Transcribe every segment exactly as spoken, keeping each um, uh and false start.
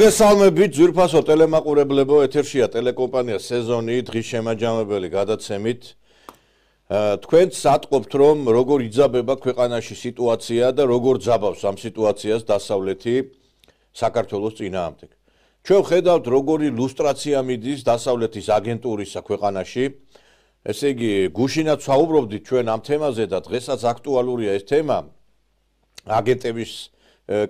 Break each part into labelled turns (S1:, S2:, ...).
S1: მოგესალმებით ძვირფასო ტელემაყურებლებო, ეთერშია ტელეკომპანია სეზონი დღის შემაჯამებელი გადაცემით. თქვენც ატყობთ, რომ როგორ იძაბება ქვეყანაში სიტუაცია და როგორ ძაბავს ამ სიტუაციას დასავლეთი საქართველოს წინააღმდეგ. ჩვენ ვხედავთ, როგორი ლუსტრაცია მიდის დასავლეთის აგენტურისა ქვეყანაში. ესე იგი, გუშინაც ვსაუბრობდით ჩვენ ამ თემაზე და დღესაც აქტუალურია ეს თემა. აგენტების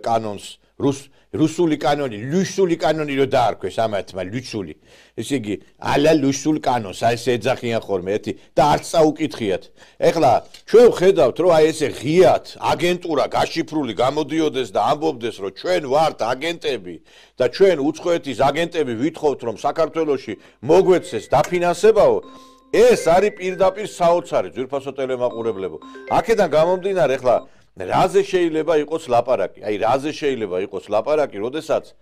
S1: კანონს რუს რუსული კანონი, ლუსული კანონი რო დაარქვეს ამათმა ლუსული. ესე იგი, ალა ლუსულ კანონს, აი ეს ეძახიან ხოლმე ერთი და არც წაუკითხიათ. ეხლა ჩვენ ვხედავთ, რომ აი ესე ღიად აგენტურა გაშიფრული გამოდიოდეს და ამბობდეს, რომ ჩვენ ვართ აგენტები და ჩვენ უცხოეთის აგენტები ვითხოვთ, რომ საქართველოში მოგვეცეს დაფინანსებაო. ეს არის პირდაპირ საოცარი ძვირფასო ტელემაყურებლებო. აქედან გამომდინარე, ეხლა რაზე შეიძლება იყოს ლაპარაკი? აი რაზე შეიძლება იყოს ლაპარაკი, როდესაც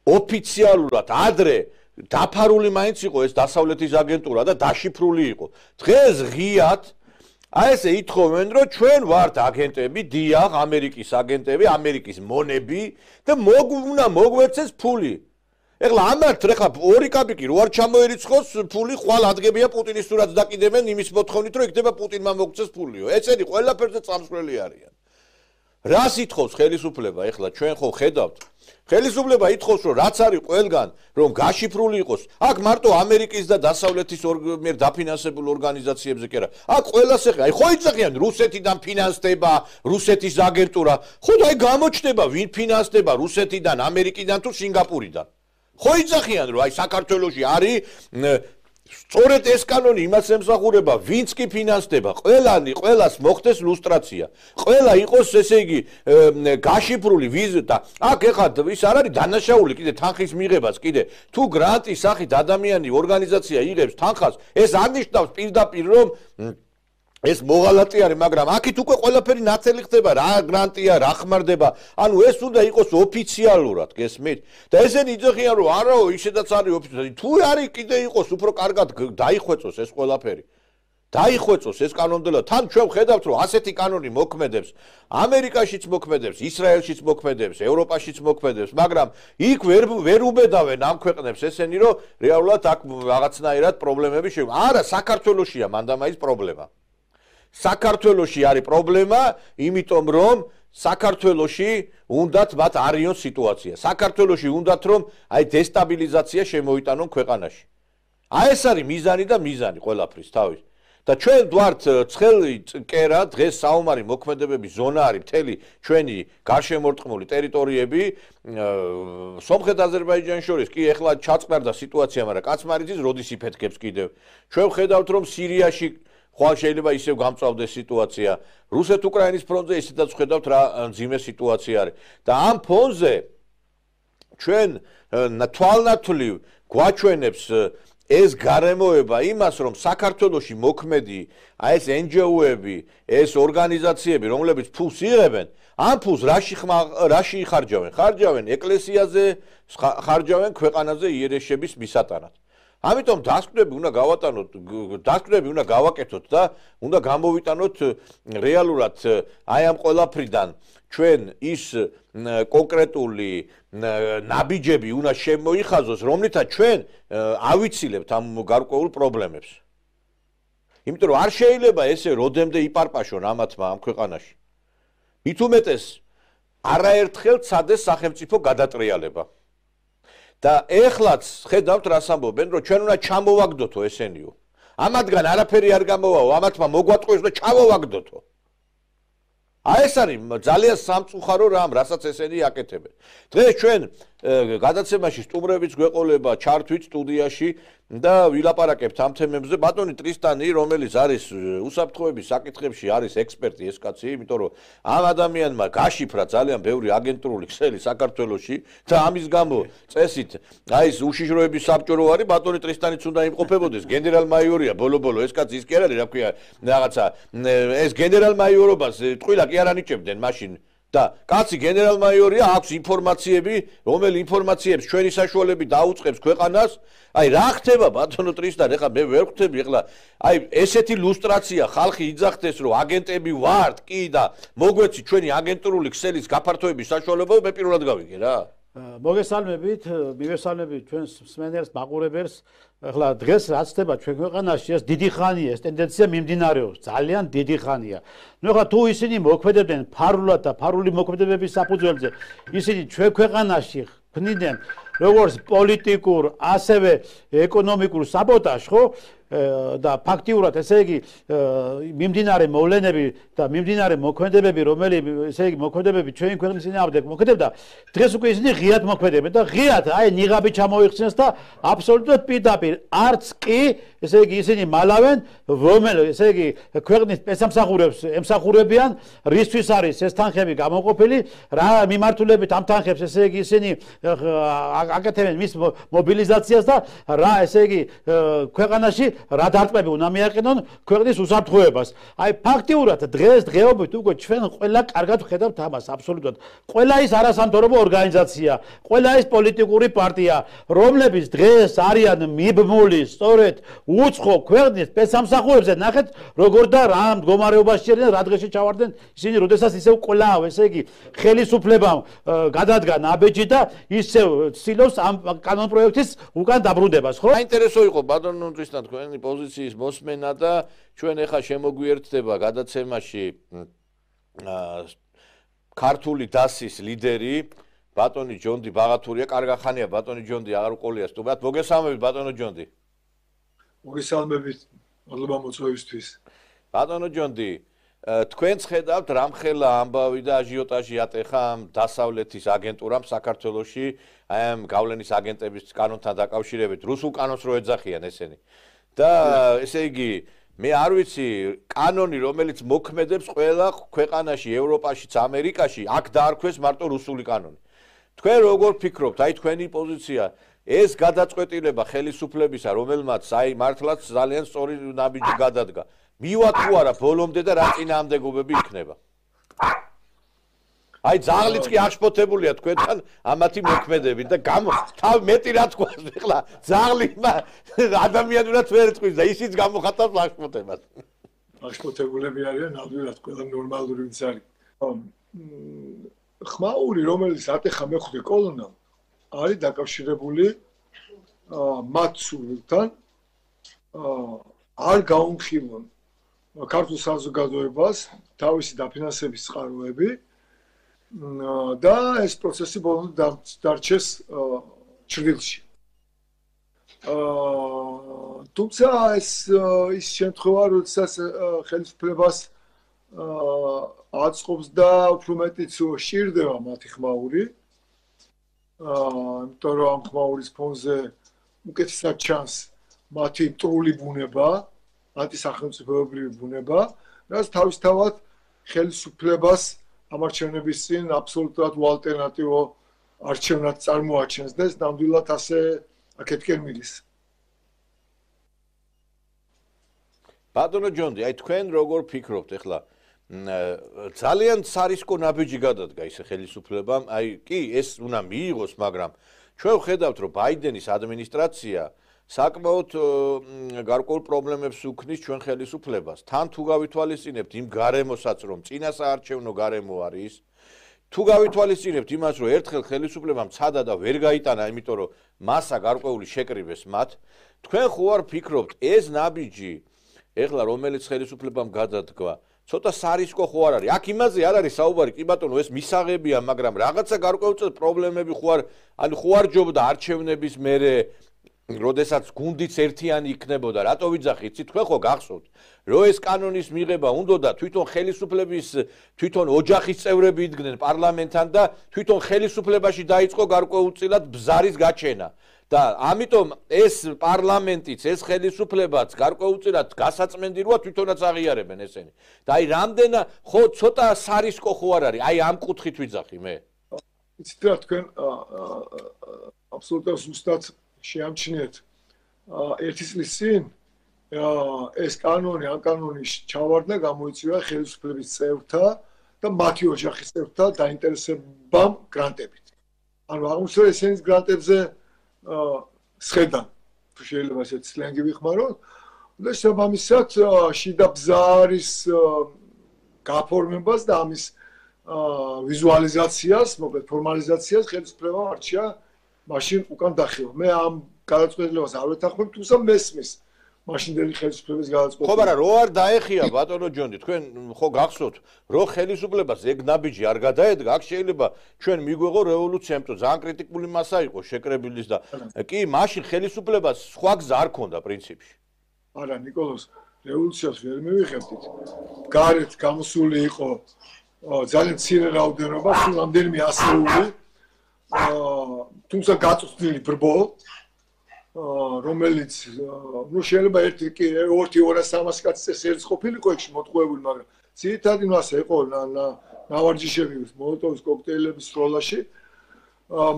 S1: ოფიციალურად ადრე დაფარული მაინც იყო ეს დასავლეთის აგენტურა და დაშიფრული იყო. დღეს ღიად აი ესე ითხოვენ, რომ ჩვენ ვართ აგენტები, დიახ, ამერიკის აგენტები, ამერიკის მონები და უნდა მოგვეცეს ფული. ეხლა ამათ ეხლა ორი კაპიკი რო არ ჩამოერიცხოს ფული, ხვალ ადგებია პუტინის სურათს დაკიდებენ იმის მოთხოვნით, რომ იქნება პუტინმა მოგცეს ფულიო. ესენი ყველაფერზე წამსვლელი არიან. რას ითხოვს ხელისუფლება? ეხლა ჩვენ ხო ხედავთ. ხელისუფლება ითხოვს, რომ რაც არის ყველგან, რომ გაშიფრული იყოს. აქ მარტო ამერიკის და დასავლეთის მიერ დაფინანსებულ ორგანიზაციებზე კი არა. აქ ყველას ეხლა, აი ხო იცახიან რუსეთიდან ფინანსდება, რუსეთის აგენტურა. ხო და აი გამოჩნდება ვინ ფინანსდება რუსეთიდან, ამერიკიდან თუ სინგაპურიდან. ხო იცახიან, რომ აი საქართველოში არის სწორედ ეს კანონი იმას ემსახურება, ვინც კი ფინანსდება, ყველანი, ყველას მოხდეს ლუსტრაცია. ყველა იყოს, ესე იგი, გაშიფრული ვიზა და აქ ეხლა ის არ არის დანაშაული, კიდე თანხის მიღებას, კიდე თუ გრანტის სახით ადამიანი ორგანიზაცია იღებს თანხას, ეს არნიშნავს პირდაპირ რომ ეს მოღალატე არის, მაგრამ აქეთ უკვე ყველაფერი ნათელი ხდება, რა გრანტია, რა ხმარდება. ანუ ეს უნდა იყოს ოფიციალურად, გესმით? და ესენი იძახიან, რომ არაო, ისედაც არის ოფიციალური. თუ არის კიდე იყოს უფრო კარგად დაიხვეწოს ეს ყველაფერი. დაიხვეწოს ეს კანონმდებლობა. თან ჩვენ ვხედავთ, რომ ასეთი კანონი მოქმედებს ამერიკაშიც მოქმედებს, ისრაელშიც მოქმედებს, ევროპაშიც მოქმედებს, მაგრამ იქ ვერ ვერ უბედავენ ამ ქვეყნებს ესენი, რომ რეალურად აქ რაღაცნაირად პრობლემები შევა. არა, საქართველოშია მანდამაის პრობლემა. საქართველოში არის პრობლემა, იმიტომ რომ საქართველოში უნდათ მათ არიონ სიტუაცია. საქართველოში უნდათ რომ აი დესტაბილიზაცია შემოიტანონ ქვეყანაში. აი ეს არის მიზანი და მიზანი ყველაფრის თავის. და ჩვენ ვართ ცხელი კერა, დღეს საომარი მოქმედებების ზონა არის მთელი ჩვენი გარშემორტყმული ტერიტორიები, სომხეთ-აზერბაიჯანის შორის კი ეხლა ჩაწყნარდა სიტუაცია, მაგრამ კაცმარიძის როდის იფეთქებს კიდევ. ჩვენ ვხედავთ რომ სირიაში ხვალ შეიძლება ისევ გამწვავდეს სიტუაცია. რუსეთ-უკრაინის ფრონტზე ისედაც ვხედავთ რა მძიმე სიტუაცია არის. და ამ ფონზე ჩვენ თვალნათვლივ გვაჩვენებს ეს გარემოება იმას, რომ საქართველოში მოქმედი აი ეს εν ჯი ო-ები, ეს ორგანიზაციები, რომლებიც ფულს იღებენ, ამ ფულს რაში რაში იხარჯავენ? ხარჯავენ ეკლესიაზე, ხარჯავენ ქვეყანაზე იერიშების მისატანად. ამიტომ დასკვნები უნდა გავატანოთ, დასკვნები უნდა გავაკეთოთ და უნდა გამოვიტანოთ რეალურად აი ამ ყველაფრიდან ჩვენ ის კონკრეტული ნაბიჯები უნდა შემოიხაზოს, რომლითაც ჩვენ ავიცილებთ ამ გარკვეულ პრობლემებს. იმიტომ რომ არ შეიძლება ესე როდემდე იპარპაშონ ამათმა ამ ქვეყანაში. მით უმეტეს არაერთხელ ცადეს სახელმწიფო გადატრიალება. და ეხლაც ხედავთ რას ამბობენ, რომ ჩვენ უნდა ჩამოვაგდოთო ესენიო. ამათგან არაფერი არ გამოვაო, ამათმა მოგვატყუეს და ჩამოვაგდოთო. აი ეს არის ძალიან სამწუხარო რამ, რასაც ესენი აკეთებენ. დღეს ჩვენ გადაცემაში სტუმრებიც გვეყოლება ჩართვით სტუდიაში და ვილაპარაკებთ ამ თემებზე. ბატონი ტრისტანი, რომელიც არის უსაფრთხოების საკითხებში არის ექსპერტი ეს კაცი, იმიტომ რომ ამ ადამიანმა გაშიფრა ძალიან ბევრი აგენტურული ქსელი საქართველოში და ამის გამო წესით აი ეს უშიშროების საბჭო არის, ბატონი ტრისტანიც უნდა იმყოფებოდეს, გენერალ-მაიორია ბოლო-ბოლო ეს კაცი ის კი არ არის, რა ქვია, რაღაცა ეს გენერალ-მაიორობას ტყუილა კი არ ანიჭებდნენ მაშინ. და კაცი გენერალ-მაიორია, აქვს ინფორმაციები, რომელი ინფორმაციებს ჩვენი საშუალებით დაუწყებს ქვეყანას. აი რა ხდება ბატონო ტრისტან, ეხლა მე ვერ ხვდები, ეხლა აი ესეთი ლუსტრაცია ხალხი იძახდეს, რომ აგენტები ვართ, კი და მოგვეცი ჩვენი აგენტურული ქსელის გაფართოების საშუალება, მე პირველად გავიგე რა.
S2: მოგესალმებით, მივესალმებით ჩვენს მსმენელს, მაყურებელს. ახლა დღეს რაც ხდება ჩვენ ქვეყანაში, ეს დიდი ხანია, ეს ტენდენცია მიმდინარეობს, ძალიან დიდი ხანია. ნუ ახლა თუ ისინი მოქმედებდნენ ფარულად და ფარული მოქმედებების საფუძველზე, ისინი ჩვენ ქვეყანაში ქმნიდნენ როგორც პოლიტიკურ, ასევე ეკონომიკურ საბოტაჟს, ხო? და ფაქტიურად ესე იგი მიმდინარე მოვლენები და მიმდინარე მოქმედებები, რომელიც ესე იგი მოქმედებები ჩვენი ქვეყნის წინააღმდეგ მოქმედებდა, დღეს უკვე ისინი ღიად მოქმედებენ და ღიად აი ნიღაბი ჩამოიხსნეს და აბსოლუტურად პირდაპირ არც კი ესე იგი ისინი მალავენ, რომელიც ესე იგი ქვეყნის პესამსახურებს ემსახურებიან, რისთვის არის ეს თანხები გამოყოფილი, რა მიმართულებით ამ თანხებს ესე იგი ისინი აკეთებენ მის მობილიზაციას და რა ესე იგი ქვეყანაში რა დარტყმები უნდა მიაყენონ ქვეყნის უსაფრთხოებას. აი ფაქტიურად დღეს დღეობით უკვე ჩვენ ყველა კარგად ვხედავთ ამას აბსოლუტურად. ყველა ის არასამთავრობო ორგანიზაცია, ყველა ის პოლიტიკური პარტია, რომლებიც დღეს არიან მიბმული სწორედ უცხო ქვეყნის პესამსახურებზე, ნახეთ როგორ და რა მდგომარეობაში არიან, რა დღეში ჩავარდნენ ისინი, როდესაც ისევ კვლავ ესე იგი ხელისუფლებამ გადადგა ნაბეჯი და ისევ ცდილობს ამ კანონპროექტის უკან დაბრუნებას, ხო?
S1: საინტერესო იყო ბატონოსთან თქვენი პოზიციის მოსმენა და ჩვენ ახლა შემოგვიერთდება გადაცემაში ქართული დასის ლიდერი ბატონი ჯონდი ბაღათურია. კარგა ხანია ბატონი ჯონდი, აღარ უყოლია სტუმრად. მოგესალმებით ბატონო ჯონდი.
S3: მოგესალმებით, მადლობა მოწვევისთვის.
S1: ბატონო ჯონდი, თქვენც ხედავთ რამხელა ამბავი და აჟიოტაჟი ატეხა ამ დასავლეთის აგენტურამ საქართველოში, აი ამ გავლენის აგენტების კანონთან დაკავშირებით, რუსულ კანონს რო ეძახიან ესენი. და ესე იგი, მე არ ვიცი, კანონი, რომელიც მოქმედებს ყველა ქვეყანაში, ევროპაშიც, ამერიკაში, აქ დაარქვეს მარტო რუსული კანონი. თქვენ როგორ ფიქრობთ, აი თქვენი პოზიცია, ეს გადაწყვეტილება ხელისუფლებისა, რომელმაც აი მართლაც ძალიან სწორი ნაბიჯი გადადგა. მივა თუ არა ბოლომდე და რა წინააღმდეგობები იქნება? აი ძაღლიც კი აღშფოთებულია თქვენთან ამათი მოქმედებით და გამო თავ მეტი რა თქვა ახლა ძაღლი ადამიანურად ვერ ეთქვის და ისიც გამოხატავს აღშფოთებას.
S3: აღშფოთებულები არიან ნამდვილად ყველა ნორმალური ვინც არის. ხმაური რომელიც ატეხა მეხუთე კოლონამ არის დაკავშირებული მათ სულთან არ გაუმხილონ ქართულ საზოგადოებას თავისი დაფინანსების წყაროები და ეს პროცესი ბოლომდე დარჩეს ჩრდილში. თუმცა ეს ის შემთხვევა, როდესაც ხელისუფლებას აწყობს და უფრო მეტიც სჭირდება მათი ხმაური, იმიტომ რომ ამ ხმაურის ფონზე უკეთესად ჩანს მათი მტრული ბუნება, ანტისახელმწიფოებრივი ბუნება, რაც თავისთავად ხელისუფლებას ამ არჩევნების წინ აბსოლუტურად უალტერნატივო არჩევნად წარმოაჩენს და ეს ნამდვილად ასე აქეთკენ მიდის.
S1: ბატონო ჯონდი, აი თქვენ როგორ ფიქრობთ ახლა? ძალიან სარისკო ნაბიჯი გადადგა ის ხელისუფლებამ, აი კი ეს უნდა მიიღოს, მაგრამ ჩვენ ვხედავთ, რომ ბაიდენის ადმინისტრაცია საკმაოდ გარკვეულ პრობლემებს უქმნის ჩვენ ხელისუფლებას. თან თუ გავითვალისწინებთ იმ გარემოსაც, რომ წინასაარჩევნო გარემო არის, თუ გავითვალისწინებთ იმას, რომ ერთხელ ხელისუფლებამ ცადა და ვერ გაიტანა, იმიტომ რომ მასა გარკვეული შეკრიბეს მათ, თქვენ ხო არ ფიქრობთ, ეს ნაბიჯი, ეხლა რომელიც ხელისუფლებამ გადადგა, ცოტა სარისკო ხო არ არის? აქ იმაზე არ არის საუბარი, კი ბატონო, ეს მისაღებია, მაგრამ რაღაცა გარკვეული პრობლემები ხო არ, ანუ ხო არ ჯობდა არჩევნების მერე როდესაც გუნდიც ერთიანი იქნებოდა, რატო ვიძახით? თქვენ ხო გახსოვთ, რომ ეს კანონის მიღება უნდოდა თვითონ ხელისუფლების, თვითონ ოჯახის წევრები იდგნენ პარლამენტთან და თვითონ ხელისუფლებაში დაიწყო გარკვეულწილად ბზარის გაჩენა. და ამიტომ ეს პარლამენტიც, ეს ხელისუფლებაც გარკვეულწილად გასაწმენდიროა თვითონაც აღიარებენ ესენი. და აი რამდენა ხო ცოტა სარისკო ხო არ არის? აი ამ კუთხით ვიძახი მე.
S3: იცით რა თქვენ აბსოლუტურად ზუსტად შეამჩნიეთ ერთი წლის წინ ეს კანონი, ამ კანონის ჩავარდნა გამოიწვია ხელისუფლების წევრთა და მათი ოჯახის წევრთა დაინტერესებამ გრანტებით. ანუ აღმოსავლეთ ესენის გრანტებზე სხედან, თუ შეიძლება ესეც სლენგი ვიხმაროთ, და შესაბამისად შიდა ბზარის გაფორმებას და ამის ვიზუალიზაციას, მოკლედ ფორმალიზაციას ხელისუფლება არჩია მაშინ უკან დახევა. მე ამ გადაწყვეტილებას არ ვეთანხმებ, თუმცა მესმის მაშინდელი ხელისუფლების გადაწყვეტილება.
S1: ხო, მაგრამ რო არ დაეხია ბატონო ჯონი, თქვენ ხო გახსოვთ, რო ხელისუფლებას ეგ ნაბიჯი არ გადაედგა, აქ შეიძლება ჩვენ მიგვეღო რევოლუცია, იმიტომ ძალიან კრიტიკული მასა იყო შეკრებილის და კი, მაშინ ხელისუფლებას სხვა გზა არ ქონდა პრინციპში.
S3: არა, ნიკოლოზ, რევოლუციას ვერ მივიღებდით. გარეთ გამოსული იყო ძალიან მცირე რაოდენობა, სულ რამდენიმე ასეული, თუმცა გაწვდილი ბრბო, რომელიც ნუ შეიძლება ერთი კი ორი ორას სამას კაცის ერთს ყოფილიყო ეგში მოტყუებული, მაგრამ ძირითადი მასა იყო ნავარჯიშები მოლოტოვის კოქტეილების სროლაში,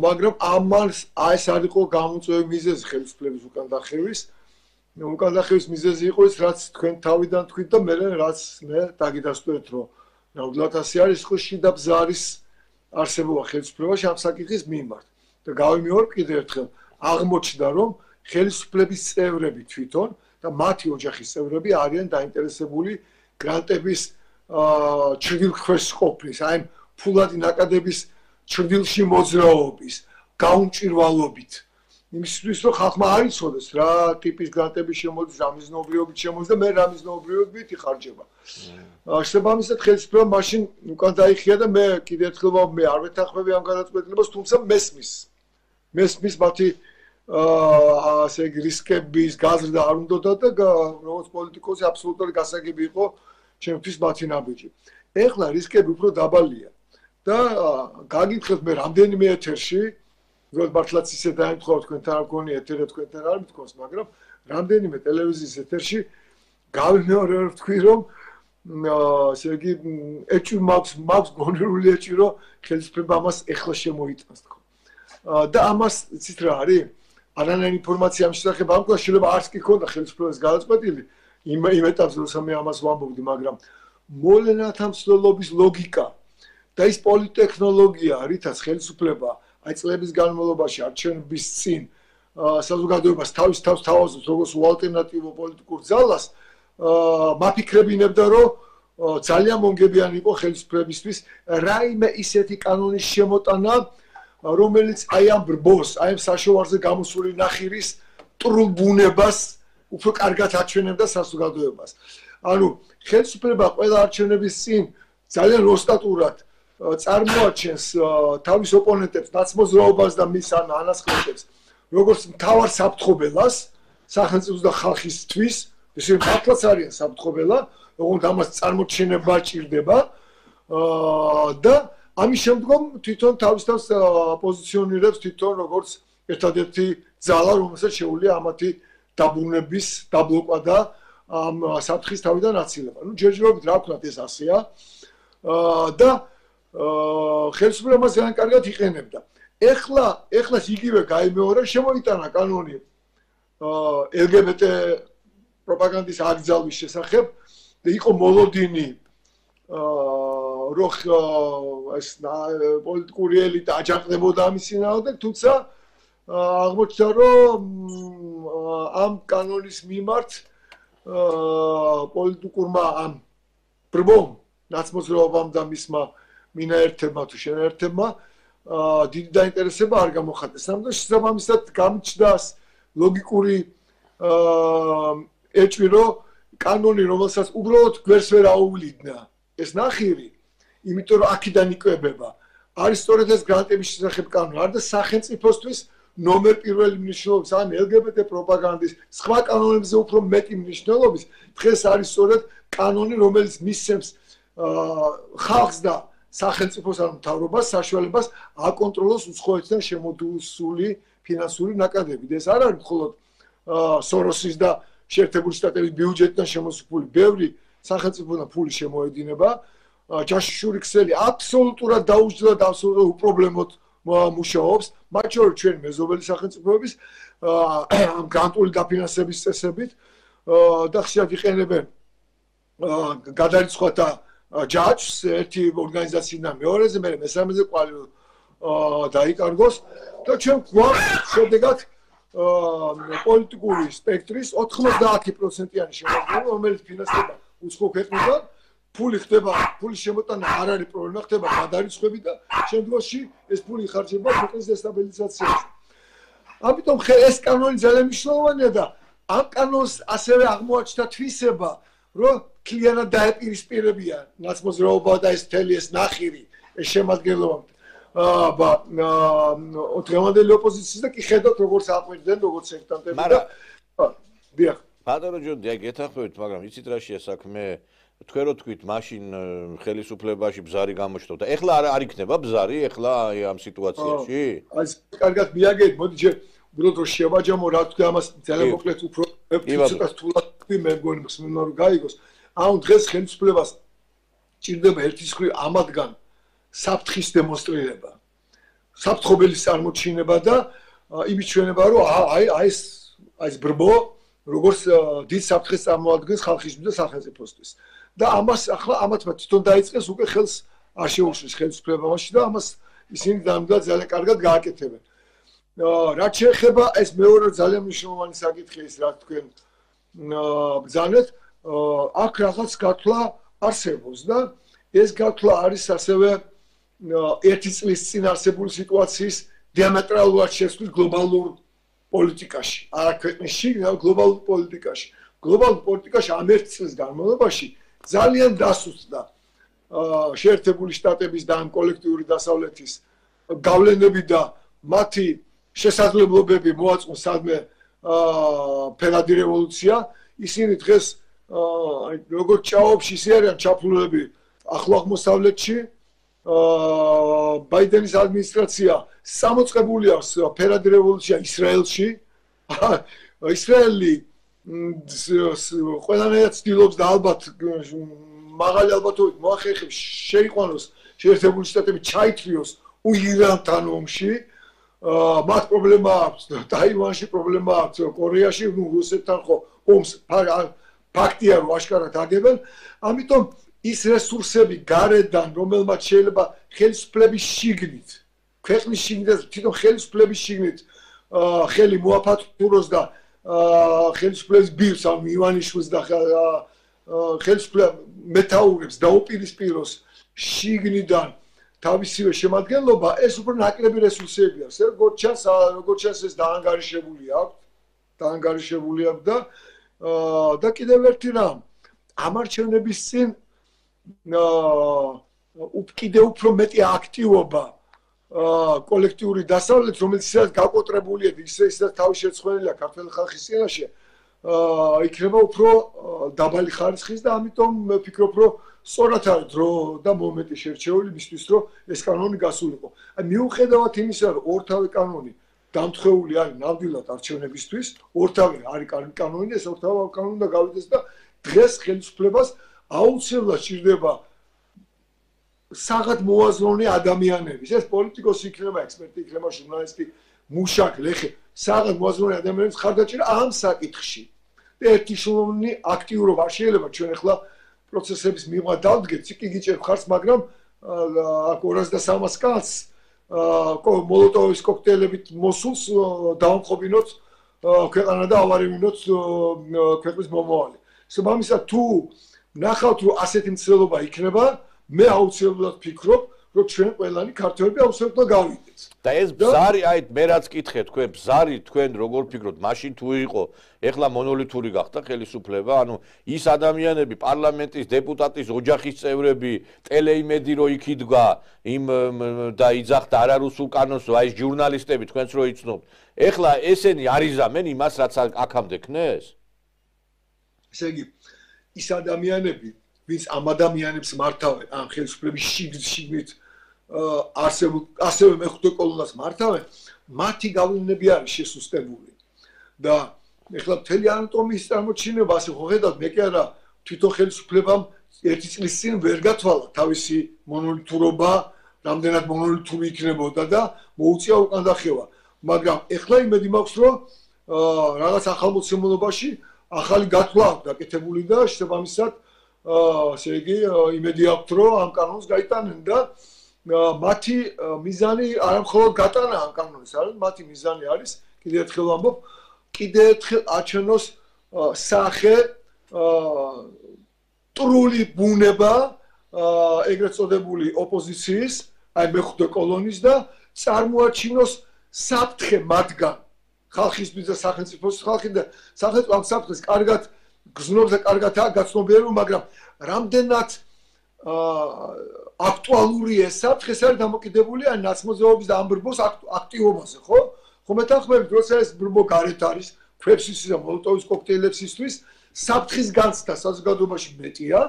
S3: მაგრამ ამას ეს არ იყო გამოწვევი მიზეზი ხელისუფლების უკან დახევის. უკან დახევის მიზეზი იყო ის, რაც თქვენ თავიდან თქვით და მე რაც მე დაგიდასტურეთ, რომ ნამდვილად ასე არის, ხო შიდა ბზარის არსებობა ხელისუფლებაში ამ საკითხის მიმართ. და გავიმეორებ კიდევ ერთხელ, აღმოჩნდა, რომ ხელისუფლების წევრები თვითონ და მათი ოჯახის წევრები არიან დაინტერესებული გრანტების ჩრდილქვეშ ყოფნის, აი ფულადი ნაკადების ჩრდილში მოძრაობის, გაუმჭირვალობით. იმისთვის რომ ხალხმა არ იცოდეს რა ტიპის გრანტები შემოდის, რა მიზნობრიობით შემოდის და მე რა მიზნობრიობით იხარჯება. შესაბამისად ხელისუფლება მაშინ უკან დაიხია და მე კიდევ ერთხელ მე არ ვეთანხმები ამ გადაწყვეტილებას, თუმცა მესმის. მესმის მათი ასე იგი რისკების გაზრდა არ უნდოდა და როგორც პოლიტიკოსი აბსოლუტური გასაგები იყო ჩემთვის მათი ნაბიჯი. ეხლა რისკები უფრო დაბალია და გაგითხეთ მე რამდენიმე ეთერში როგორც მართლაც ისე დაემთხვა თქვენთან არ გქონია ეთერი თქვენთან არ მithქოს, მაგრამ რამდენიმე ტელევიზიის ეთერში გავიმეორებ თქვი რომ ასე იგი ეჭვი მაქვს მაქვს გონერული ეჭვი რომ ხელისუფლება ამას ეხლა შემოიტანს თქო. და ამას იცით რა არის? არანაირი ინფორმაცია ამ შესახებ არ მქონდა, შეიძლება არც კი ქონდა ხელისუფლების გადაწყვეტილი იმ იმ ეტაპზე როცა მე ამას ვამბობდი, მაგრამ მოვლენათა მსვლელობის ლოგიკა და ის პოლიტექნოლოგია, რითაც ხელისუფლება აი წლების განმავლობაში არჩევნების წინ საზოგადოებას თავის თავს თავაზობს როგორც უალტერნატივო პოლიტიკურ ძალას, მაფიქრებინებდა რომ ძალიან მომგებიანი იყო ხელისუფლებისთვის რაიმე ისეთი კანონის შემოტანა, რომელიც აი ამ ბრბოს, აი ამ საშოვარზე გამოსული ნახირის ტრუბუნებას უფრო კარგად აჩვენებდა საზოგადოებას. ანუ ხელისუფლება ყველა არჩევნების წინ ძალიან როსტატურად წარმოაჩენს თავის ოპონენტებს, ნაცმოძრაობას და მის ან ანასხლეტებს, როგორც მთავარ საფრთხობელას სახელმწიფოს და ხალხისთვის, ესე მართლაც არიან საფრთხობელა, ოღონდ ამას წარმოჩენება ჭირდება და ამის შემდგომ თვითონ თავის თავს პოზიციონირებს თვითონ როგორც ერთადერთი ძალა, რომელსაც შეუძლია ამათი დაბრუნების, დაბლოკვა და ამ საფრთხის თავიდან აცილება. ნუ ჯერჯერობით რა ვქნათ ეს ასეა და ხელისუფლებას ძალიან კარგად იყენებდა. ეხლა, ეხლა იგივე გაიმეორა, შემოიტანა კანონი ელ გი ბი ტი პროპაგანდის აკრძალვის შესახებ და იყო მოლოდინი რომ ეს პოლიტიკური ელიტა აჯანყდებოდა ამის წინააღმდეგ, თუმცა აღმოჩნდა რომ ამ კანონის მიმართ პოლიტიკურმა ამ ბრბომ ნაცმოძრაობამ და მისმა მინაერთებმა თუ შენაერთებმა დიდი დაინტერესება არ გამოხატეს. ამიტომ შესაბამისად გამჩნდას ლოგიკური ეჭვი, რომ კანონი, რომელსაც უბრალოდ გვერდს ვერ აუვლიდნენ ეს ნახირი, იმიტომ რომ აქედან იკვებება. არის სწორედ ეს გრანტების შესახებ კანონი, არ და სახელმწიფოსთვის ნომერ პირველი მნიშვნელობის, ან ელ გი ბი ტი პროპაგანდის სხვა კანონებზე უფრო მეტი მნიშვნელობის, დღეს არის სწორედ კანონი, რომელიც მისცემს ხალხს და სახელმწიფოს ან მთავრობას საშუალებას აკონტროლოს უცხოეთიდან შემოდუსული ფინანსური ნაკადები. ეს არ არის მხოლოდ სოროსის და შეერთებული შტატების ბიუჯეტიდან შემოსული ბევრი სახელმწიფოდან ფული შემოედინება. ჯაშუშური ქსელი აბსოლუტურად დაუჯდა და აბსოლუტურად უპრობლემოდ მუშაობს, მათ შორის ჩვენი მეზობელი სახელმწიფოების ამ გრანტული დაფინანსების წესებით და ხშირად იყენებენ გადარიცხვათა ჯაჭვს ერთი ორგანიზაციიდან მეორეზე, მე მესამეზე ყვალი დაიკარგოს და ჩვენ გვაქვს შედეგად პოლიტიკური სპექტრის ოთხმოცდაათი პროცენტიანი შემადგენლობა, რომელიც ფინანსდება უცხო ქვეყნიდან ფული ხდება, ფულის შემოტანა არ არის პრობლემა, ხდება გადარიცხვები და შემდგომში ეს ფული იხარჯება ქვეყნის დესტაბილიზაციაზე. ამიტომ ეს კანონი ძალიან მნიშვნელოვანია და ამ კანონს ასევე აღმოაჩნდა თვისება, რომ კლიენად დაეპირისპირებია ნაცმოძრაობა და ეს თელი ეს ნახირი, ეს შემადგენლობა აა დღევანდელი ოპოზიციის და კი ხედავთ როგორც აყვირდნენ, როგორც სექტანტები და დიახ.
S1: ბატონო ჯონდი, გეთახმებით, მაგრამ იცით რა შეა საქმე? თქვენ რო თქვით, მაშინ ხელისუფლებაში ბზარი გამოჩნდა და ეხლა არ იქნება ბზარი ეხლა ამ სიტუაციაში?
S3: აი, კარგად მიაგეთ, მოდი ჯერ უბრალოდ რო შევაჯამო, რა თქვი ამას ძალიან მოკლედ უფრო ცოტა თულად მე მგონი მსმენელმა რომ გაიგოს. ამ დღეს ხელისუფლებას ჭირდება ერთის მხრივ ამადგან საფრთხის დემონსტრირება, საფრთხობელის წარმოჩინება და იმის ჩვენება, რომ აი აი ეს აი ეს ბრბო როგორც დიდ საფრთხეს წარმოადგენს ხალხისთვის და სახელმწიფოსთვის. და ამას ახლა ამათმა თვითონ დაიწყეს უკვე ხელს არ შეუშლის ხელისუფლებაში და ამას ისინი დამდგა ძალიან კარგად გააკეთებენ. რაც შეეხება ეს მეორე ძალიან მნიშვნელოვანი საკითხი ის რა თქვენ ბრძანეთ, აქ რაღაც გათვლა არსებობს და ეს გათვლა არის ასევე ერთი წლის წინ არსებული სიტუაციის დიამეტრალურად შეცვლილ გლობალურ პოლიტიკაში, არა ქვეყნში, არამედ გლობალურ პოლიტიკაში. გლობალურ პოლიტიკაში ამ ერთ წლის განმავლობაში ძალიან დასუსტდა შეერთებული შტატების და ამ კოლექტიური დასავლეთის გავლენები და მათი შესაძლებლობები მოაწყო სადმე ფერადი რევოლუცია. ისინი დღეს აი როგორც ჭაობს ისე არიან ჩაფლულები ახლო აღმოსავლეთში. ბაიდენის ადმინისტრაცია სამოწყებული აქვს ფერადი რევოლუცია ისრაელში. ისრაელი ყველანაირად ცდილობს და ალბათ მაღალი ალბათობით მოახერხებს შეიყვანოს შეერთებული შტატები ჩაითრიოს ირანთან ომში. მათ პრობლემა აქვს ტაივანში, პრობლემა აქვს კორეაში, ნუ რუსეთთან ხო ომს ფაქტია რომ აშკარად აგებენ. ამიტომ ის რესურსები გარედან, რომელმაც შეიძლება ხელისუფლების შიგნით, ქვეყნის შიგნით, თვითონ ხელისუფლების შიგნით ხელი მოაფართუროს და ხელისუფლების ბირს, ან ივანიშვილს და ხელისუფლების მეთაურებს დაუპირისპიროს შიგნიდან თავისივე შემადგენლობა, ეს უფრო ნაკლები რესურსები აქვს. როგორც ჩანს, როგორც ჩანს ეს დაანგარიშებული აქვს, დაანგარიშებული აქვს და და კიდევ ერთი რამ, ამ არჩევნების წინ კიდევ უფრო მეტი აქტივობა კოლექტიური დასავლეთ, რომელიც ისედაც გაკოტრებულია, ისე ისედაც თავი შეცვლილია ქართული ხალხის წინაშე, იქნება უფრო დაბალი ხარისხის და ამიტომ ვფიქრობ, რომ სწორად არის დრო და მომენტი შერჩეული მისთვის, რომ ეს კანონი გასულიყო. აი მიუხედავად იმისა, რომ ორთავე კანონი დამთხეული არის ნამდვილად არჩევნებისთვის, ორთავე არის კანონი, ეს ორთავე კანონი უნდა გავიდეს და დღეს ხელისუფლებას აუცილებლად სჭირდება საღად მოაზროვნე ადამიანების, ეს პოლიტიკოსი იქნება, ექსპერტი იქნება, ჟურნალისტი, მუშაკ, ლეხე, საღად მოაზროვნე ადამიანების ხარდაჭერა ამ საკითხში. და ერთი შრომი აქტიურობა არ შეიძლება ჩვენ ახლა პროცესების მიღმა დავდგეთ, კი გიჭერთ ხარს, მაგრამ აქ ორას და სამას კაცს მოლოტოვის კოქტეილებით მოსულს დავამხობინოთ ქვეყანა და ავარევინოთ ქვეყნის მომავალი. შესაბამისად თუ ნახავთ რომ ასეთი მცდელობა იქნება, მე აუცილებლად ვფიქრობ, რომ ჩვენ ყველანი ქართველები აუცილებლად გავიდეთ.
S1: და ეს ბზარი, აი მე რაც კითხე თქვენ, ბზარი თქვენ როგორ ფიქრობთ, მაშინ თუ იყო, ეხლა მონოლითური გახდა ხელისუფლება, ანუ ის ადამიანები, პარლამენტის დეპუტატის ოჯახის წევრები, ტელეიმედი რო იქ იდგა, იმ და იძახდა არარუსულ კანონს, აი ეს ჟურნალისტები თქვენც რო იცნობთ. ეხლა ესენი არიზამენ იმას, რაც აქამდე ქნეს?
S3: ესე იგი, ის ადამიანები, ვინც ამ ადამიანებს მართავენ, ამ ხელისუფლების შიგნით არსებულ ასევე მეხუთე კოლონას მართავენ, მათი გავლენები არის შესუსტებული. და ეხლა მთელი ანატომიის წარმოჩინება, ასე ხო ხედავთ, მე კი არა თვითონ ხელისუფლებამ ერთი წლის წინ ვერ გათვალა თავისი მონოლითურობა, რამდენად მონოლითური იქნებოდა და მოუწია უკან დახევა. მაგრამ ეხლა იმედი მაქვს, რომ რაღაც ახალმოცემულობაში ახალი გათვლა გაკეთებული და შესაბამისად ასე იგი იმედი აქვს, რომ ამ კანონს გაიტანენ და მათი მიზანი არა მხოლოდ გატანა ამ კანონის, არამედ მათი მიზანი არის, კიდევ ერთხელ ვამბობ, კიდევ ერთხელ აჩვენოს სახე ტრული ბუნება ეგრეთ წოდებული ოპოზიციის, აი მეხუთე კოლონის და წარმოაჩინოს საფრთხე მათგან ხალხისთვის და სახელმწიფოს ხალხი და სახელმწიფო ამ საფრთხეს კარგად გზნობს და კარგადაა გაცნობიერებული, მაგრამ რამდენად აქტუალური ეს საფრთხე არის დამოკიდებული ან ნაცმოძრაობის და ამ ბრბოს აქტივობაზე, ხო? ხო მეთანხმებით, როცა ეს ბრბო გარეთ არის, ქვებსის და მოლოტოვის კოქტეილებსისთვის საფრთხის განცდა საზოგადოებაში მეტია,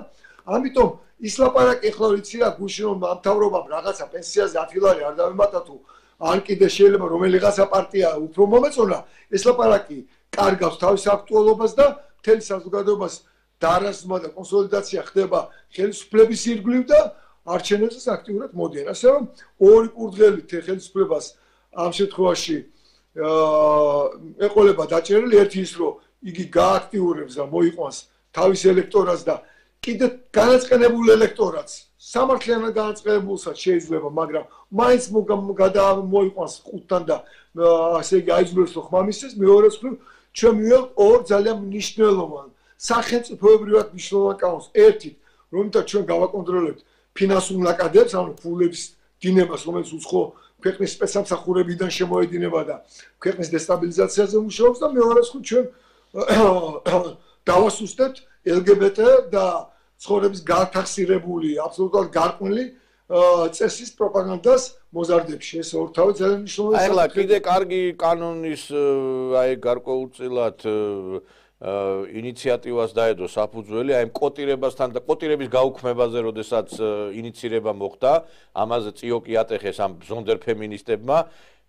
S3: ამიტომ ის ლაპარაკი ახლა ვიცი რა გუშინ რომ ამთავრობამ რაღაცა პენსიაზე ათი ლარი არ დავემატა თუ ან კიდე შეიძლება რომელიღაცა პარტია უფრო მომეწონა, ეს ლაპარაკი კარგავს თავის აქტუალობას და მთელი საზოგადოებას დარასმა და კონსოლიდაცია ხდება ხელისუფლების ირგვლივ და არჩევნებზეც აქტიურად მოდიან. ასე რომ ორი კურდღელით ხელისუფლებას ამ შემთხვევაში ეყოლება დაჭერილი, ერთი ის რომ იგი გააქტიურებს და მოიყვანს თავის ელექტორატს და კიდე განაწყენებულ ელექტორატს სამართლიანად განაწყენებულსაც შეიძლება, მაგრამ მაინც მოიყვანს ხუთთან და ასე იგი აიძულებს რომ ხმამისცეს. მეორეს მხრივ ჩვენ მივიღებთ ორ ძალიან მნიშვნელოვან სახელმწიფოებრივად მნიშვნელოვან კანონს. ერთით, რომლითაც ჩვენ გავაკონტროლებთ ფინანსურ ნაკადებს, ანუ ფულების დინებას, რომელიც უცხო ქვეყნის სპეცსამსახურებიდან შემოედინება და ქვეყნის დესტაბილიზაციაზე მუშაობს და მეორეს მხრივ ჩვენ დავასუსტებთ ელ გი ბი ტე და ცხოვრების გათახსირებული, აბსოლუტურად გარკვეული წესის პროპაგანდას მოზარდებში. ეს ორთავი ძალიან მნიშვნელოვანი.
S1: აი ახლა კიდე კარგი კანონის აი გარკვეულწილად ინიციატივას დაედო საფუძველი, აი კოტირებასთან და კოტირების გაუქმებაზე, როდესაც ინიცირება მოხდა, ამაზე წიოკი ატეხეს ამ ზონდერ ფემინისტებმა.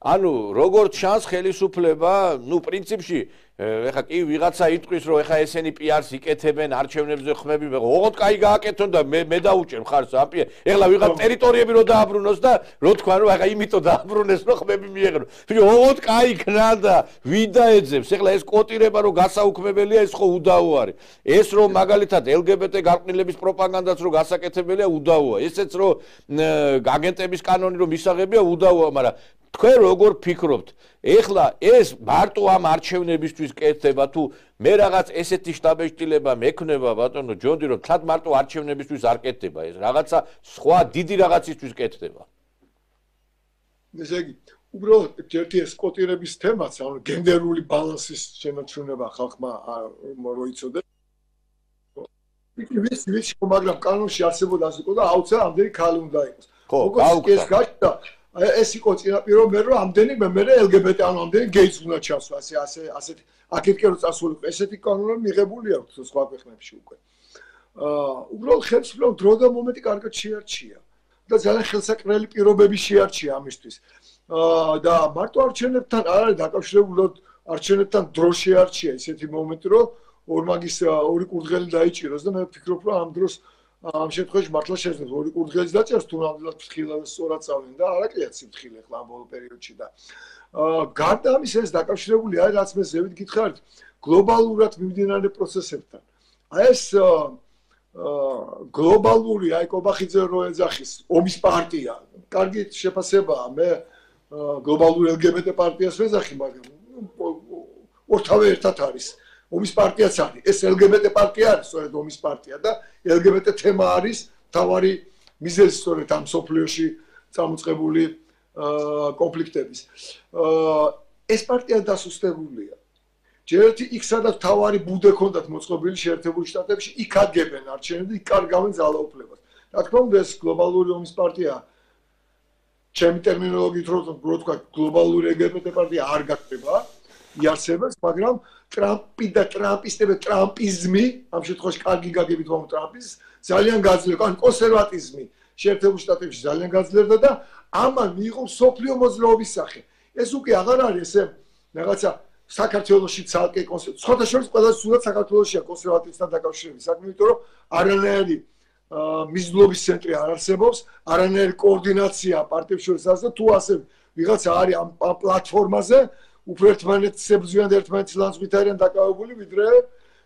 S1: ანუ როგორც ჩანს ხელისუფლება, ну პრინციპში ეხა კი ვიღაცა იტყვის რომ ეხა ესენი პი არს იკეთებენ არჩევნებზე ხმები, ოღონდ კაი გააკეთონ და მე მე დაუჭერ მხარს ამ პი არს. ეხლა ვიღაც ტერიტორიები რო დააბრუნოს და რო თქვა რომ ეხა იმიტომ დააბრუნეს რომ ხმები მიეღრო. თუმცა ოღონდ კაი ქნა და ვიდა ეძებს. ეხლა ეს კოტირება რო გასაუქმებელია, ეს ხო უდაო არის. ეს რომ მაგალითად ელ გი ბი ტე გარყვნილების პროპაგანდაც რო გასაკეთებელია, უდაოა. ესეც რომ აგენტების კანონი რომ მისაღებია, უდაოა, მაგრამ თქვენ როგორ ფიქრობთ? ეხლა ეს მარტო ამ არჩევნებისთვის კეთდება თუ მე რაღაც ესეთი შტაბეშტილება მექნება ბატონო ჯონდი რომ თად მარტო არჩევნებისთვის არ კეთდება ეს რაღაცა სხვა დიდი რაღაცისთვის კეთდება.
S3: ესე იგი, უბრალოდ ერთი ეს კოტირების თემაც, ანუ გენდერული ბალანსის შემოჩვენება ხალხმა როიცოდეს. ვიცი, ვიცი, მაგრამ კანონში არსებობდა ასე და აუცილებლად ამდენი ქალი უნდა იყოს.
S1: ხო,
S3: ეს გაჩნდა ეს იყო წინაპირობ მე რომ ამდენი მე მე ელ გი ბი ტე ანუ ამდენი გეიც უნდა ჩასვა ასე ასე ასეთი აქეთკენ რომ წასულიყო ესეთი კანონები მიღებული აქვს სხვა ქვეყნებში უკვე. აა უბრალოდ ხელისუფლებამ დრო და მომენტი კარგად შეარჩია და ძალიან ხელსაყრელი პირობები შეარჩია ამისთვის. აა და მარტო არჩევნებთან არ არის დაკავშირებული, არჩევნებთან დრო შეარჩია ესეთი მომენტი რომ ორმაგის ორი კურდღელი დაიჭიროს და მე ვფიქრობ რომ ამ დროს ამ შემთხვევაში მართლა შეძლებს ორი კურდღელის დაჭერს თუ ნამდვილად ფრთხილად სწორად წავლენ და არაკლიათ სიმთხილე ხლა ამ ბოლო პერიოდში და აა გარდა ამისა ეს დაკავშირებული არის რაც მე ზევით გითხარით გლობალურად მიმდინარე პროცესებთან. აი ეს აა გლობალური აი კობახიძე რო ეძახის ომის პარტია, კარგი შეფასებაა, მე გლობალური ელ გი ბი ტე პარტიას ვეძახი, მაგრამ ორთავე ერთად არის. ომის პარტიაც არის. ეს ელ გი ბი ტე პარტია არის, სწორედ ომის პარტია და ელ გი ბი ტე თემა არის თავარი მიზეზი სწორედ ამ სოფლიოში წამოწყებული კონფლიქტების. ეს პარტია დასუსტებულია. ჯერ ერთი იქ სადაც თავარი ბუდე ქონდათ მოწყობილი შეერთებული შტატებში, იქ აგებენ არჩევნები, იქ კარგავენ ძალაუფლებას. რა თქმა უნდა, ეს გლობალური ომის პარტია ჩემი ტერმინოლოგიით რო ვთქვა, გლობალური ელ გი ბი ტე პარტია არ გაკეთება. იარსებებს, მაგრამ ტრამპი და ტრამპისტები, ტრამპიზმი, ამ შემთხვევაში კარგი გაგებით ვამბობ ტრამპის, ძალიან გაძლიერდა, ან კონსერვატიზმი შეერთებულ შტატებში ძალიან გაძლიერდა და ამან მიიღო სოფლიო მოძრაობის სახე. ეს უკვე აღარ არის ესე რაღაცა საქართველოში ცალკე კონსერვატიზმი. სხვათა შორის ყველაზე სულად საქართველოშია კონსერვატიზმთან დაკავშირებული საქმე, იმიტომ რომ არანაირი მიზნობის ცენტრი არ არსებობს, არანაირი კოორდინაცია პარტიებს შორის და თუ ასე ვიღაცა არის ამ პლატფორმაზე უფრო ერთმანეთს ებრძვიან და ერთმანეთის ლანძღვით არიან დაკავებული ვიდრე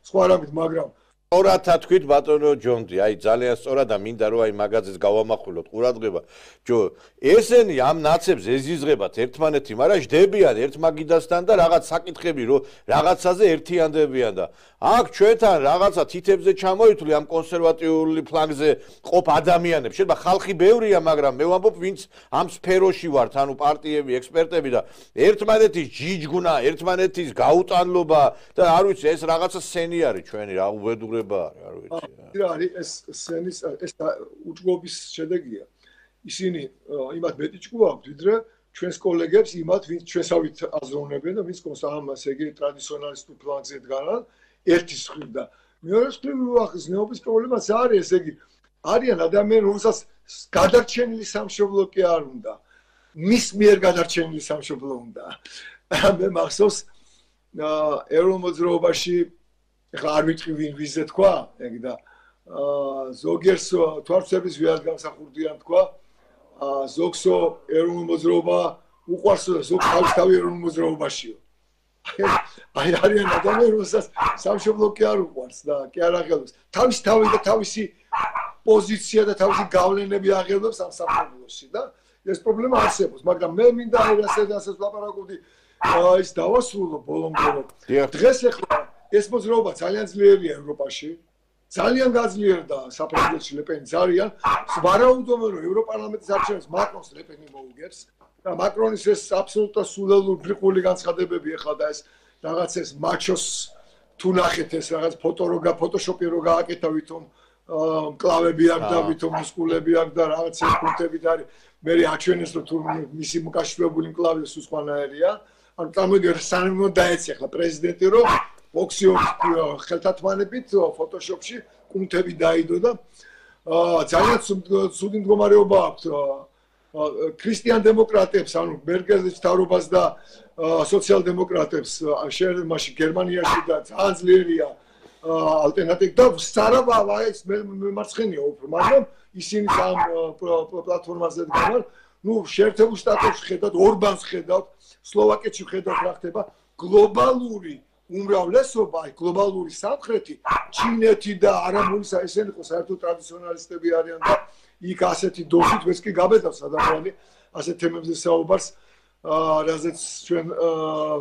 S3: სხვა რამით, მაგრამ
S1: სწორად თქვით ბატონო ჯონდი, აი ძალიან სწორად და მინდა რომ აი მაგაზეს გავამახვილოთ ყურადღება. ჯო, ესენი ამ ნაცებს ეზიზღებათ ერთმანეთი, მაგრამ ჯდებიან ერთ მაგიდასთან და რაღაც საკითხები რომ რაღაცაზე ერთიანდებიან და აქ ჩვენთან რაღაცა თითებზე ჩამოითვლი ამ კონსერვატიული ფლანგზე ყოფ ადამიანებს. შეიძლება ხალხი ბევრია, მაგრამ მე ვამბობ, ვინც ამ სფეროში ვართ, ანუ პარტიები, ექსპერტები და ერთმანეთის ჯიჯგუნა, ერთმანეთის გაუტანლობა და არ ვიცი, ეს რაღაცა სცენი არის ჩვენი, რა უბედურება არის, არ ვიცი.
S3: რა არის ეს სცენის ეს უჯგობის შედეგია. ისინი იმათ მეტი ჭკუა აქვთ, ვიდრე ჩვენს კოლეგებს იმათ, ვინც ჩვენსავით აზროვნებენ და ვინც კონსტამას ეგ ტრადიციონალისტურ ფლანგზე დგანან, ერთის მხრივ და მეორე მხრივ ახსნეობის პრობლემაც არის, ესე იგი, არიან ადამიანები, რომელსაც გადარჩენილი სამშობლო კი არ უნდა. მის მიერ გადარჩენილი სამშობლო უნდა. მე მახსოვს ეროვნულ მოძრაობაში ეხლა არ ვიტყვი ვინ ვიზე თქვა, ეგ და ზოგიერს თვალსების ვიად გამსახურდიან თქვა, ზოგსო ეროვნულ მოძრაობა უყვარსო და ზოგ თავისთავი ეროვნულ მოძრაობაშიო. აი არიან ადამიანები, რომელსაც სამშობლო კი არ უყვარს და კი არ აღელვებს. თავისთავი და თავისი პოზიცია და თავისი გავლენები აღელვებს ამ სამშობლოში და ეს პრობლემა არსებობს, მაგრამ მე მინდა ასე და ასე ვლაპარაკობდი ის დავასრულო ბოლომდე რომ დღეს ახლა ეს მოძრაობა ძალიან ძლიერია ევროპაში. ძალიან გაძლიერდა საფრანგეთში ლეპენი ძალიან. ვარაუდობენ რომ ევროპარლამენტის არჩევნებს მაკრონს ლეპენი მოუგებს და მაკრონის ეს აბსოლუტურად სულელური ბრიყული განცხადებები ახლა და ეს რაღაც ეს მაჩოს თუ ნახეთ ეს რაღაც ფოტო რო გაფოტოშოპი რო გააკეთა ვითომ კლავები აქვს და ვითომ მუსკულები აქვს და რაღაც ეს პუნქტები და არის მე აჩვენეს რომ თუ მისი მოკავშირეებული მკლავი სულ სხვანაირია. ანუ წარმოგიდგენთ სანამ დაეცი ახლა პრეზიდენტი რომ ოქსიოს ხელთათმანებით ფოტოშოპში კუნთები დაიდო და ძალიან ცუდი მდგომარეობა აქვს ქრისტიან დემოკრატებს, ანუ მერკელის თავრობას და სოციალ-დემოკრატებს მაშინ გერმანიაში და ძალიან ძლიერია ალტერნატივა და სარავა ეს მემარცხენია უფრო, მაგრამ ისინი ამ პლატფორმაზე დგანან, ну, შეერთებულ შტატებში ხედავთ, ორბანს ხედავთ, სლოვაკეთში ხედავთ რა ხდება, გლობალური უმრავლესობა, აი გლობალური სამხრეთი, ჩინეთი და არაბულისა ესენი ხო საერთოდ ტრადიციონალისტები არიან და იქ ასეთი დოზით ვეს კი გაბედავს ადამიანები ასეთ თემებზე საუბარს, რაზეც ჩვენ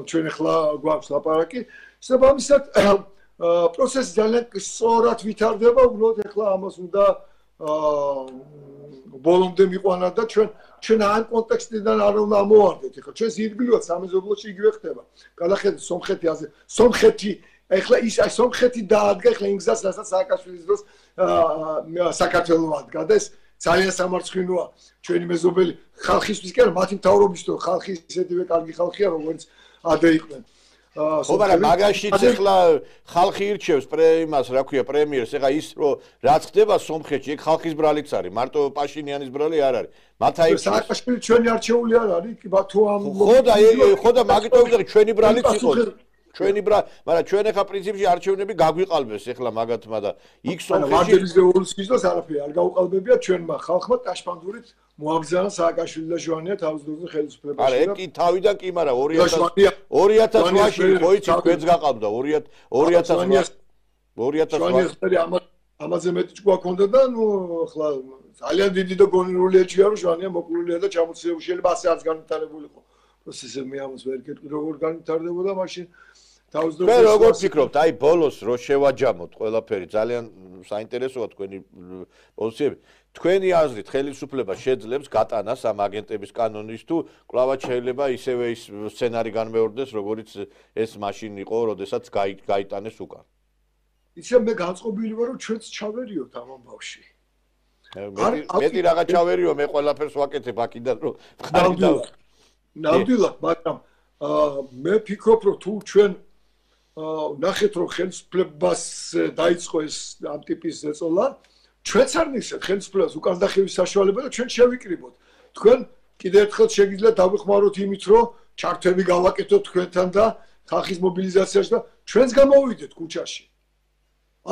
S3: ჩვენ ახლა გვაქვს ლაპარაკი. შესაბამისად პროცესი ძალიან სწორად ვითარდება, უბრალოდ ახლა ამას უნდა ბოლომდე მიყვანა და ჩვენ ჩვენ ამ კონტექსტიდან არ უნდა ამოვარდეთ. ეხლა ჩვენ ირგვლივად სამეზობლოში იგივე ხდება. გადახედეთ სომხეთი ასე. სომხეთი ეხლა ის აი სომხეთი დაადგა ეხლა იმ გზას, რასაც სააკაშვილის დროს საქართველოს ადგა და ეს ძალიან სამარცხინოა ჩვენი მეზობელი ხალხისთვის კი არა, მათი მთავრობისთვის, ხალხი ისეთივე კარგი ხალხია, როგორც ადრე იყვნენ.
S1: ხო, მაგრამ მაგაშიც ახლა ხალხი ირჩევს პრემიას, რა ქვია, პრემიერს, ეხლა ის რომ რაც ხდება სომხეთში, ეგ ხალხის ბრალიც არის, მარტო პაშინიანის ბრალი არ არის. მათ აირჩევს.
S3: სააკაშვილი ჩვენი არჩეული არ არის, კი ბათუ ამ
S1: ხო და ხო და მაგიტომ ვიღე ჩვენი ბრალიც იყოს. ჩვენი ბრა, მაგრამ ჩვენ ახლა პრინციპში არჩევნები გაგვიყალბეს ახლა მაგათმა და იქ სომხეთში
S3: მარტების რევოლუციის დროს არაფერი არ გაუყალბებია ჩვენმა ხალხმა ტაშპანდურით მოაბრძანა სააკაშვილი და ჟვანია თავის დროზე ხელისუფლებაში.
S1: არა, ეგ კი თავიდან კი, მაგრამ ორი ათას ოთხში ხო იცი ჩვენც გაყავდა ორი ათას ორი ათას
S3: ამაზე მეტი ჭკუა ქონდა და ნუ ახლა ძალიან დიდი და გონივრული ეჭვია რომ ჟვანია მოკლულია და ჩამოწევი შეიძლება ასე არც განვითარებულიყო. პროცესები ამას ვერ გეტყვი როგორ განვითარდებოდა მაშინ
S1: მე როგორ ფიქრობთ, აი ბოლოს რო შევაჯამოთ ყველაფერი, ძალიან საინტერესოა თქვენი პოზიციები. თქვენი აზრით ხელისუფლება შეძლებს გატანას ამ აგენტების კანონის თუ კლავად შეიძლება ისევე ის სცენარი განმეორდეს, როგორც ეს მაშინ იყო, როდესაც გაიტანეს უკან.
S3: იცი მე განწყობილი ვარ, რომ ჩვენც ჩავერიოთ ამ ამბავში.
S1: მეტი რაღა ჩავერიო, მე ყველაფერს ვაკეთებ აქედან, რომ
S3: ნამდვილად. ნამდვილად, მაგრამ მე ფიქრობ, რომ თუ ჩვენ ნახეთ რომ ხელისუფლებას დაიწყო ეს ამ ტიპის ზეწოლა, ჩვენც არ ნისეთ ხელისუფლებას უკან დახევის საშუალება და ჩვენ შევიკრიბოთ. თქვენ კიდევ ერთხელ შეგიძლიათ დავიხმაროთ იმით, რომ ჩართვები გავაკეთოთ თქვენთან და ხალხის მობილიზაციაში და ჩვენც გამოვიდეთ ქუჩაში.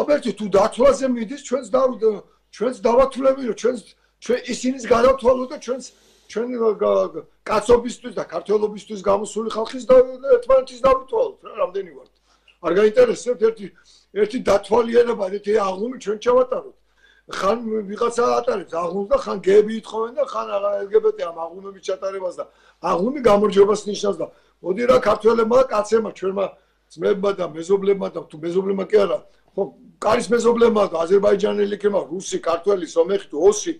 S3: აბერტი თუ დათვლაზე მიდის, ჩვენც ჩვენც დავათვლები, რომ ჩვენც ჩვენ ისინიც გადავთვალოთ და ჩვენც ჩვენ კაცობისთვის და ქართველობისთვის გამოსული ხალხის და ერთმანეთის დავითვალოთ რა, რამდენი ვართ. არ გაინტერესებთ ერთი ერთი დათვალიერება, ერთი აღლუმი ჩვენ ჩავატაროთ. ხან ვიღაცა ატარებს აღლუმს და ხან გები ითხოვენ და ხან ელ გი ბი ტი ამ აღლუმების ჩატარებას და აღლუმი გამარჯვებას ნიშნავს და მოდი რა ქართველებმა, კაცებმა, ჩვენმა ძმებმა და მეზობლებმა და თუ მეზობლებმა კი არა, ხო, კარის მეზობლებმა და აზერბაიჯანელი ქემა, რუსი, ქართველი, სომეხი თუ ოსი,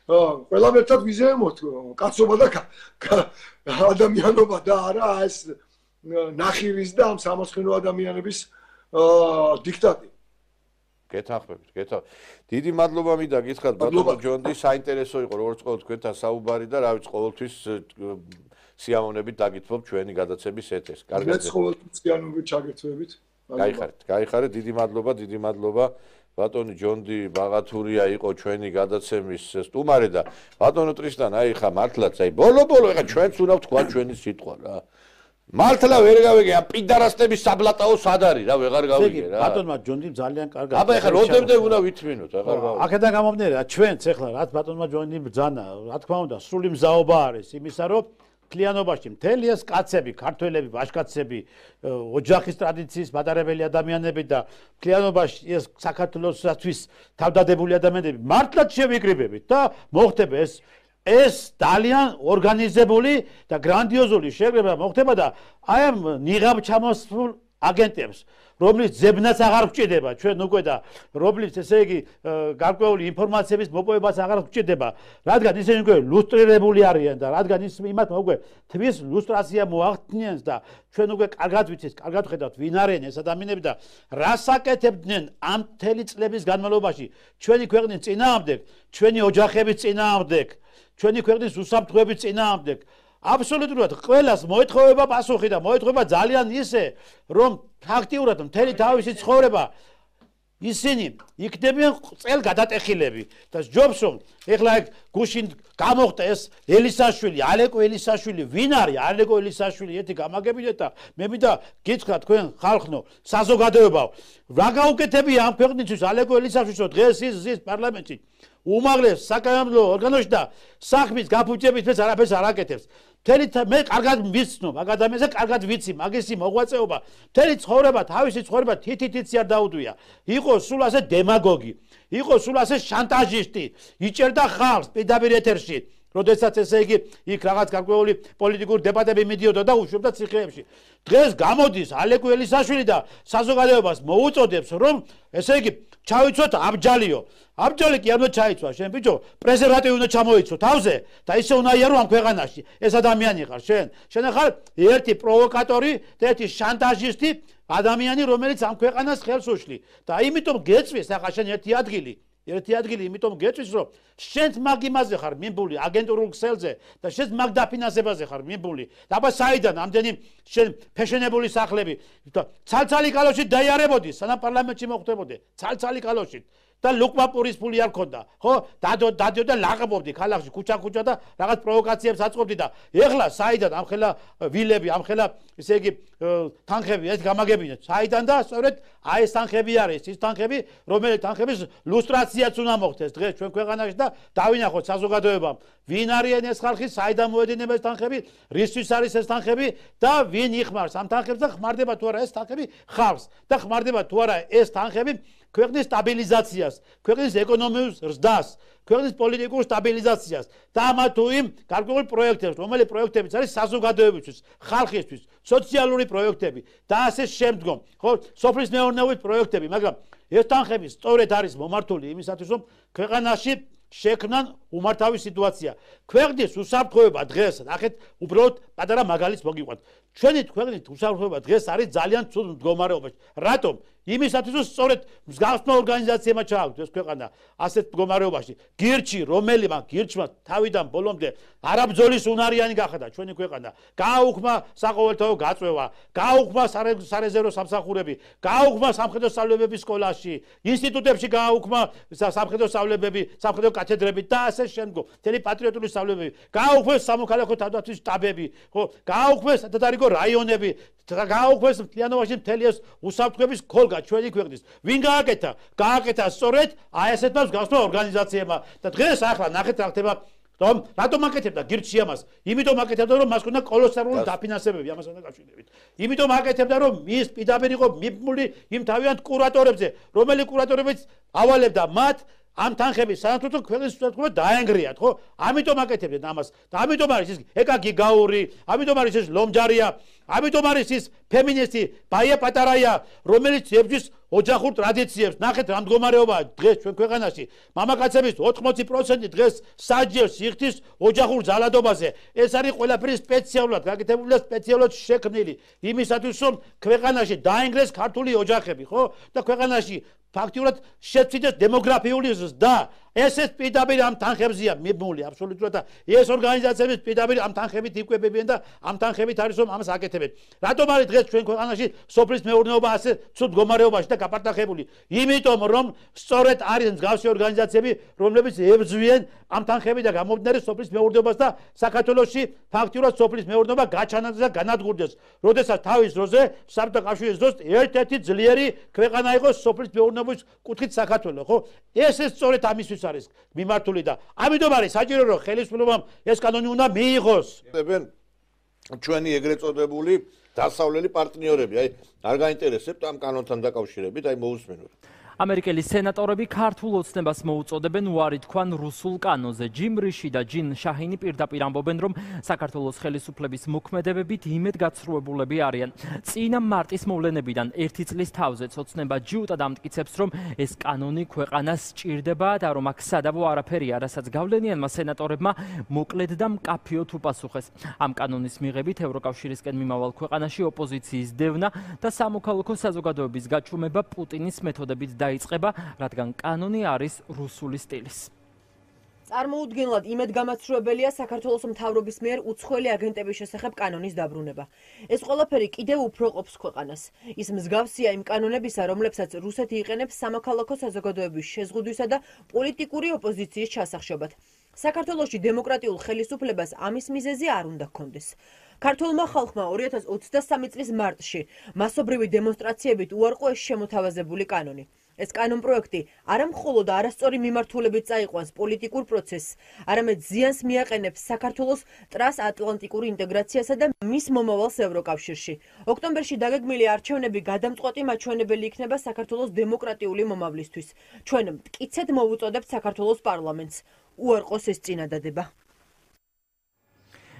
S3: ყველამ ერთად ვიზეიმოთ კაცობა და ადამიანობა და არა ეს ნახირის და ამ სამოსხენო ადამიანების დიქტატი.
S1: გეთანხმებით, გეთანხმებით. დიდი მადლობა მინდა გითხრათ ბატონო ჯონდი, საინტერესო იყო როგორც ყოველ თქვენთან საუბარი და რა ვიცი ყოველთვის სიამოვნებით დაგითმობ ჩვენი გადაცემის ეთერს.
S3: კარგად. მეც ყოველთვის სიამოვნებით ჩაგერთვებით.
S1: გაიხარეთ, გაიხარეთ, დიდი მადლობა, დიდი მადლობა. ბატონი ჯონდი ბაღათურია იყო ჩვენი გადაცემის სტუმარი და ბატონო ტრისტან, აი ხა მართლაც აი ბოლო-ბოლო ეხა ჩვენც უნდა თქვა ჩვენი სიტყვა რა. მართლა ვერ გავიგე ამ პიდარასტების საბლატაო სად არის რა ვეღარ გავიგე რა.
S2: ბატონმა ჯონდიმ ძალიან კარგად.
S1: აბა ეხა როდემდე უნდა ვითმინოთ, აღარ გავიგე.
S2: აქედან გამომდინარე, ჩვენც ეხლა რაც ბატონმა ჯონდიმ ბრძანა, რა თქმა უნდა, სრული მზაობა არის იმისა, რომ კლიანობაში მთელი ეს კაცები, ქართველები, ბაშკაცები, ოჯახის ტრადიციის მატარებელი ადამიანები და კლიანობაში ეს საქართველოსთვის თავდადებული ადამიანები მართლაც შევიკრიბებით და მოხდება ეს ეს ძალიან ორგანიზებული და გრანდიოზული შეგრება მოხდება და აი ამ ნიღაბ ჩამოსულ აგენტებს რომლის ძებნაც აღარ გვჭირდება ჩვენ უკვე და რომლის ესე იგი გარკვეული ინფორმაციების მოპოვებას აღარ გვჭირდება რადგან ისინი უკვე ლუსტრირებული არიან და რადგან ის იმათ უკვე თვის ლუსტრაცია მოახდინეს და ჩვენ უკვე კარგად ვიცით კარგად ხედავთ ვინ არიან ეს ადამიანები და რას აკეთებდნენ ამ მთელი წლების განმავლობაში ჩვენი ქვეყნის წინააღმდეგ ჩვენი ოჯახების წინააღმდეგ ჩვენი ქვეყნის უსაფრთხოების წინააღმდეგ აბსოლუტურად ყველას მოეთხოვება პასუხი და მოეთხოვება ძალიან ისე რომ ფაქტიურად მთელი თავისი ცხოვრება ისინი იქნებიან წელ გადატეხილები და ჯობს რომ ეხლა ეგ გუშინ გამოხდა ეს ელისაშვილი ალეკო ელისაშვილი ვინ არის ალეკო ელისაშვილი ერთი გამაგებინეთ და მე მინდა გითხრა თქვენ ხალხნო საზოგადოებაო რა გაუკეთებია ამ ქვეყნისთვის ალეკო ელისაშვილს რომ დღეს ის ზის პარლამენტში უმაღლეს საკანონმდებლო ორგანოში და საქმის გაფუჭებით მეც არაფერს არ აკეთებს მთელი მე კარგად ვიცნობ მაგ ადამიანზე კარგად ვიცი მაგისი მოღვაწეობა მთელი ცხოვრება თავისი ცხოვრება თითითიც არ დაუდვია იყო სულ ასე დემაგოგი იყო სულ ასე შანტაჟისტი იჭერდა ხალხს პირდაპირ ეთერში როდესაც ესე იგი იქ რაღაც გარკვეული პოლიტიკური დებატები მიდიოდა და უშვებდა ციხეებში დღეს გამოდის ალეკო ელისაშვილი და საზოგადოებას მოუწოდებს რომ ესე იგი ჩავიცოთ აბჯალიო აბჯალი კი არ უნდა ჩაიცვა შენ ბიჭო პრეზერვატივი უნდა ჩამოიცო თავზე და ისე უნდა იარო ამ ქვეყანაში ეს ადამიანი ხარ შენ შენ ხარ ერთი პროვოკატორი და ერთი შანტაჟისტი ადამიანი რომელიც ამ ქვეყანას ხელს უშლი და იმიტომ გეწვის ახლა შენ ერთი ადგილი ერთი ადგილი იმიტომ გეწვის რომ შენც მაგ იმაზე ხარ მიმბული აგენტურულ ქსელზე და შენც მაგ დაფინანსებაზე ხარ მიმბული და აბა საიდან ამდენი შენ ფეშენებული სახლები და ცალცალი კალოში დაიარებოდი სანამ პარლამენტში მოხვდებოდე ცალცალი კალოში და ლუკმაპურის ფული არ ქონდა ხო დადო დადიო და ლაღებობდი ქალაქში ქუჩა-ქუჩა და რაღაც პროვოკაციებს აწყობდი და ეხლა საიდან ამხელა ვილები ამხელა ესე იგი თანხები ეს გამაგებინეთ საიდან და სწორედ აი ეს თანხები არის ის თანხები რომელიც თანხების ლუსტრაციაც უნდა მოხდეს დღეს ჩვენ ქვეყანაში და დავინახოთ საზოგადოებამ ვინ არიან ეს ხალხი საიდან მოედინება ეს თანხები რისთვის არის ეს თანხები და ვინ იხმარს ამ თანხებს და ხმარდება თუ არა ეს თანხები ხალხს და ხმარდება თუ არა ეს თანხები ქვეყნის სტაბილიზაციას, ქვეყნის ეკონომიურ ზრდას, ქვეყნის პოლიტიკურ სტაბილიზაციას და ამა თუ იმ გარკვეულ პროექტებს, რომელი პროექტებიც არის საზოგადოებისთვის, ხალხისთვის, სოციალური პროექტები და ასე შემდგომ, ხო, სოფლის მეურნეობის პროექტები, მაგრამ ეს თანხები სწორედ არის მომართული იმისათვის, რომ ქვეყანაში შექმნან უმართავი სიტუაცია. ქვეყნის უსაფრთხოება დღეს, ნახეთ, უბრალოდ პატარა მაგალითს მოგიყვანთ. ჩვენი ქვეყნის უსაფრთხოება დღეს არის ძალიან ცუდ მდგომარეობაში. რატომ? იმისათვის რომ სწორედ მსგავსმა ორგანიზაციებმა ჩააგდოს ქვეყანა ასეთ მდგომარეობაში. გირჩი, რომელიმე გირჩმა თავიდან ბოლომდე არაბძოლის უნარიანი გახადა ჩვენი ქვეყანა. გააუქმა საყოველთაო გაწვევა, გააუქმა სარეზერვო სამსახურები, გააუქმა სამხედრო სწავლებები სკოლაში, ინსტიტუტებში გააუქმა სამხედრო სწავლებები, სამხედრო კათედრები და ასე შემდგომ. მთელი პატრიოტული სწავლებები, გააუქმეს სამოქალაქო თავდაცვის შტაბები, ხო, გააუქმეს სადარიგო რაიონები, გააუქმეს მთლიანობაში მთელი ეს უსაფრთხოების ქოლგა ჩვენი ქვეყნის. ვინ გააკეთა? გააკეთა სწორედ აი ესეთმა მსგავსმა ორგანიზაციებმა და დღეს ახლა ნახეთ რა ხდება რომ რატომ აკეთებდა გირჩი ამას? იმიტომ აკეთებდა რომ მას ქონდა კოლოსალური დაფინანსებები ამასთან დაკავშირებით. იმიტომ აკეთებდა რომ ის პირდაპირ იყო მიბმული იმ თავიანთ კურატორებზე, რომელი კურატორებიც ავალებდა მათ ამ თანხების სანაცვლოდ ქვეყნის უსაფრთხოება დაენგრიათ, ხო? ამიტომ აკეთებდნენ ამას. და ამიტომ არის ის ეკაკი გაური, ამიტომ არის ეს ლომჯარია, ამიტომ არის ის ფემინისტი ბაია პატარაია, რომელიც ებრძვის ოჯახურ ტრადიციებს. ნახეთ რა მდგომარეობაა დღეს ჩვენ ქვეყანაში. მამაკაცების ოთხმოცი პროცენტი დღეს საჯებს იხდის ოჯახურ ძალადობაზე. ეს არის ყველაფერი სპეციალურად გაკეთებული და სპეციალურად შექმნილი იმისათვის, რომ ქვეყანაში დაინგრეს ქართული ოჯახები, ხო? და ქვეყანაში ფაქტიურად შეცვლიდეს დემოგრაფიული ზრდა. ესეც პირდაპირ ამ თანხებზეა მიბმული აბსოლუტურად და ეს ორგანიზაციები პირდაპირ ამ თანხებით იკვებებიან და ამ თანხებით არის რომ ამას აკეთებენ. რატომ არის დღეს ჩვენ ქვეყანაში სოფლის მეურნეობა ასე ცუდ მდგომარეობაში და გაპარტახებული? იმიტომ რომ სწორედ არის მსგავსი ორგანიზაციები, რომლებიც ებრძვიან ამ თანხებით და გამომდინარე სოფლის მეურნეობას და საქართველოში ფაქტიურად სოფლის მეურნეობა გაჩანდეს და განადგურდეს. როდესაც თავის დროზე საბჭოთა კავშირის დროს ერთ-ერთი ძლიერი ქვეყანა იყო სოფლის მეურნეობის კუთხით საქართველო, ხო? ესეც სწორედ ამისთვის არის მიმართული და ამიტომ არის საჭირო რომ ხელისუფლებამ ეს კანონი უნდა მიიღოს.
S1: ჩვენი ეგრეთ წოდებული დასავლელი პარტნიორები, აი არ გაინტერესებთ ამ კანონთან დაკავშირებით, აი მოусმენთ.
S4: ამერიკელი სენატორები ქართულ ოცნებას მოუწოდებენ უარი თქვან რუსულ კანონზე. ჯიმ რიში და ჯინ შაჰინი პირდაპირ ამბობენ, რომ საქართველოს ხელისუფლების მოქმედებებით იმედგაცრუებულები არიან. წინა მარტის მოვლენებიდან ერთი წლის თავზე ოცნება ჯიუტად ამტკიცებს, რომ ეს კანონი ქვეყანას სჭირდება და რომ აქ სადავო არაფერია, რასაც გავლენიანმა სენატორებმა მოკლედ და მკაფიოდ უპასუხეს. ამ კანონის მიღებით ევროკავშირისკენ მიმავალ ქვეყანაში ოპოზიციის დევნა და სამოქალაქო საზოგადოების გაჩუმება პუტინის მეთოდებით დაიწყება, რადგან კანონი არის რუსული სტილის.
S5: წარმოუდგენლად იმედგამაცრუებელია საქართველოს მთავრობის მიერ უცხოელი აგენტების შესახებ კანონის დაბრუნება. ეს ყველაფერი კიდევ უფრო ყოფს ქვეყანას. ის მსგავსია იმ კანონებისა, რომლებსაც რუსეთი იყენებს სამოქალაქო საზოგადოების შეზღუდვისა და პოლიტიკური ოპოზიციის ჩასახშობად. საქართველოში დემოკრატიულ ხელისუფლებას ამის მიზეზი არ უნდა ჰქონდეს. ქართულმა ხალხმა ორი ათას ოცდასამი წლის მარტში მასობრივი დემონსტრაციებით უარყო ეს შემოთავაზებული კანონი. ეს კანონპროექტი არა მხოლოდ არასწორი მიმართულებით წაიყვანს პოლიტიკურ პროცესს, არამედ ზიანს მიაყენებს საქართველოს ტრანსატლანტიკურ ინტეგრაციასა და მის მომავალს ევროკავშირში. ოქტომბერში დაგეგმილი არჩევნები გადამწყვეტი მაჩვენებელი იქნება საქართველოს დემოკრატიული მომავლისთვის. ჩვენ მტკიცედ მოვუწოდებთ საქართველოს პარლამენტს უარყოს ეს წინადადება.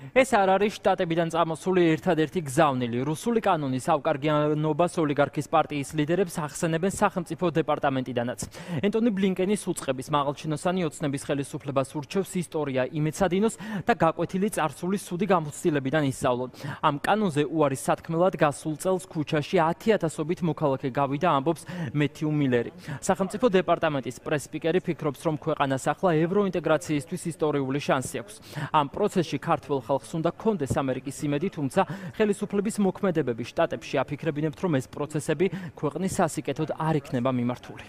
S4: ეს არ არის შტატებიდან წამოსული ერთადერთი გზავნილი. რუსული კანონის ავკარგიანობას ოლიგარქის პარტიის ლიდერებს ახსენებენ სახელმწიფო დეპარტამენტიდანაც. ენტონი ბლინკენის უწყების მაღალჩინოსანი ოცნების ხელისუფლებას ურჩევს ისტორია იმეცადინოს და გაკვეთილი წარსული სუდი გამოცდილებიდან ისწავლონ. ამ კანონზე უარის სათქმელად გასულ წელს ქუჩაში ათი ათასობით მოქალაქე გავიდა, ამბობს მეთიუ მილერი. სახელმწიფო დეპარტამენტის პრეს-სპიკერი ფიქრობს, რომ ქვეყანას ახლა ევროინტეგრაციისთვის ისტორიული შანსი აქვს. ამ პროცესში ქართველ ხალხს უნდა კონდეს ამერიკის იმედი, თუმცა ხელისუფლების მოქმედებები შტატებში აფიქრებინებთ, რომ ეს პროცესები ქვეყნის სასიკეთოდ არ იქნება მიმართული.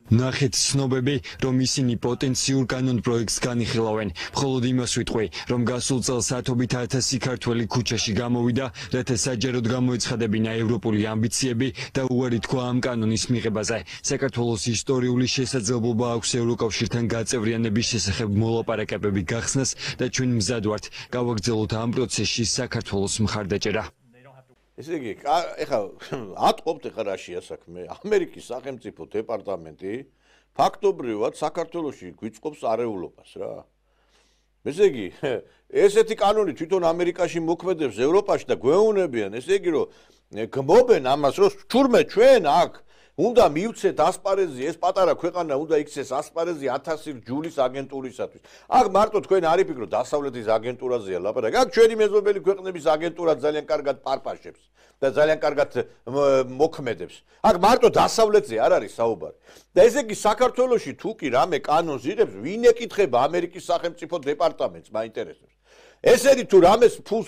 S6: ნახეთ ცნობები, რომ ისინი პოტენციურ კანონ პროექტს განიხილავენ. მხოლოდ იმას ვიტყვი, რომ გასულ წელს ათობით ათასი ქართველი ქუჩაში გამოვიდა, რათა საჯაროდ გამოეცხადებინა ევროპული ამბიციები და უარი თქვა ამ კანონის მიღებაზე. საქართველოს ისტორიული შესაძლებლობა აქვს ევროკავშირთან გაწევრიანების შესახებ მოლაპარაკებები გახსნას და ჩვენ მზად ვართ გავაგრძელოთ ამ პროცესში საქართველოს მხარდაჭერა.
S1: ესე იგი, ეხლა ატყობთ ეხლა რაშია საქმე. ამერიკის სახელმწიფო დეპარტამენტი ფაქტობრივად საქართველოში გვიწყობს არეულობას რა. ესე იგი, ესეთი კანონი თვითონ ამერიკაში მოქმედებს ევროპაში და გვეუბნებიან, ესე იგი, რომ გმობენ ამას, რომ თურმე ჩვენ აქ უნდა მივცეთ ასპარეზი, ეს პატარა ქვეყანა უნდა იქცეს ასპარეზი ათასი ჯულის აგენტურისათვის. აქ მარტო თქვენ არ იფიქროთ დასავლეთის აგენტურაზეა ლაპარაკი. აქ ჩვენი მეზობელი ქვეყნების აგენტურა ძალიან კარგად პარპაშებს და ძალიან კარგად მოქმედებს. აქ მარტო დასავლეთზე არ არის საუბარი. და ესე იგი საქართველოში თუ კი რამე კანონს იღებს, ვინ ეკითხება ამერიკის სახელმწიფო დეპარტამენტს, მაინტერესებს. ესენი თუ რამეს ფულს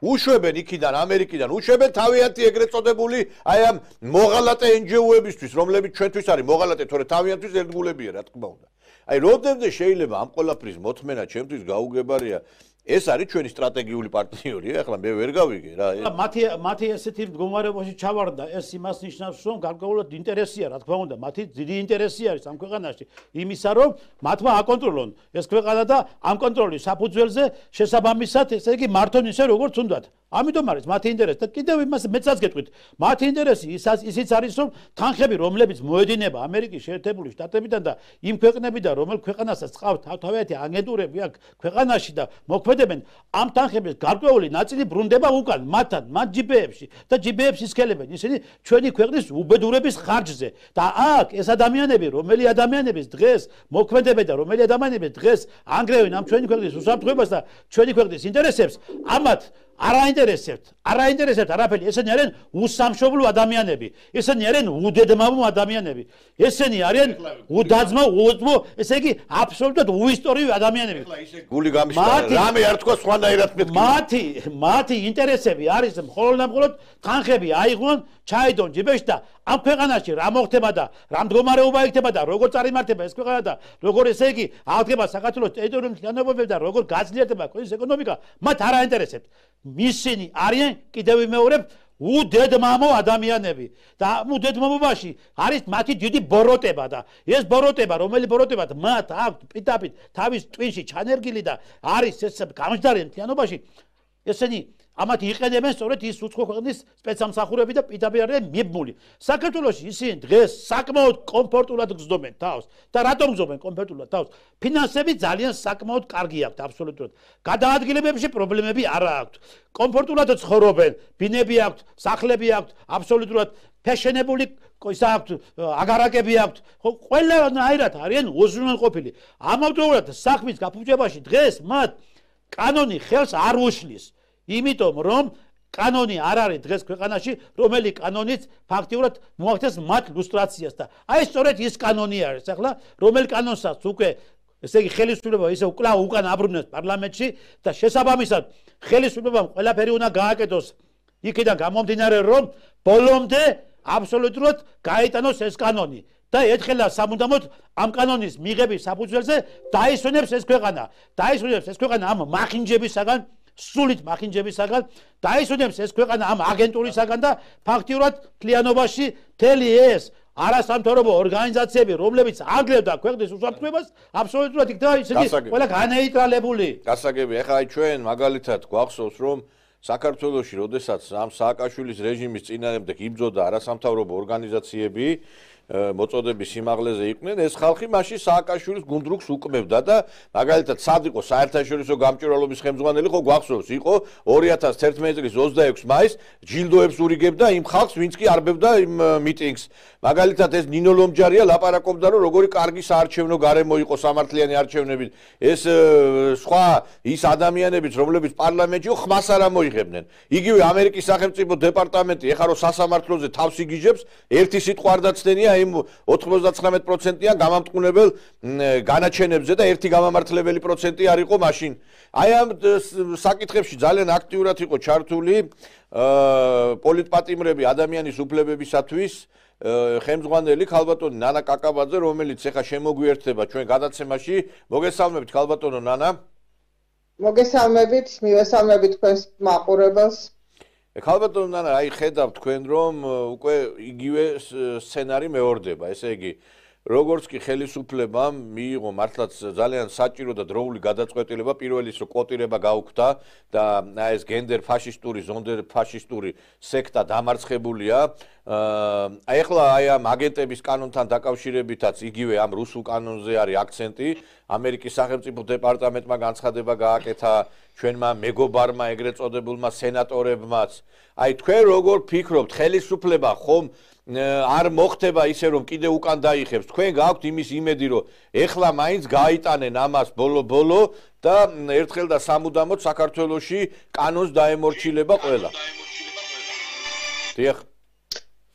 S1: უშვებენ იქიდან ამერიკიდან, უშვებენ თავიანთი ეგრეთ წოდებული აი ამ მოღალატე ენჯიოებისთვის, რომლებიც ჩვენთვის არის მოღალატე, თორე თავიანთვის ერთგულებია, რა თქმა უნდა. აი როდემდე შეიძლება ამ ყველაფრის მოთმენა ჩემთვის გაუგებარია. ეს არის ჩვენი სტრატეგიული პარტნიორია, ახლა მე ვერ გავიგე რა.
S2: მათი მათი ესეთი მდგომარეობაში ჩავარდა, ეს იმას ნიშნავს, რომ გარკვეულად ინტერესია, რა თქმა უნდა, მათი დიდი ინტერესი არის ამ ქვეყანაში, იმისა, რომ მათმა აკონტროლონ ეს ქვეყანა და ამ კონტროლის საფუძველზე შესაბამისად, ესე იგი მართონ ისე როგორც უნდათ. ამიტომ არის მათი ინტერესი და კიდევ იმას მეცაც გეტყვით მათი ინტერესი ისიც არის რომ თანხები რომლებიც მოედინება ამერიკის შეერთებული შტატებიდან და იმ ქვეყნებიდან რომელ ქვეყანასაც ყავთ თავთავიანთი აგენტურები აქ ქვეყანაში და მოქმედებენ ამ თანხების გარკვეული ნაწილი ბრუნდება უკან მათთან მათ ჯიბეებში და ჯიბეებს ისქელებენ ისინი ჩვენი ქვეყნის უბედურების ხარჯზე და აქ ეს ადამიანები რომელი ადამიანების დღეს მოქმედებენ და რომელი ადამიანები დღეს ანგრევენ ამ ჩვენი ქვეყნის უსაფრთხოებას და ჩვენი ქვეყნის ინტერესებს ამათ არ აინტერესებთ, არ აინტერესებთ არაფერი, ესენი არიან უსამშობლო ადამიანები, ესენი არიან უდედმამო ადამიანები, ესენი არიან უდაძმო, უდმო, ესე იგი აბსოლუტურად უისტორიო ადამიანები.
S1: გული გამიშკარა, რამე არ თქვა სხვანაირად მეთქი.
S2: მათი, მათი ინტერესები არის მხოლოდ და მხოლოდ თანხები აიღონ, ჩაიდონ ჯიბეში და ამ ქვეყანაში რა მოხდება და რა მდგომარეობა იქნება და როგორ წარიმართება ეს ქვეყანა და როგორ ესე იგი აღდგება საქართველოს ტერიტორიული მთლიანობები და როგორ გაძლიერდება ქვეყნის ეკონომიკა, მათ არ აინტერესებთ. ისინი არიან კიდევ ვიმეორებ უდედმამო ადამიანები და უდედმამობაში არის მათი დიდი ბოროტება და ეს ბოროტება რომელი ბოროტება მათ აქვთ პიტაპით თავის ტვინში ჩანერგილი და არის ეს გამჯდარი მთლიანობაში ესენი ამათ იყენებენ სწორედ ის უცხო ქვეყნის სპეცსამსახურები და პიტაპი არიან მიბმული საქართველოში ისინი დღეს საკმაოდ კომფორტულად გრძნობენ თავს და რატომ გრძნობენ კომფორტულად თავს ფინანსები ძალიან საკმაოდ კარგი აქვთ აბსოლუტურად გადაადგილებებში პრობლემები არ აქვთ კომფორტულად ცხოვრობენ ბინები აქვთ სახლები აქვთ აბსოლუტურად ფეშენებული ისა აქვთ აგარაკები აქვთ ყველანაირად არიან უზრუნველყოფილი ამავდროულად საქმის გაფუჭებაში დღეს მათ კანონი ხელს არ უშლის იმიტომ რომ კანონი არ არის დღეს ქვეყანაში რომელი კანონიც ფაქტიურად მოახდენს მათ ლუსტრაციას და აი სწორედ ის კანონი არის ახლა რომელ კანონსაც უკვე ესე იგი ხელისუფლება ისე უკლა უკან აბრუნებს პარლამენტში და შესაბამისად ხელისუფლებამ ყველაფერი უნდა გააკეთოს იქიდან გამომდინარე რომ ბოლომდე აბსოლუტურად გაიტანოს ეს კანონი და ერთხელა სამუდამოდ ამ კანონის მიღების საფუძველზე დაისვენებს ეს ქვეყანა დაისვენებს ეს ქვეყანა ამ მახინჯებისაგან სულით მახინჯებისაგან დაისვენებს ეს ქვეყანა ამ აგენტურისაგან და ფაქტიურად მთლიანობაში მთელი ეს არასამთავრობო ორგანიზაციები რომლებიც აგლებდა ქვეყნის უსაფრთხოებას აბსოლუტურად იქნება ისინი ყველა განეიტრალებული
S1: გასაგები ეხლა აი ჩვენ მაგალითად გვახსოვს რომ საქართველოში როდესაც ამ სააკაშვილის რეჟიმის წინააღმდეგ იბრძოდა არასამთავრობო ორგანიზაციები მოწოდების სიმაღლეზე იყვნენ ეს ხალხი მაშინ სააკაშვილის გუნდრუქს უკმევდა და მაგალითად სად იყო საერთაშორისო გამჭვირვალობის ხელმძღვანელი ხო გვახსოვს იყო ორი ათას თერთმეტი წლის ოცდაექვსი მაისს ჯილდოებს ურიგებდა იმ ხალხს ვინც კი არბევდა იმ მიტინგს მაგალითად ეს ნინო ლომჯარია ლაპარაკობდა რომ როგორი კარგი საარჩევნო გარემო იყო სამართლიანი არჩევნებით ეს სხვა ის ადამიანებიც რომლებიც პარლამენტში ხმას არ მოიღებდნენ იგივე ამერიკის სახელმწიფო დეპარტამენტი ეხლა რომ სასამართლოზე თავს იგიჟებს ერთი სიტყვა არ დაცდენია იმ ოცდათხმეტ პროცენტიან გამამტყუნებელ განაჩენებზე და ერთი გამამართლებელი პროცენტი არ იყო მაშინ. აი ამ საკითხებში ძალიან აქტიურად იყო ჩართული პოლიტპატიმრები ადამიანის უფლებებისათვის ხელმძღვანელი ქალბატონი ნანა კაკაბაძე, რომელიც ეხა შემოგვიერთდება ჩვენ გადაცემაში. მოგესალმებით ქალბატონო ნანა.
S7: მოგესალმებით, მივესალმებით თქვენს მაყურებელს.
S1: ქალბატონო ნანა, აი ხედავ თქვენ რომ უკვე იგივე სცენარი მეორდება, ესე იგი როგორც კი ხელისუფლებამ მიიღო მართლაც ძალიან საჭირო და დროული გადაწყვეტილება პირველის რო კოტირება გაუქმდა და აი ეს გენდერ ფაშისტური, ზონდერ ფაშისტური სექტა დამარცხებულია. აი ახლა აი ამ აგენტების კანონთან დაკავშირებითაც იგივე ამ რუსულ კანონზე არის აქცენტი. ამერიკის სახელმწიფო დეპარტამენტმა განცხადება გააკეთა ჩვენმა მეგობარმა ეგრეთ წოდებულმა სენატორებმაც. აი თქვენ როგორ ფიქრობთ, ხელისუფლება ხომ არ მოხდება ისე რომ კიდე უკან დაიხებს თქვენ გაქვთ იმის იმედი რომ ეხლა მაინც გააიტანენ ამას ბოლო-ბოლო და ერთხელ და სამუდამოდ საქართველოში კანონს დაემორჩილება ყველა. დიახ.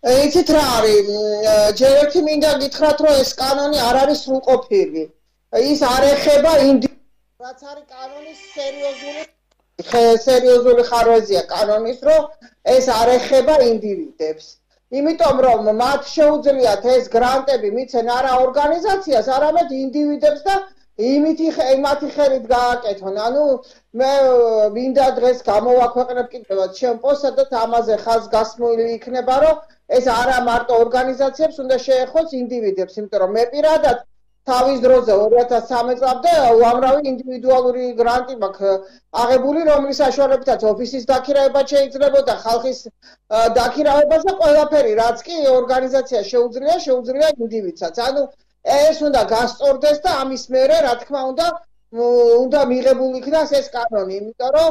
S7: იცით რა არის, ჯერ ერთი მინდა გითხრათ რომ ეს კანონი არ არის სრულყოფილი. ის არ ეხება ინდივიდს, რაც არის კანონის სერიოზული სერიოზული ხარვეზია კანონის, რომ ეს არ ეხება ინდივიდებს. იმიტომ რომ მათ შეუძლიათ ეს გრანტები მიცენ არა ორგანიზაციას, არამედ ინდივიდებს და იმითი იმათი ხელით გააკეთონ. ანუ მე მინდა დღეს გამოვაქვეყნებ კიდევ ჩემ პოსტსა და ამაზე ხაზგასმული იქნება, რომ ეს არა მარტო ორგანიზაციებს უნდა შეეხოს ინდივიდებს, იმიტომ რომ მე პირადად თავის დროზე ორი ათას სამი წლამდე უამრავი ინდივიდუალური გრანტი მაქვს აღებული, რომლის საშუალებითაც ოფისის დაქირავება შეიძლებოდა, ხალხის დაქირავება და ყველაფერი, რაც კი ორგანიზაცია შეუძლია, შეუძლია ინდივიდსაც. ანუ ეს უნდა გასწორდეს და ამის მერე, რა თქმა უნდა, უნდა მიღებული იქნას ეს კანონი, იმიტომ რომ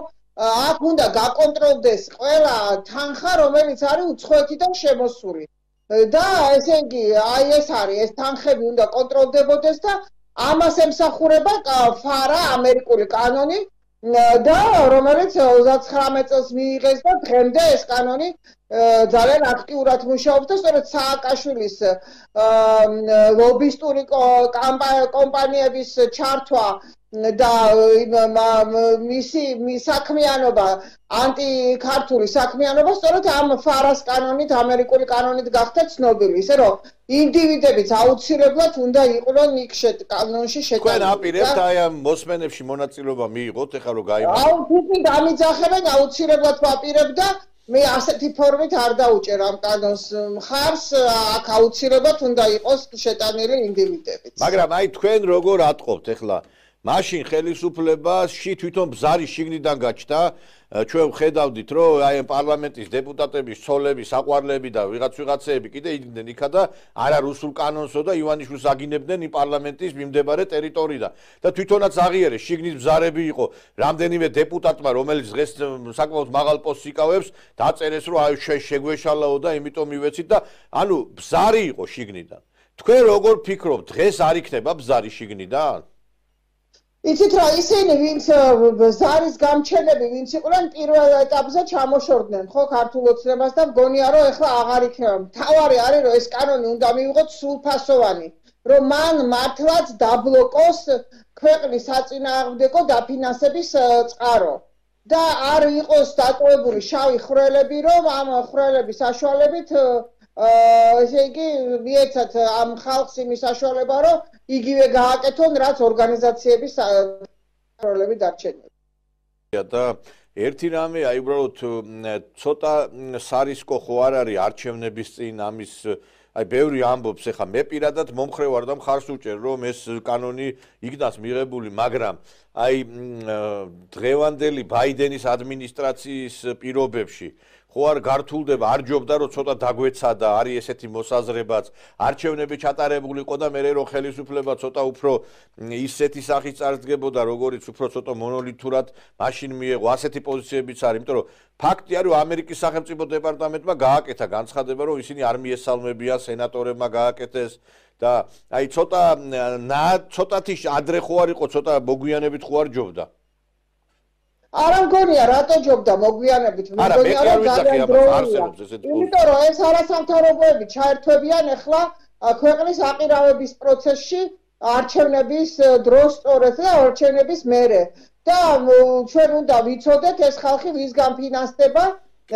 S7: აქ უნდა გაკონტროლდეს ყველა თანხა, რომელიც არის უცხოეთიდან შემოსული. და ესე იგი, აი ეს არის, ეს თანხები უნდა კონტროლდებოდეს და ამას ემსახურება ფარა ამერიკული კანონი და რომელიც ოცდათხრამეტ წელს მიიღეს და დღემდე ეს კანონი ძალიან აქტიურად მუშაობს და სწორედ სააკაშვილის ლობისტური კომპანიების ჩართვა და მისი საქმიანობა ანტიქართული საქმიანობა სწორედ ამ ფარას კანონით, ამერიკული კანონით გახდა ცნობილი, ისე რომ ინდივიდებიც აუცილებლად უნდა იყვნენ იქ კანონში შეტანილი.
S1: თქვენ აპირებთ აი ამ მოსმენებში მონაწილეობა მიიღოთ, ეხლა რომ გაიმართოთ.
S7: აუ, თვითონ დამიძახებენ, აუცილებლად ვაპირებ და მე ასეთი ფორმით არ დაუჭერ ამ კანონს მხარს, აქ აუცილებლად უნდა იყოს შეტანილი ინდივიდებიც.
S1: მაგრამ აი თქვენ როგორ ატყობთ ეხლა მაშინ ხელისუფლებაში თვითონ ბზარი შიგნიდან გაჩნდა, ჩვენ ვხედავდით, რომ აი ამ პარლამენტის დეპუტატების ცოლები, საყვარლები და ვიღაც ვიღაცეები კიდე იდგნენ იქა და არა რუსულ კანონსო და ივანიშვილს აგინებდნენ იმ პარლამენტის მიმდებარე ტერიტორიიდან. და თვითონაც აღიარეს, შიგნით ბზარები იყო რამდენიმე დეპუტატმა, რომელიც დღეს საკმაოდ მაღალ პოსტს იკავებს, დაწერეს, რომ აი შეგვეშალაო და იმიტომ მივეცით და ანუ ბზარი იყო შიგნიდან. თქვენ როგორ ფიქრობთ, დღეს არ იქნება ბზარი შიგნიდან?
S7: იცით რა, ისინი ვინც ზარის გამჩენები, ვინც იყვნენ პირველ ეტაპზე ჩამოშორდნენ ხო ქართულ ოცნებას და მგონია რომ ეხლა აღარ იქნება. თავარი არის რომ ეს კანონი უნდა მივიღოთ სრულფასოვანი, რომ მან მართლაც დაბლოკოს ქვეყნის საწინააღმდეგო დაფინანსების წყარო და არ იყოს დატოვებული შავი ხვრელები, რომ ამ ხვრელების საშუალებით ესე იგი მიეცათ ამ ხალხს იმის საშუალება, რომ იგივე გააკეთონ, რაც ორგანიზაციების როლები დარჩენილი.
S1: და ერთი რამე, აი უბრალოდ ცოტა სარისკო ხო არ არის არჩევნების წინ ამის აი ბევრი ამბობს, ეხა მე პირადად მომხრე ვარ და მხარს უჭერ, რომ ეს კანონი იქნას მიღებული, მაგრამ აი დღევანდელი ბაიდენის ადმინისტრაციის პირობებში ხო არ გართულდება, არ ჯობდა რომ ცოტა დაგვეცადა, არის ესეთი მოსაზრებაც, არჩევნები ჩატარებული იყო და მე რომ ხელისუფლება ცოტა უფრო ისეთი სახით წარსდგებოდა, როგორც უფრო ცოტა მონოლითურად მაშინ მიეღო, ასეთი პოზიციებიც არის, იმიტომ რომ ფაქტი არის, რომ ამერიკის სახელმწიფო დეპარტამენტმა გააკეთა განცხადება, რომ ისინი არ მიესალმებიან, სენატორებმა გააკეთეს და აი ცოტა ცოტათი ადრე ხო არ იყო, ცოტა მოგვიანებით ხო არ ჯობდა.
S7: არა მგონია რატო ჯობდა მოგვიანებით, მგონია რომ ძალიან დროია. იმიტომ რომ ეს არასამთავრობოები ჩაერთვებიან ახლა ქვეყნის აყირავების პროცესში არჩევნების დროს სწორედ და არჩევნების მერე. და ჩვენ უნდა ვიცოდეთ ეს ხალხი ვისგან ფინანსდება,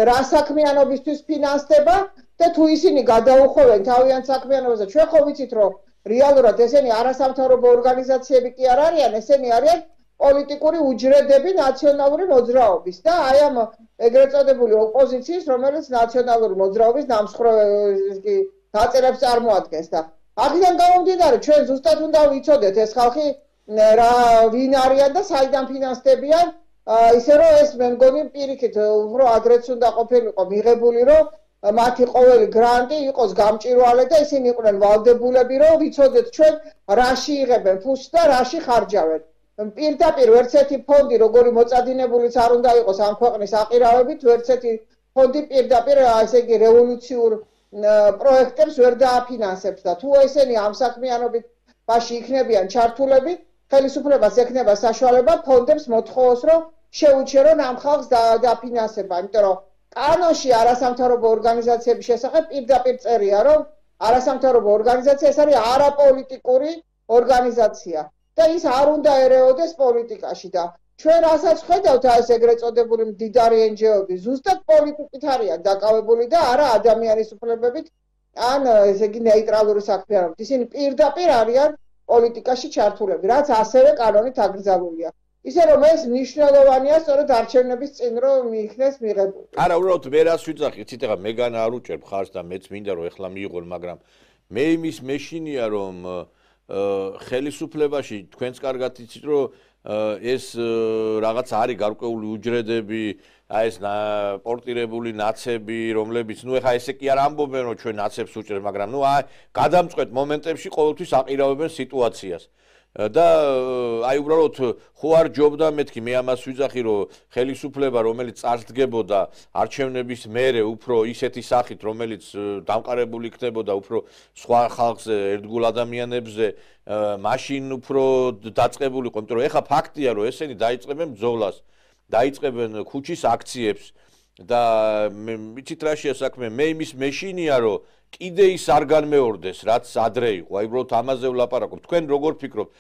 S7: რა საქმიანობისთვის ფინანსდება და თუ ისინი გადაუხოვენ თავიანთ საქმიანობაზე, ჩვენ ხო ვიცით რომ რეალურად ესენი არასამთავრობო ორგანიზაციები კი არ არიან, ესენი არიან პოლიტიკური უჯრედები ნაციონალური მოძრაობის და აი ამ ეგრეთ წოდებული ოპოზიციის, რომელიც ნაციონალური მოძრაობის დამსხვრევი დაწერებს წარმოადგენს და აქედან გამომდინარე ჩვენ ზუსტად უნდა ვიცოდეთ ეს ხალხი რა ვინ არიან და საიდან ფინანსდებიან, ისე რომ ეს მე მგონი პირიქით უფრო ადრეც უნდა ყოფილიყო მიღებული, რომ მათი ყოველი გრანტი იყოს გამჭვირვალე და ისინი იყვნენ ვალდებულები, რომ ვიცოდეთ ჩვენ რაში იღებენ ფულს და რაში ხარჯავენ. პირდაპირ ვერც ერთი ფონდი, როგორი მოწადინებულიც არ უნდა იყოს ამ ქვეყნის აყირავებით, ვერც ერთი ფონდი პირდაპირ ესე იგი რევოლუციურ პროექტებს ვერ დააფინანსებს და თუ ესენი ამ საქმიანობით ბაში იქნებიან ჩართულები, ხელისუფლებას ექნება საშუალება ფონდებს მოთხოვოს, რომ შეუჩერონ ამ ხალხს დაფინანსება, იმიტომ რომ კანონში არასამთავრობო ორგანიზაციების შესახებ პირდაპირ წერია, რომ არასამთავრობო ორგანიზაცია ეს არის არაპოლიტიკური ორგანიზაცია. და ის არ უნდა ერეოდეს პოლიტიკაში და ჩვენ რასაც ხედავთ ეს ეგრეთ წოდებული მდიდარი ენჯეოები ზუსტად პოლიტიკით არიან დაკავებული და არა ადამიანის უფლებებით ან ესე იგი ნეიტრალური საქმიანობით. ისინი პირდაპირ არიან პოლიტიკაში ჩართულები, რაც ასევე კანონით აკრძალულია. ისე რომ ეს მნიშვნელოვანია სწორედ არჩევნების წინ რომ მიიქნეს მიღებული.
S1: არა, უბრალოდ მე რას ვიძახი, იცით ეხლა მეგანა არ უჭერ მხარს და მეც მინდა რომ ეხლა მიიღონ, მაგრამ მე იმის მეშინია რომ ხელისუფლებაში თქვენს კარგად იცით რომ ეს რაღაც არის გარკვეული უჯრედები, აი ეს პორტირებული ნაცები, რომლებიც ნუ ეხა ესე კი არ ამბობენ რომ ჩვენ ნაცებს უჭერთ, მაგრამ ნუ აი გადამწყვეტ მომენტებში ყოველთვის აყირავებენ სიტუაციას. და აი უბრალოდ ხო არ ჯობდა მეთქი მე ამას ვიძახი რომ ხელისუფლება რომელიც წარსდგებოდა არჩევნების მერე უფრო ისეთი სახით რომელიც დამყარებული იქნებოდა უფრო სხვა ხალხზე ერთგულ ადამიანებზე მაშინ უფრო დაწყებულიყო იმიტომ რომ ეხა ფაქტია რომ ესენი დაიწყებენ ბრძოლას დაიწყებენ ქუჩის აქციებს და მიცით რა შეა საქმე მე იმის მეშინია რომ კიდე ის არ განმეორდეს რაც ადრე იყო აი უბრალოდ ამაზე ვლაპარაკობ თქვენ როგორ ფიქრობთ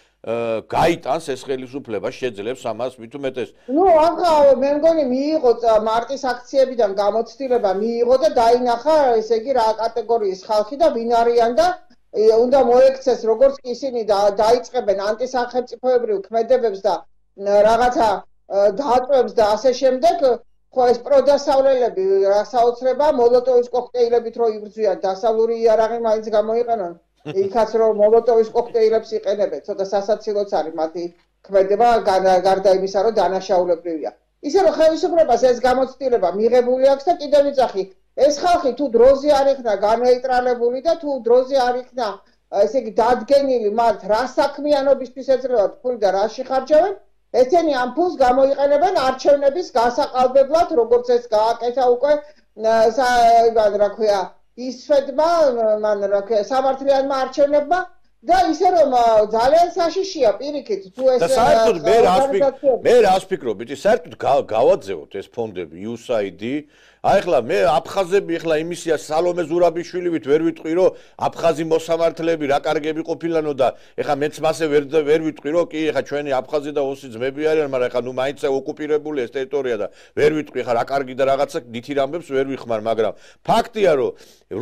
S1: გაიტანს ეს ხელისუფლება შეძლებს ამას მით უმეტეს
S7: ნუ ახლა მე მგონი მიიღო მარტის აქციებიდან გამოცდილება მიიღო და დაინახა ესე იგი რა კატეგორიის ხალხი და ვინ არიან და უნდა მოექცეს როგორც კი ისინი დაიწყებენ ანტისახელმწიფოებრივ ქმედებებს და რაღაცა დაწვევებს და ასე შემდეგ ხო ეს პროდასავლელები რა საოცრება მოლოტოვის კოქტეილებით რო იბრძვიან დასავლური იარაღი მაინც გამოიყენონ იქაც რომ მოლოტოვის კოქტეილებს იყენებენ ცოტა სასაცილოც არის მათი ქმედება გარდა იმისა რომ დანაშაულებრივია ისე რომ ხელისუფლებას ეს გამოცდილება მიღებული აქვს და კიდევ ვიძახი ეს ხალხი თუ დროზე არ იქნა განეიტრალებული და თუ დროზე არ იქნა ესე იგი დადგენილი მათ რა საქმიანობისთვის ეძლევათ ფული და რა შეხარჯავენ ესენი ამ ფულს გამოიყენებენ არჩევნების გასაყალბებლად, როგორც ეს გააკეთა უკვე რა ქვია, ისφედმა, მან რა ქვია, სამართლიანმა არჩევნებმა და ისე რომ ძალიან საშიშია პირიქით თუ ეს
S1: და საერთოდ მე რას ვფიქრობ, მე რას ვფიქრობ, იცი, საერთოდ გავაძევოთ ეს ფონდები იუ ეს აი დი აი ახლა მე აფხაზები ახლა იმისია სალომე ზურაბიშვილივით ვერ ვიტყვი რომ აფხაზი მოსამართლეები რა კარგები ყოფილანო და ახლა მეც მასე ვერ ვერ ვიტყვი რომ კი ახლა ჩვენი აფხაზი და ოსი ძმები არიან მაგრამ ახლა ნუ მაინც ოკუპირებული ეს ტერიტორია და ვერ ვიტყვი ახლა რა კარგი და რაღაცა ნითი რამბებს ვერ ვიხმარ მაგრამ ფაქტია რომ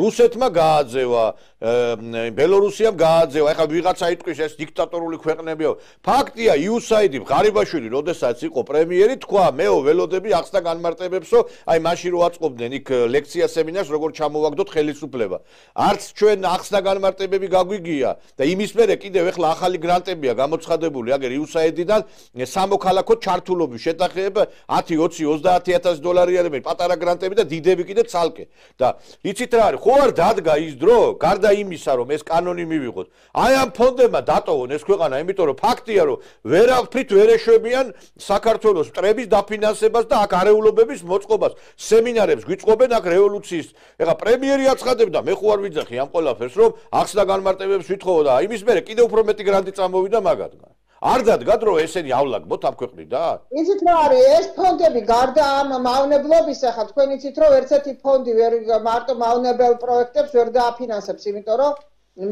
S1: რუსეთმა გააძევა ბელორუსიამ გააძევა ახლა ვიღაცა იტყვის ეს დიქტატორული ქვეყნებია ფაქტია იუ ეს აი დი ღარიბაშვილი როდესაც იყო პრემიერი თქვა მეო ველოდები ახსნა განმარტებებსო აი მაშინ რო აწყობდნენ იქ ლექცია სემინარს როგორ ჩამოვაგდოთ ხელისუფლება არც ჩვენ ახსნა განმარტებები გაგვიგია და იმის მერე კიდევ ეხლა ახალი გრანტებია გამოცხადებული აგერ იუ ეს აი დი-დან სამოქალაქო ჩართულობის შეტახება ათი, ოცი, ოცდაათი ათასი დოლარი არიან პატარა გრანტები და დიდები კიდე ცალკე და იცით რა არის ხო არ დადგა ის დრო გარდა იმისა რომ ეს კანონი მივიღოთ აი ამ ფონდებმა დატოვონ ეს ქვეყანა იმიტომ რომ ფაქტია რომ ვერაფრით ვერ ეშვებიან საქართველოს მტრების დაფინანსებას და აქ არეულობების მოწყობას სემინარებს გვიწყობენ აქ რევოლუციის ეხა პრემიერი აცხადებდა მე ხო არ ვიძახი ამ ყველაფერს რომ ახსნა განმარტებებს ვითხოვო და იმის მერე კიდევ უფრო მეტი გრანტი წამოვიდა მაგათგან არ დადგათ რომ ესენიავლაგბოთ ამ ქვეყნიდან
S7: იცით რა არის ეს ფონდები გარდა ამ მავნებლობის ახლა თქვენ იცით რომ ერთ-ერთი ფონდი ვერ მარტო მავნებელ პროექტებს ვერ დააფინანსებს იმიტომ რომ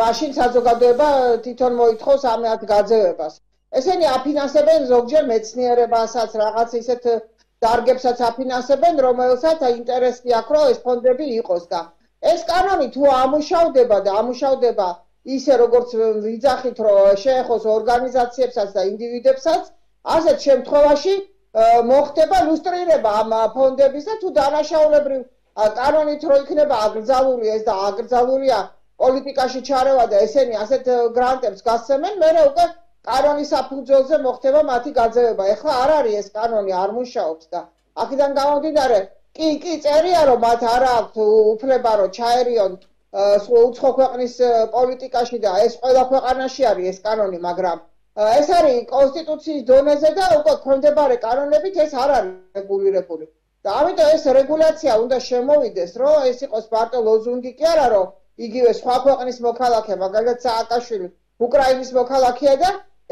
S7: მაშინ საზოგადოება თვითონ მოითხოვს ამათ გაძევებას ესენი აფინანსებენ ზოგჯერ მეცნიერებასაც რაღაც ისეთ დარგებსაც აფინანსებენ რომელსაც ინტერესი აქვს რომ ეს ფონდები იყოს და ეს კანონი თუ ამუშავდება და ამუშავდება ისე როგორც ვიძახით რომ შეეხოს ორგანიზაციებსაც და ინდივიდებსაც ასეთ შემთხვევაში მოხდება ლუსტრირება ამ ფონდების და თუ დანაშაულებრივ კანონით რო იქნება აკრძალული ეს და აკრძალულია პოლიტიკაში ჩარევა და ესენი ასეთ გრანტებს გასცემენ მე უკვე კანონის საფუძველზე მოხდება მათი გაძევება ეხლა არ არის ეს კანონი არ მუშაობს და აქედან გამომდინარე კი კი წერია რომ მათ არ აქვს უფლება რომ ჩაერიონ უცხო ქვეყნის პოლიტიკაში და ეს ყველა ქვეყანაში არის ეს კანონი მაგრამ ეს არის კონსტიტუციის დონეზე და უკვე ქონდებარე კანონებით ეს არ არის რეგულირებული და ამიტომ ეს რეგულაცია უნდა შემოვიდეს რომ ეს იყოს მარტო ლოზუნგი კი არა რომ იგივე სხვა ქვეყნის მოქალაქე მაგალითად სააკაშვილი უკრაინის მოქალაქეა და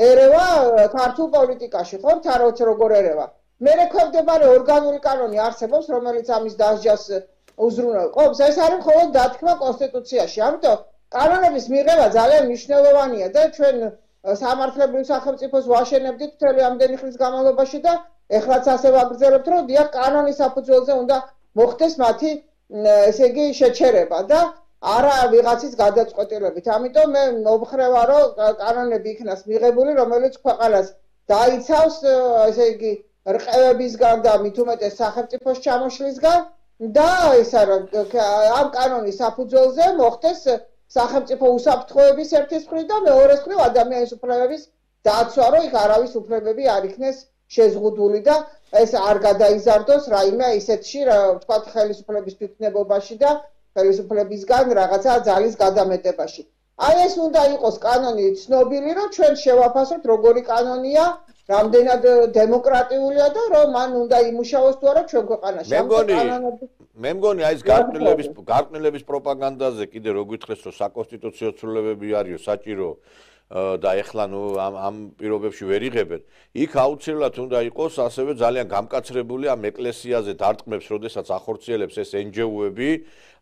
S7: ერევა ქართულ პოლიტიკაში ხო თაროც როგორ ერევა მე რეკომენდებარე ორგანული კანონი არსებობს რომელიც ამის დასჯას უზრუნველყოფს ეს არის მხოლოდ დათქმა კონსტიტუციაში ამიტომ კანონების მიღება ძალიან მნიშვნელოვანია და ჩვენ სამართლებრივ სახელმწიფოს ვაშენებდით მთელი ამდენი ხნის განმავლობაში და ეხლაც ასე ვაგრძელებთ რომ დიახ კანონის საფუძველზე უნდა მოხდეს მათი ესე იგი შეჩერება და არა ვიღაცის გადაწყვეტილებით. ამიტომ მე მომხრევა რომ კანონები იქნას მიღებული, რომელიც ქვეყანას დაიცავს, ესე იგი, რყევებისგან და მით უმეტეს სახელმწიფოს ჩამოშლისგან და ისა რომ ამ კანონის საფუძველზე მოხდეს სახელმწიფო უსაფრთხოების ერთის მხრივ და მეორეს მხრივ ადამიანის უფლებების დაცვა, რომ იქ არავის უფლებები არ იქნეს შეზღუდული და ეს არ გადაიზარდოს რაიმე ისეთში, ვთქვათ, ხელისუფლების თვითნებობაში და ხელისუფლებისგან რაღაცა ძალის გადამეტებაში. აი ეს უნდა იყოს კანონი ცნობილი, რომ ჩვენ შევაფასოთ როგორი კანონია, რამდენად დემოკრატიულია და რომ მან უნდა იმუშაოს თუ არა ჩვენ ქვეყანაში.
S1: მე მგონი აი ეს გარკვევლების გარკვევლების პროპაგანდაზე კიდე რო გითხრეს რომ საკონსტიტუციო ცვლილებები არისო საჭირო და ეხლა ნუ ამ ამ პირობებში ვერ იღებენ. იქ აუცილებლად უნდა იყოს ასევე ძალიან გამკაცრებული ამ ეკლესიაზე დარტყმებს, როდესაც ახორციელებს ეს εν ჯი ო-ები,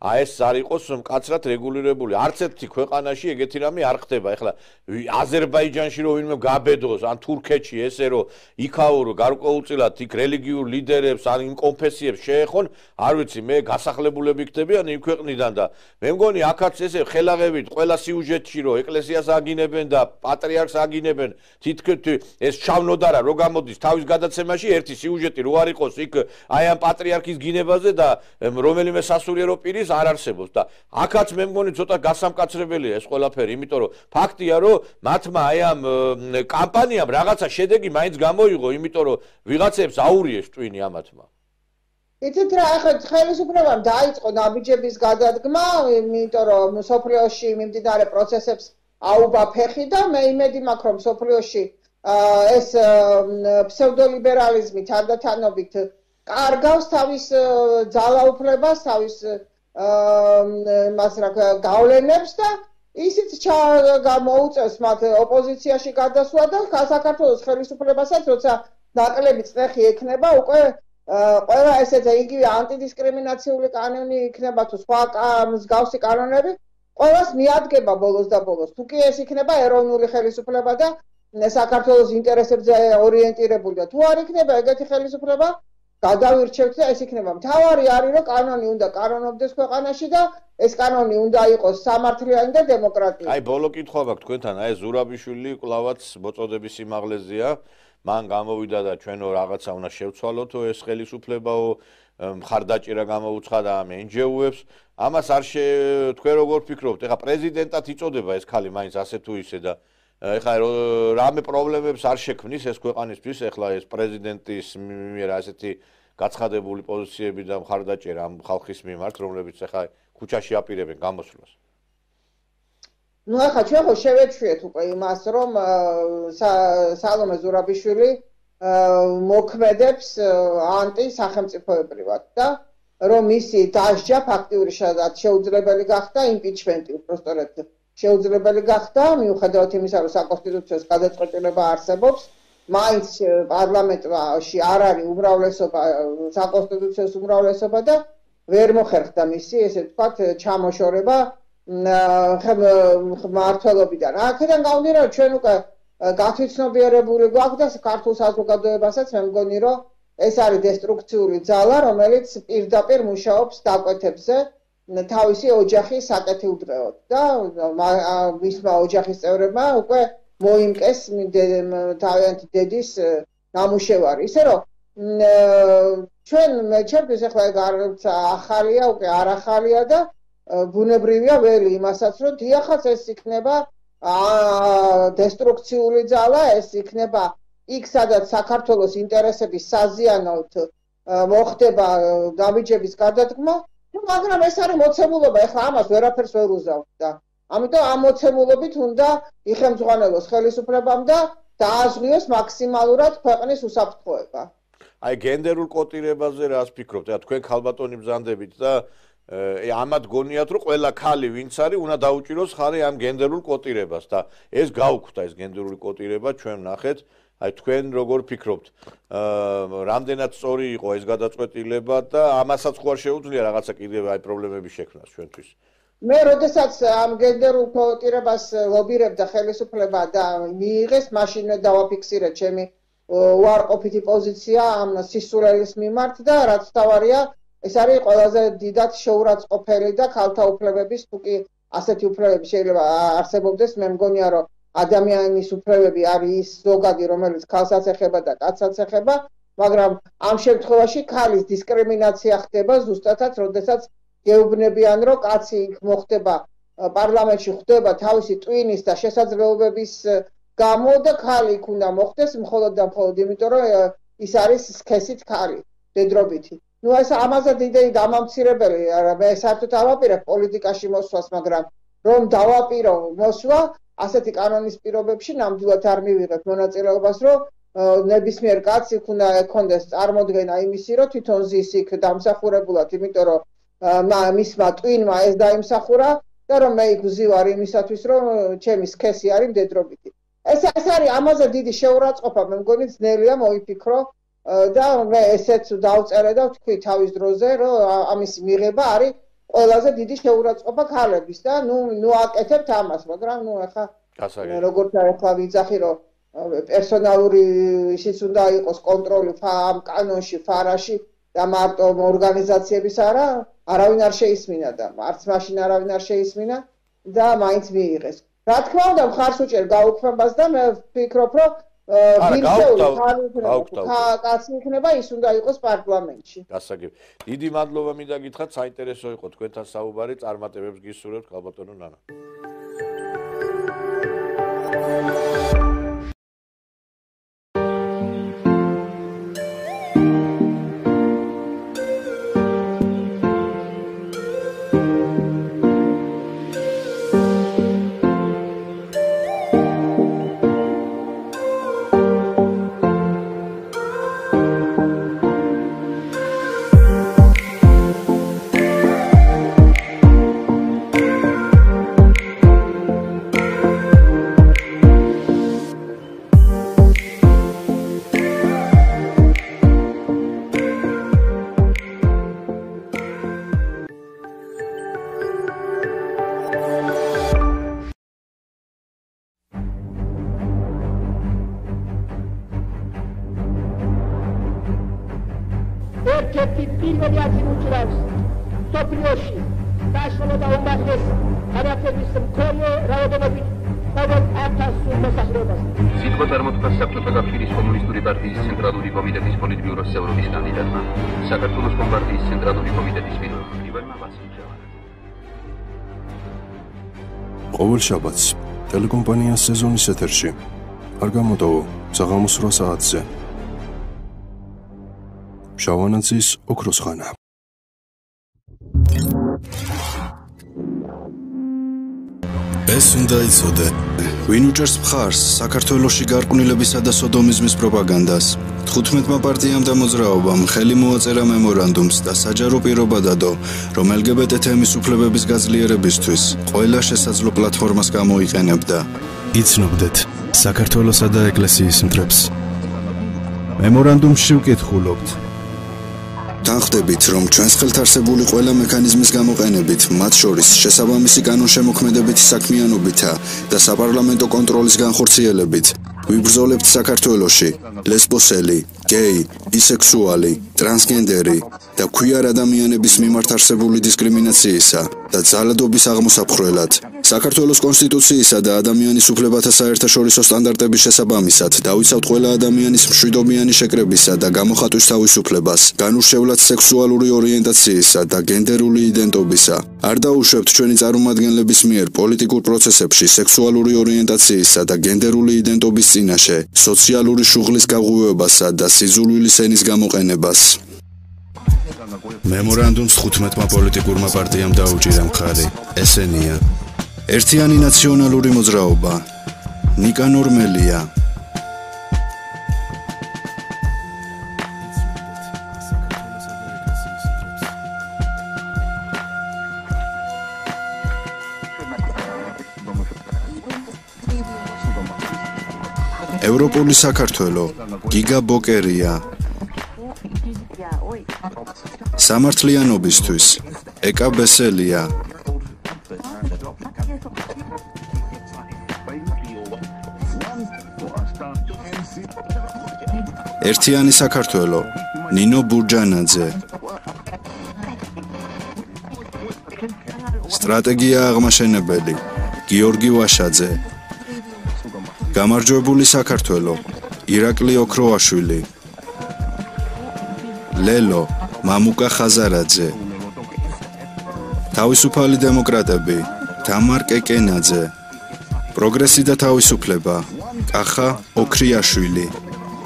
S1: აი ეს არ იყოს მკაცრად რეგულირებული. არც ერთი ქვეყანაში ეგეთი რამე არ ხდება. ეხლა აზერბაიჯანში რო ვინმე გაბედოს, ან თურქეთში ესე რომ იქაურო გარკვეულწილად იქ რელიგიურ ლიდერებს, ან იმ კონფესიებს შეეხონ, არ ვიცი, მე გასახლებულები ხდებიან იმ ქვეყნიდან და მე მგონი აქაც ესე ხელაღებით ყველა სიუჟეტში რო ეკლესიას აგინებენ და პატრიარქს აგინებენ, თითქოს ეს ჩავნოდარა რო გამოდის თავის გადაცემაში ერთი სიუჟეტი რო არ იყოს იქ აი ამ პატრიარქის გინებაზე და რომელიმე სასულიერო პირის არ არსებობს და აქაც მე მგონი ცოტა გასამკაცრებელია ეს ყველაფერი, იმიტომ რომ ფაქტია რომ მათმა აი ამ კამპანიამ რაღაცა შედეგი მაინც გამოიღო, იმიტომ რომ ვიღაცებს აურიეს ტვინი ამათმა.
S7: იცით რა, ახლა ხელისუფლებამ დაიწყო ნაბიჯების გადადგმა, იმიტომ რომ სოფლიოში მიმდინარე პროცესებს აუბა ფეხი და მე იმედი მაქვს რომ სოფლიოში ეს ფსევდოლიბერალიზმი თანდათანობით კარგავს თავის ძალაუფლებას, თავის მას რა გავლენებს და ისიც გამოუწევს მათ ოპოზიციაში გადასვლა და საქართველოს ხელისუფლებასაც როცა ნაკლები წნეხი ექნება უკვე ყველა ესეც იგივე ანტიდისკრიმინაციული კანონი იქნება თუ სხვა მსგავსი კანონები ყველას მიადგება ბოლოს და ბოლოს. თუ კი ეს იქნება ეროვნული ხელისუფლება და საქართველოს ინტერესებზე ორიენტირებული და თუ არ იქნება ეგეთი ხელისუფლება, გადავირჩევთ და ეს იქნება. მთავარი არის რომ კანონი უნდა კანონობდეს ქვეყანაში და ეს კანონი უნდა იყოს სამართლიანი და დემოკრატიული.
S1: აი ბოლო კითხვა მაქვს თქვენთან, აი ზურაბიშვილი კვლავაც მოწოდების სიმაღლეზეა. მან გამოვიდა და ჩვენო რაღაცა უნდა შევცვალოთო ეს ხელისუფლებაო მხარდაჭერა გამოუცხადა ამ εν ჯი ო-ებს. ამას არ შე თქვენ როგორ ფიქრობთ? ეხლა პრეზიდენტად იწოდება ეს ხალი მაინც ასე თუ ისე და ეხლა რამე პრობლემებს არ შექმნის ეს ქვეყანისთვის ეხლა ეს პრეზიდენტის მიერ ასეთი გაცხადებული პოზიციები და მხარდაჭერა ამ ხალხის მიმართ, რომლებიც ეხლა ქუჩაში აპირებენ გამოსვლას.
S7: ნუ ახლა ჩვენ ხო შევეჩვიეთ უკვე იმას, რომ სალომე ზურაბიშვილი მოქმედებს ანტი სახელმწიფოებრივად და რომ მისი დასჯა ფაქტიური შეუძლებელი გახდა იმპიჩმენტი უბრალოდ შეუძლებელი გახდა მიუხედავად იმისა რომ საკონსტიტუციო გადაწყვეტილება არსებობს მაინც პარლამენტში არ არის უმრავლესობა საკონსტიტუციო უმრავლესობა და ვერ მოხერხდა მისი ესე ვთქვათ ჩამოშორება მმართველობიდან. აქედან გამომდინარე ჩვენ უკვე გათვითცნობიერებული გვაქვს და ქართულ საზოგადოებასაც მე მგონი რომ ეს არის დესტრუქციული ძალა, რომელიც პირდაპირ მუშაობს დაკვეთებზე თავისი ოჯახის საკეთილდღეოდ და მისმა ოჯახის წევრებმა უკვე მოიმკეს თავიანთი დედის ნამუშევარი. ისე რომ ჩვენ ჩემთვის ახლა არც ახალია, უკვე არ ახალია და ბუნებრივია ველი იმასაც, რომ დიახაც ეს იქნება დესტრუქციული ძალა, ეს იქნება იქ სადაც საქართველოს ინტერესების საზიანოდ მოხდება ნაბიჯების გადადგმა, მაგრამ ეს არის მოცემულობა, ეხლა ამას ვერაფერს ვერ უზავთ და ამიტომ ამ მოცემულობით უნდა იხელმძღვანელოს ხელისუფლებამ და დააზღვიოს მაქსიმალურად ქვეყნის უსაფრთხოება.
S1: აი გენდერულ კოტირებაზე რას ფიქრობთ? და თქვენ ქალბატონი ბრძანდებით და ამათ გონიათ რომ ყველა ქალი ვინც არის უნდა დაუჭიროს ხარი ამ გენდერულ კოტირებას და ეს გაუქმდა ეს გენდერული კოტირება ჩვენ ნახეთ. აი თქვენ როგორ ფიქრობთ? რამდენად სწორი იყო ეს გადაწყვეტილება და ამასაც ხო არ შეუძლია რაღაცა კიდევ აი პრობლემები შექმნას ჩვენთვის?
S7: მე როდესაც ამ გენდერულ კოტირებას ლობირებდა ხელისუფლება და მიიღეს, მაშინ დავაფიქსირე ჩემი უარყოფითი პოზიცია ამ სისულელის მიმართ და რაც თავარია ეს არის ყველაზე დიდად შეურაცხყოფელი და ქალთა უფლებების თუ კი ასეთი უფლებები შეიძლება არსებობდეს, მე მგონია რომ ადამიანის უფლებები არის ის ზოგადი, რომელიც ქალსაც ეხება და კაცსაც ეხება, მაგრამ ამ შემთხვევაში ქალის დისკრიმინაცია ხდება ზუსტადაც, როდესაც გეუბნებიან, რომ კაცი იქ მოხდება პარლამენტში ხვდება თავისი ტვინის და შესაძლებლობების გამო და ქალი იქ უნდა მოხდეს მხოლოდ და მხოლოდ იმიტომ რომ ის არის სქესით ქალი დედრობითი. ნუ ეს ამაზე დიდი დამამცირებელი მე საერთოდ ავაპირებ პოლიტიკაში მოსვლას, მაგრამ რომ დავაპირო მოსვლა ასეთი კანონის პირობებში ნამდვილად არ მივიღებ მონაწილეობას, რომ ნებისმიერ კაცს იქ უნდა ექონდეს წარმოდგენა იმისი, რომ თვითონ ზის იქ დამსახურებულად, იმიტომ რომ მისმა ტვინმა ეს დაიმსახურა და რომ მე იქ ვზივარ იმისათვის, რომ ჩემი სქესი არის მდედრობითი. ეს ეს არის ამაზე დიდი შეურაცხყოფა, მე მგონი ძნელია მოიფიქრო და მე ესეც დავწერე და ვთქვი თავის დროზე, რომ ამის მიღება არის ყველაზე დიდი შეურაცხყოფა ქალების და ნუ ნუ აკეთებთ ამას, მაგრამ ნუ ახლა როგორც ახლა ვიძახი, რომ პერსონალური ისიც უნდა იყოს კონტროლი ამ კანონში, ფარაში და მარტო ორგანიზაციების არა, არავინ არ შეისმინა და არც მაშინ არავინ არ შეისმინა და მაინც მიიღეს. რა თქმა უნდა, მხარს უჭერ გაუქმებას და მე ვფიქრობ, რომ კაცი იქნება ის უნდა იყოს პარლამენტში.
S1: გასაგები. დიდი მადლობა მინდა გითხრათ, საინტერესო იყო თქვენთან საუბარი, წარმატებებს გისურვებთ, ქალბატონო ნანა.
S8: ერთ-ერთი პირველი ადგილი უჭირავს სოფლიოში საშუალო და უმაღლეს განათლების მქონე რაოდენობით ყოველ ათას მოსახლეობას.
S9: სიტყვა წარმოთქვა საბჭოთა კავშირის კომუნისტური პარტიის ცენტრალური კომიტეტის პოლიტბიუროს წევრობის კანდიდატმა, საქართველოს კომპარტიის ცენტრალური კომიტეტის პირველმა ვასილჩევანმა.
S10: ყოველ შაბათს ტელეკომპანიას სეზონის ეთერში არ გამოტოვო საღამოს რვა საათზე. შავანაძის ოქროს ხანა. ეს უნდა იცოდე, ვინ უჭერს მხარს საქართველოში გარყვნილებისა და სოდომიზმის პროპაგანდას. თხუთმეტმა პარტიამ და მოძრაობამ ხელი მოაწერა მემორანდუმს და საჯარო პირობა დადო, რომ ელ გი ბე ტე თემის უფლებების გაძლიერებისთვის ყველა შესაძლო პლატფორმას გამოიყენებდა. იცნობდეთ საქართველოსა და ეკლესიის მტრებს. მემორანდუმში ვკითხულობთ. თანხდებით, რომ ჩვენს ხელთ არსებული ყველა მექანიზმის გამოყენებით, მათ შორის შესაბამისი კანონშემოქმედებითი საქმიანობითა და საპარლამენტო კონტროლის განხორციელებით, ვიბრძოლებთ საქართველოში ლესბოსელი, გეი, ბისექსუალი, ტრანსგენდერი და ქვიარ ადამიანების მიმართ არსებული დისკრიმინაციისა და ძალადობის აღმოსაფხრელად. საქართველოს კონსტიტუციისა და ადამიანის უფლებათა საერთაშორისო სტანდარტების შესაბამისად დავიცავთ ყველა ადამიანის მშვიდობიანი შეკრებისა და გამოხატვის თავისუფლებას, განურჩევლად სექსუალური ორიენტაციისა და გენდერული იდენტობისა. არ დაუშვებთ ჩვენი წარმომადგენლების მიერ პოლიტიკურ პროცესებში სექსუალური ორიენტაციისა და გენდერული იდენტობის წინაშე, სოციალური შუღლის გაღვივებასა და სიძულვილის ენის გამოყენებას. მემორანდუმს თხუთმეტმა პოლიტიკურმა პარტიამ დაუჭირა მხარი. ესენია: ერთიანი ნაციონალური მოძრაობა, ნიკანორ მელია, ევროპული საქართველო, გიგა ბოკერია, სამართლიანობისთვის, ეკა ბესელია, ერთიანი საქართველო, ნინო ბურჯანაძე, სტრატეგია აღმაშენებელი, გიორგი ვაშაძე, გამარჯვებული საქართველო, ირაკლი ოქროაშვილი, ლელო, მამუკა ხაზარაძე, თავისუფალი დემოკრატები, თამარ კეკენაძე, პროგრესი და თავისუფლება, კახა ოქრიაშვილი,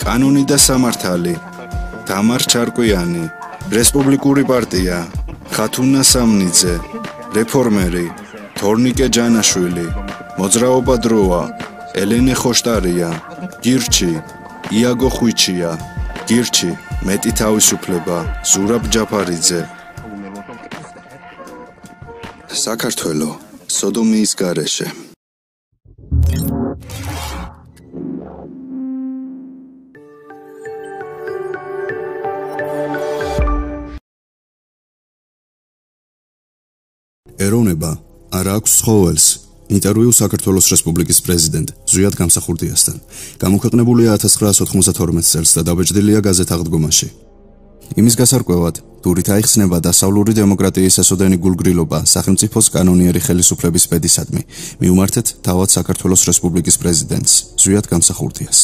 S10: კანონი და სამართალი, თამარ ჩარკვიანი, რესპუბლიკური პარტია, ხათუნა სამნიძე, რეფორმერი, თორნიკე ჯანაშვილი, მოძრაობა დროა, ელენე ხოშტარია, გირჩი, იაგო ხვიჩია, გირჩი, მეტი თავისუფლება, ზურაბ ჯაფარიძე. საქართველო, სოდომიის გარეშე. ეროვნება არ აქვს ცხოველს. ინტერვიუ საქართველოს რესპუბლიკის პრეზიდენტ ზვიად გამსახურდიასთან. გამოქვეყნებულია ათას ცხრაას ოთხმოცდათორმეტ წელს და დაბეჭდილია გაზეთ აღდგომაში. იმის გასარკვევად, თურით აიხსნება დასავლური დემოკრატიის ესოდენი გულგრილობა სახელმწიფოს კანონიერი ხელისუფლების პედისადმი. მიუმართეთ თავად საქართველოს რესპუბლიკის პრეზიდენტს ზვიად გამსახურდიას.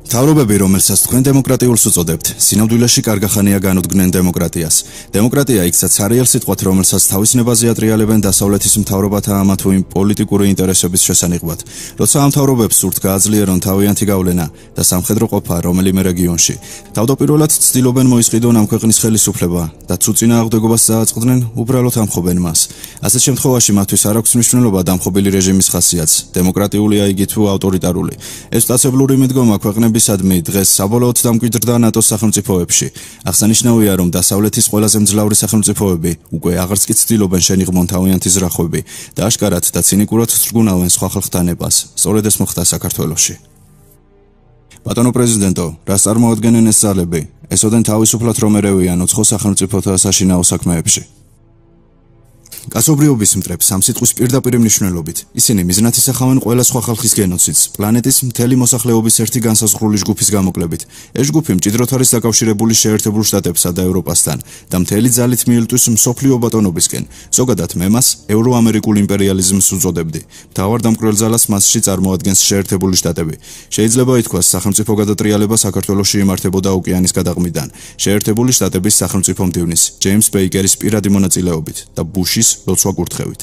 S10: თავრობები, რომელსაც თქვენ დემოკრატიულს უწოდებთ, სინამდვილეში კარგახანია განუდგნენ დემოკრატიას. დემოკრატია იქცაც არიელ სიტყვათ, რომელსაც თავის ნებაზე ატრიალებენ დასავლეთის მთავრობათა ამა თუ იმ პოლიტიკური ინტერესების შესანიღბად. როცა ამ მთავრობებს სურთ გააძლიერონ თავიანთი გავლენა და სამხედრო ყოფა რომელიმე რეგიონში, თავდაპირველად ცდილობენ მოისყიდონ ამ ქვეყნის ხელისუფლება და თუ წინააღმდეგობას წააწყდნენ, უბრალოდ ამხობენ მას. ასეთ შემთხვევაში მათთვის არ აქვს მნიშვნელობა დამხობილი რეჟიმის ხასიათს, დემოკრატიულია იგი თუ ავტორიტარული. ეს სტაცებლური მიდგომა ქვეყნების ადმი დღეს საბოლოოდ დამკვიდრდა ნატოს სახელმწიფოებში. აღსანიშნავია, რომ დასავლეთის ყველაზე მძლავრი სახელმწიფოები უკვე აღარც კი ცდილობენ შენიღმონ თავიანთი ზრახვები და აშკარად და ცინიკურად თრგუნავენ სხვა ხალხთა ნებას. სწორედ ეს მოხდა საქართველოში. ბატონო პრეზიდენტო, რას წარმოადგენენ ეს ძალები? ესოდენ თავისუფლად რომ ერევიან უცხო სახელმწიფოთა საშინაო საქმეებში. კაცობრიობის მტრებს ამ სიტყვის პირდაპირ მნიშვნელობით. ისინი მიზნად ისახავენ ყველა სხვა ხალხის გენოციდს, პლანეტის მთელი მოსახლეობის ერთი განსაზღვრული ჯგუფის გამოკლებით. ეს ჯგუფი მჭიდროდ არის დაკავშირებული შეერთებულ შტატებსა და ევროპასთან და მთელი ძალით მიელტვის მსოფლიო ბატონობისკენ. ზოგადად მე მას ევროამერიკულ იმპერიალიზმს უწოდებდი. მთავარ დამკვრელ ძალას მასში წარმოადგენს შეერთებული შტატები. შეიძლება ითქვას, სახელმწიფო გადატრიალება საქართველოში იმართებოდა ოკეანის გადაღმიდან, შეერთებული შტატების სახელმწიფო მდივნის, ჯეიმს ბეიკერის პირადი მონაწილეობით და ბუშის ლოცვა კურთხევით.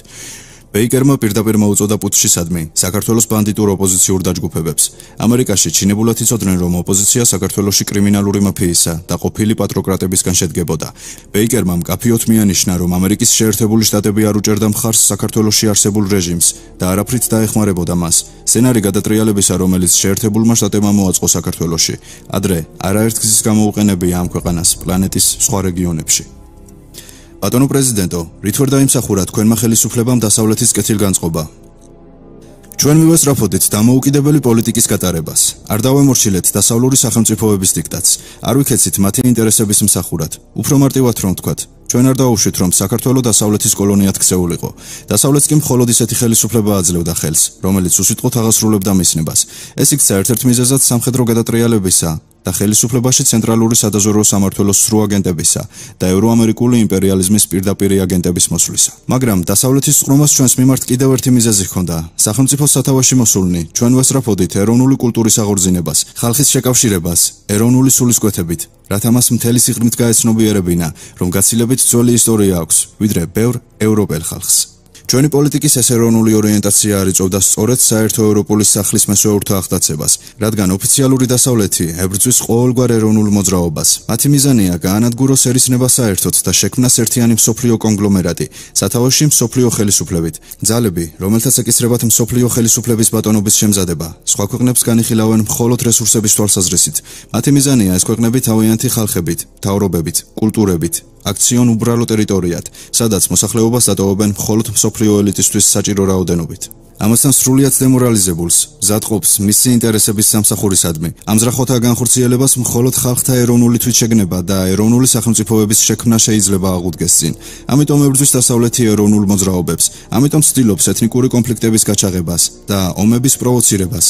S10: ბეიკერმა პირდაპირ მოუწოდა პუტჩისადმი საქართველოს ბანდიტურ ოპოზიციურ დაჯგუფებებს. ამერიკაში ჩინებულად იცოდნენ, რომ ოპოზიცია საქართველოში კრიმინალური მაფიისა და ყოფილი პატროკრატებისგან შედგებოდა. ბეიკერმა მკაფიოდ მიანიშნა, რომ ამერიკის შეერთებული შტატები არ უჭერდა მხარს საქართველოში არსებულ რეჟიმს და არაფრით დაეხმარებოდა მას. სცენარი გადატრიალებისა, რომელიც შეერთებულმა შტატებმა მოაწყო საქართველოში, ადრე არაერთგზის გამოუყენებია ამ ქვეყანას პლანეტის სხვა რეგიონებში. ბატონო პრეზიდენტო, რით ვერ დაიმსახურა თქვენმა ხელისუფლებამ დასავლეთის კეთილგანწყობა? ჩვენ მივესწრაფოდით დამოუკიდებელი პოლიტიკის გატარებას. არ დავემორჩილეთ დასავლური სახელმწიფოების დიქტატს. არ ვიქეცით მათი ინტერესების მსახურად. უფრო მარტივად რომ ვთქვათ, ჩვენ არ დავუშვით, რომ საქართველო დასავლეთის კოლონიად ქცეულიყო. დასავლეთს კი მხოლოდ ისეთი ხელისუფლება აძლევდა ხელს, რომელიც უსიტყვოდ აღასრულებდა მისნებას. ეს იქცა ერთ-ერთ მიზეზად სამხედრო გადატრიალებისა და ხელისუფლებაში ცენტრალური სადაზვერვო სამმართველოს სრულ აგენტებისა და ევროამერიკული იმპერიალიზმის პირდაპირი აგენტების მოსვლისა. მაგრამ დასავლეთის წყრომას ჩვენს მიმართ კიდევ ერთი მიზეზი ჰქონდა. სახელმწიფოს სათავეში მოსულნი ჩვენ ვესწრაფოდით ეროვნული კულტურის აღორძინებას, ხალხის შეკავშირებას, ეროვნული სულისკვეთებით, რათა მას მთელი სიღრმით გაეცნობიერებინა, რომ გაცილებით ძველი ისტორია აქვს, ვიდრე ბევრ ევროპელ ხალხს. ჩვენი პოლიტიკის ეს ეროვნული ორიენტაცია არ იწვევდა სწორედ საერთო ევროპული სახლის მესვეურთა აღტაცებას, რადგან ოფიციალური დასავლეთი ებრძვის ყოველგვარ ეროვნულ მოძრაობას. მათი მიზანია გაანადგუროს ერისნება საერთოდ და შექმნას ერთიანი მსოფლიო კონგლომერატი, სათავეში მსოფლიო ხელისუფლებით. ძალები, რომელთაც ეკისრებათ მსოფლიო ხელისუფლების ბატონობის შემზადება, სხვა ქვეყნებს განიხილავენ მხოლოდ რესურსების თვალსაზრისით. მათი მიზანია ეს ქვეყნები თავიანთი ხალხებით, მთავრობებით, კულტურებით აქციონ უბრალო ტერიტორიად, სადაც მოსახლეობას დატოვებენ მხოლოდ მსოფლიო ელიტისთვის საჭირო რაოდენობით. ამასთან სრულიად დემორალიზებულს, მზადყოფს მისი ინტერესების სამსახურისადმი, ამზრახოთა განხორციელებას მხოლოდ ხალხთა ეროვნული თვითშეგნება და ეროვნული სახელმწიფოების შექმნა შეიძლება აღუდგეს წინ. ამიტომ ებრძვის დასავლეთი ეროვნულ მოძრაობებს, ამიტომ ცდილობს ეთნიკური კონფლიქტების გაჩაღებას და ომების პროვოცირებას.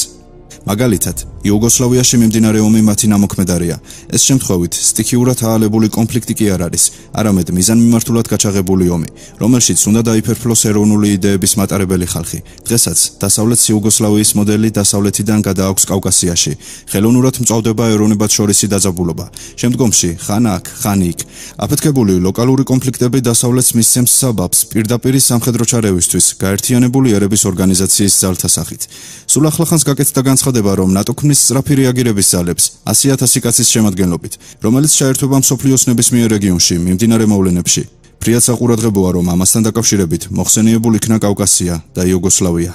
S10: მაგალითად, იუგოსლავიაში მიმდინარე ომი მათი ნამოქმედარია. ეს შემთხვევით სტიქიურად აალებული კონფლიქტი კი არ არის, არამედ მიზანმიმართულად გაჩაღებული ომი, რომელშიც უნდა დაიფერფლოს ეროვნული იდეების მატარებელი ხალხი. დღესაც დასავლეთ იუგოსლავიის მოდელი დასავლეთიდან გადააქვს კავკასიაში. ხელოვნურად მწვავდება ეროვნებად შორისი დაძაბულობა. შემდგომში ხან აქ, ხან იქ. აფეთქებული ლოკალური კონფლიქტები დასავლეთს მისცემს საბაბს პირდაპირ სამხედრო ჩარევისთვის გაერთიანებული ერების ორგანიზაციის ძალთა სახით. სულ ახლახანს გაკეთდა განცხადება, რომ ნატო ქმნის სწრაფი რეაგირების ძალებს ასი ათასი კაცის შემადგენლობით, რომელიც ჩაერთვება მსოფლიოს ნებისმიერ რეგიონში მიმდინარე მოვლენებში. ფრიად საყურადღებოა, რომ ამასთან დაკავშირებით მოხსენიებულ იქნა კავკასია და იუგოსლავია.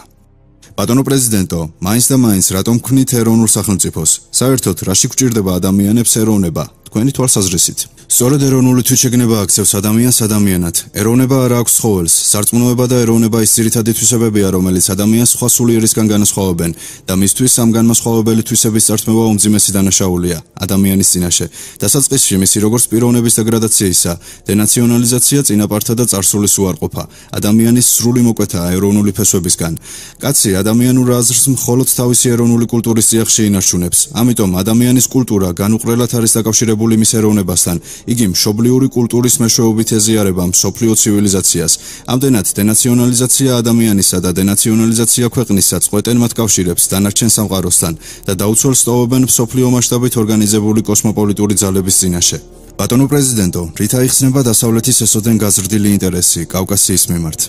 S10: ბატონო პრეზიდენტო, მაინც და მაინც რატომ ქმნით ეროვნულ სახელმწიფოს? საერთოდ რაში გვჭირდება ადამიანებს ეროვნება? თქვენი თვალსაზრისით. სწორედ ეროვნული თვითშეგნება აქცევს ადამიანს ადამიანად. ეროვნება არ აქვს ცხოველს. სარწმუნოება და ეროვნება ის ძირითადი თვისებებია, რომელიც ადამიანს სხვა სულიერისგან განასხვავებენ და მისთვის ამ განმასხვავებელი თვისების წართმევა უმძიმესი დანაშაულია ადამიანის წინაშე. დასაწყისში მისი როგორც პიროვნების დეგრადაციისა, დენაციონალიზაცია, წინაპართა და წარსულის უარყოფა. ადამიანის სრული მოკვეთაა ეროვნული ფესვებისგან. კაცი ადამიანურ აზრს მხოლოდ თავისი ეროვნული კულტურის წიაღში ინარჩუნებს. ამიტომ ადამიანის კულტურა განუყრელად არის დაკავშირებული მის ეროვნებასთან. იგი მშობლიური კულტურის მეშვეობით ეზიარება მსოფლიო ცივილიზაციას. ამდენად დენაციონალიზაცია ადამიანისა და დენაციონალიზაცია ქვეყნისა წყვეტენ მათ კავშირებს დანარჩენ სამყაროსთან და დაუცველს ტოვებენ მსოფლიო მასშტაბით ორგანიზებული კოსმოპოლიტური ძალების წინაშე. ბატონო პრეზიდენტო, რით აიხსნება დასავლეთის ესოდენ გაზრდილი ინტერესი კავკასიის მიმართ?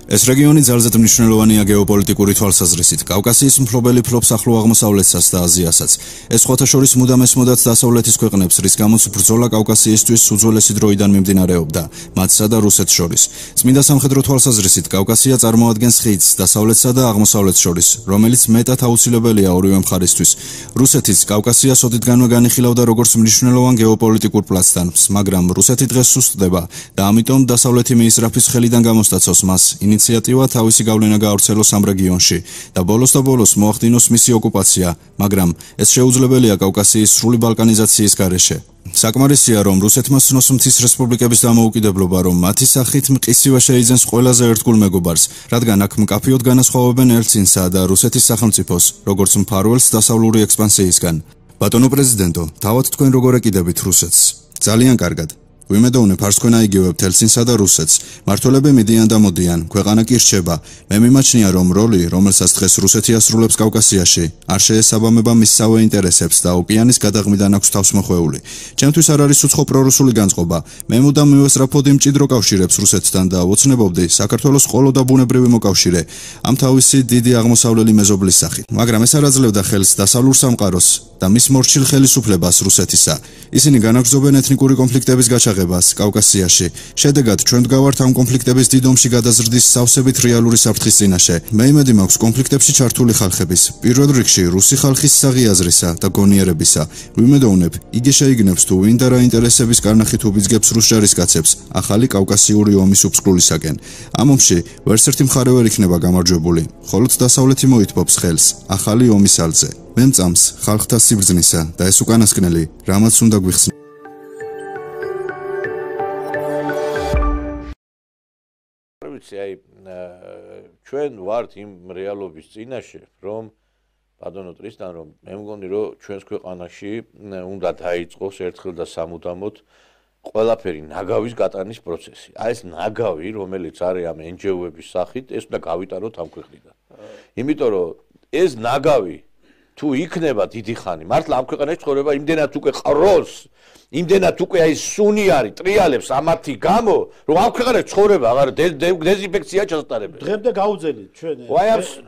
S10: ეს რეგიონი ძალზედ მნიშვნელოვანია გეოპოლიტიკური თვალსაზრისით. კავკასიის მფლობელი ფლობს ახლო აღმოსავლეთსაც და აზიასაც. ეს სხვათა შორის მუდამ ესმოდათ დასავლეთის ქვეყნებს, რის გამოც ბრძოლა კავკასიისთვის უძველესი დროიდან მიმდინარეობდა, მათსა და რუსეთს შორის. წმინდა სამხედრო თვალსაზრისით კავკასია წარმოადგენს ხიდს დასავლეთსა და აღმოსავლეთს შორის, რომელიც მეტად აუცილებელია ორივე მხარისთვის. რუსეთიც კავკასიას ოდითგანვე განიხილავდა როგორც მნიშვნელოვან გეოპოლიტიკურ პლაცდარმს, მაგრამ რუსეთი დღეს სუსტდება და ამიტომ დასავლეთი მიისრაფის ხელიდან გამოსტაცოს მას ინიციატივა თავისი გავლენა გაავრცელოს ამ რეგიონში და ბოლოს და ბოლოს მოახდინოს მისი ოკუპაცია, მაგრამ ეს შეუძლებელია კავკასიის სრული ბალკანიზაციის გარეშე. საკმარისია, რომ რუსეთმა სცნოს მთის რესპუბლიკების დამოუკიდებლობა, რომ მათი სახით მყისივე შეიძენს ყველაზე ერთგულ მეგობარს, რადგან აქ მკაფიოდ განასხვავებენ ელცინსა და რუსეთის სახელმწიფოს, როგორც მფარველს დასავლური ექსპანსიისგან. ბატონო პრეზიდენტო, თავად თქვენ როგორ ეკიდებით რუსეთს? ძალიან კარგად. ვიმედოვნებ არც თქვენ აიგივებთ ელცინსა და რუსეთს. მმართველები მიდიან და მოდიან, ქვეყანა კი რჩება. მე მიმაჩნია, რომ როლი, რომელსაც დღეს რუსეთი ასრულებს კავკასიაში, არ შეესაბამება მისსავე ინტერესებს და ოკეანის გადაღმიდან აქვს თავს მოხვეული. ჩემთვის არ არის უცხო პრორუსული განწყობა. მე მუდამ მივესწრაფოდ იმ მჭიდრო კავშირებს რუსეთთან და ვოცნებობდი საქართველოს ყოლო და ბუნებრივი მოკავშირე ამ თავისი დიდი აღმოსავლელი მეზობლის სახით. მაგრამ ეს არ აძლევდა ხელს დასავლურ სამყაროს და მის მორჩილ ხელისუფლებას რუსეთისა. ისინი განაგრძობენ ეთნიკური კონფლიქტების გაჩაღებას კავკასიაში. შედეგად ჩვენ ვდგავართ ამ კონფლიქტების დიდ ომში გადაზრდის სავსებით რეალური საფრთხის წინაშე. მე იმედი მაქვს კონფლიქტებში ჩართული ხალხების, პირველ რიგში რუსი ხალხის საღიაზრისა და გონიერებისა. ვიმედოვნებ, იგი შეიგნებს თუ ვინ და რა ინტერესების კარნახით უბიძგებს რუს ჯარისკაცებს ახალი კავკასიური ომის უფსკვლისაკენ. ამ ომში ვერც ერთი მხარე ვერ იქნება გამარჯვებული, მხოლოდ დასავლეთი მოითბობს ხელს ახალი ომის ალზე. მე მწამს ხალხთა სიბრძნისა და ეს უკანასკნელი, რამაც უნდა გვიხსნას.
S1: აი ჩვენ ვართ იმ რეალობის წინაშე, რომ ბატონო ტრისტან, რომ მე მგონი, რომ ჩვენს ქვეყანაში უნდა დაიწყოს ერთხელ და სამუდამოდ ყველაფერი ნაგავის გატანის პროცესი. აი ეს ნაგავი, რომელიც არის ამ εν ჯი ო-ების სახით, ეს უნდა გავიტანოთ ამ ქვეყნიდან. იმიტომ რომ ეს ნაგავი თუ იქნება დიდი ხანი, მართლა ამ ქვეყანაში ცხოვრება იმდენად უკვე ყროს, იმდენად უკვე აი სუნი არის, ტრიალებს ამათი გამო, რომ ამ ქვეყანაში ცხოვრება აღარ დეზინფექცია ჩასატარებელი.
S2: დღემდე გაუძელით ჩვენ.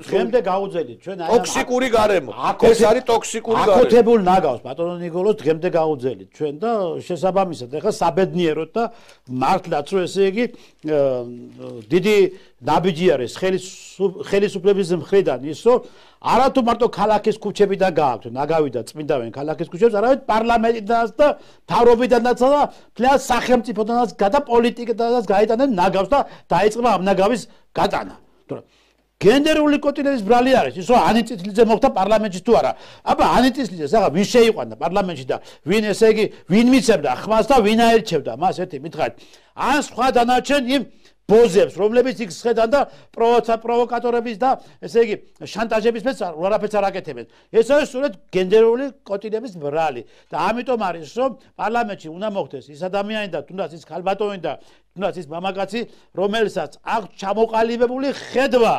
S2: დღემდე გაუძელით ჩვენ აი
S1: ტოქსიკური გარემო. ეს არის ტოქსიკური გარემო.
S2: აკუთებულ ნაგავს ბატონო ნიკოლოს დღემდე გაუძელით ჩვენ და შესაბამისად ეხლა საბედნიეროდ და მართლაც რომ ესე იგი დიდი ნაბიჯი არის ხელისუფლების მხრიდან ის რომ არათუ მარტო ქალაქის ქუჩებიდან გააქვთ ნაგავი და წმინდავენ ქალაქის ქუჩებს, არამედ პარლამენტიდანაც და მთავრობიდანაც და თლიან სახელმწიფოდანაც გადა პოლიტიკიდანაც გაიტანენ ნაგავს და დაიწყება ამ ნაგავის გატანა. თორემ გენდერული კოტილების ბრალი არის ის რომ ანიტისლიძე მოხდა პარლამენტში თუ არა. აბა ანიტისლიძეს ახლა ვინ შეიყვანა პარლამენტში და ვინ ესე იგი ვინ მიცემდა ხმას და ვინ აერჩევდა მას ერთი მითხარით. ან სხვა დანარჩენ იმ ბოზებს, რომლებიც იქ შედან და პროვოკატორების და ესე იგი შანტაჟების მეც არაფერს არ აკეთებენ. ეს არის სწორედ გენდერული კოტილების ბრალი და ამიტომ არის რომ პარლამენტში უნდა მოხდეს ის ადამიანი და თუნდაც ის ქალბატონი და თუნდაც ის მამაკაცი, რომელსაც აქვს ჩამოყალიბებული ხედვა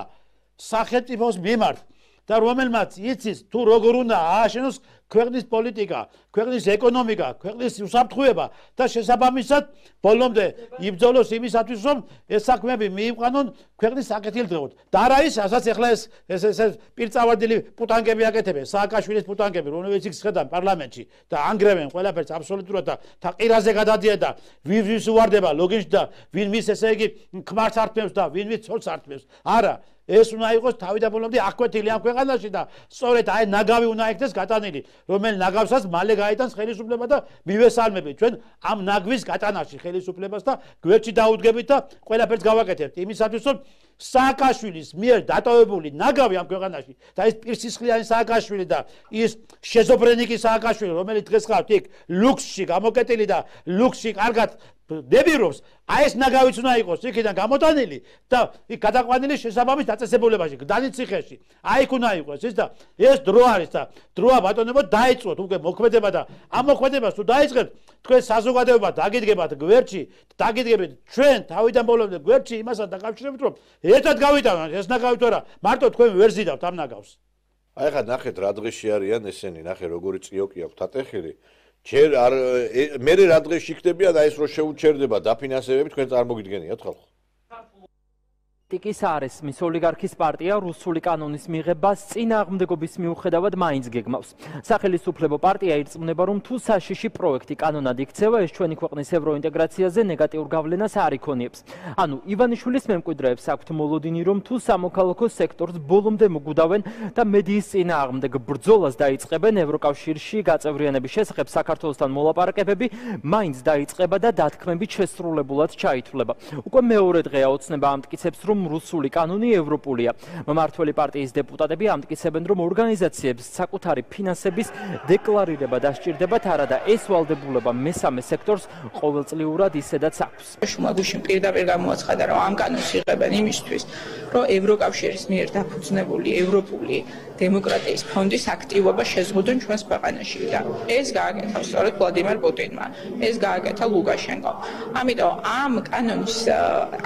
S2: სახელმწიფოს მიმართ და რომელმაც იცის თუ როგორ უნდა ააშენოს ქვეყნის პოლიტიკა, ქვეყნის ეკონომიკა, ქვეყნის უსაფრთხოება და შესაბამისად ბოლომდე იბრძოლოს იმისათვის, რომ ეს საქმეები მიიყვანონ ქვეყნის საკეთილდღეოდ. და არა ის, რასაც ახლა ეს ეს ეს პირწავარდილი პუტანგები აკეთებენ, სააკაშვილის პუტანგები, რომლებიც იქ შედან პარლამენტში და ანგრევენ ყველაფერს აბსოლუტურად და ყირაზე გადადიან და ვინ ვის უვარდება ლოგინში და ვინ მის ესე იგი ქმარს ართმევს და ვინ ვის ცოლს ართმევს. არა ეს უნდა იყოს თავიდან ბოლომდე აკვეთილი ამ ქვეყანაში და სწორედ აი ნაგავი უნდა იქნეს გატანილი, რომელი ნაგავსაც მალე გაიტანს ხელისუფლება და მივესალმებით ჩვენ ამ ნაგვის გატანაში ხელისუფლებას და გვერდში დაუდგებით და ყველაფერს გავაკეთებთ იმისათვის რომ სააკაშვილის მიერ დატოვებული ნაგავი ამ ქვეყანაში და ის პირსისხლიანი სააკაშვილი და ის შეზოფრენიკი სააკაშვილი რომელიც დღეს ხართ იქ ლუქსში გამოკეტილი და ლუქსში კარგად დებირობს, აი ეს ნაგავიც უნდა იყოს იქიდან გამოტანილი და იქ გადაყვანილი შესაბამის დაწესებულებაში, გდანის ციხეში. აი იქ უნდა იყოს ის და ეს დრო არის და დროა ბატონებო დაიწყოთ უკვე მოქმედება და ამ მოქმედებას თუ დაიწყებთ, თქვენ საზოგადოება დაგიდგებათ გვერდში, დაგიდგებით ჩვენ თავიდან ბოლომდე გვერდში იმასთან დაკავშირებით, რომ ერთად გავიტანოთ ეს ნაგავი თუ არა, მარტო თქვენ ვერ ზიდავთ ამ ნაგავს.
S1: აი ხა ნახეთ რა დღეში არიან ესენი, ნახე როგორი წიოკი აქვს თათეხილი. ჯერ არ მე რა დღეში იქნებიან და ეს რო შეუჩერდება დაფინანსებები თქვენ წარმოგიდგენიათ ხალხო.
S4: ტიკის არესმის ოლიგარქის პარტია რუსული კანონის მიღებას წინააღმდეგობის მიუხედავად მაინც გეგმავს. სახელისუფლებო პარტია ირწმუნება, რომ თუ საშიში პროექტი კანონად იქცევა, ეს ჩვენი ქვეყნის ევროინტეგრაციაზე ნეგატიურ გავლენას არ იქონიებს. ანუ ივანიშვილის მემკვიდრეებს აქვთ მოლოდინი, რომ თუ სამოქალაქო სექტორს ბოლომდე მოგუდავენ და მედიის წინააღმდეგ ბრძოლას დაიწყებენ, ევროკავშირში გაწევრიანების შესახებ საქართველოსთან მოლაპარაკებები მაინც დაიწყება და დათქმებით შესრულებულად ჩაითვლება. უკვე მეორე დღეა ოცნება ამტკიცებს, რომ რუსული კანონი ევროპულია. მმართველი პარტიის დეპუტატები ამტკიცებენ, რომ ორგანიზაციებს საკუთარი ფინანსების დეკლარირება დასჭირდებათ, არა და ეს ვალდებულება მესამე სექტორს ყოველწლიურად ისედაც აქვს.
S11: შუმაგუშინ პირდაპირ გამოაცხადა, რომ ამ კანონს იღებენ იმისთვის, რომ ევროკავშირის მიერ დაფუძნებული ევროპული დემოკრატიის ფონდის აქტივობა შეზღუდონ ჩვენს ქვეყანაში და ეს გააკეთა სწორედ ვლადიმერ პუტინმა, ეს გააკეთა ლუკაშენკომ. ამიტომ ამ კანონის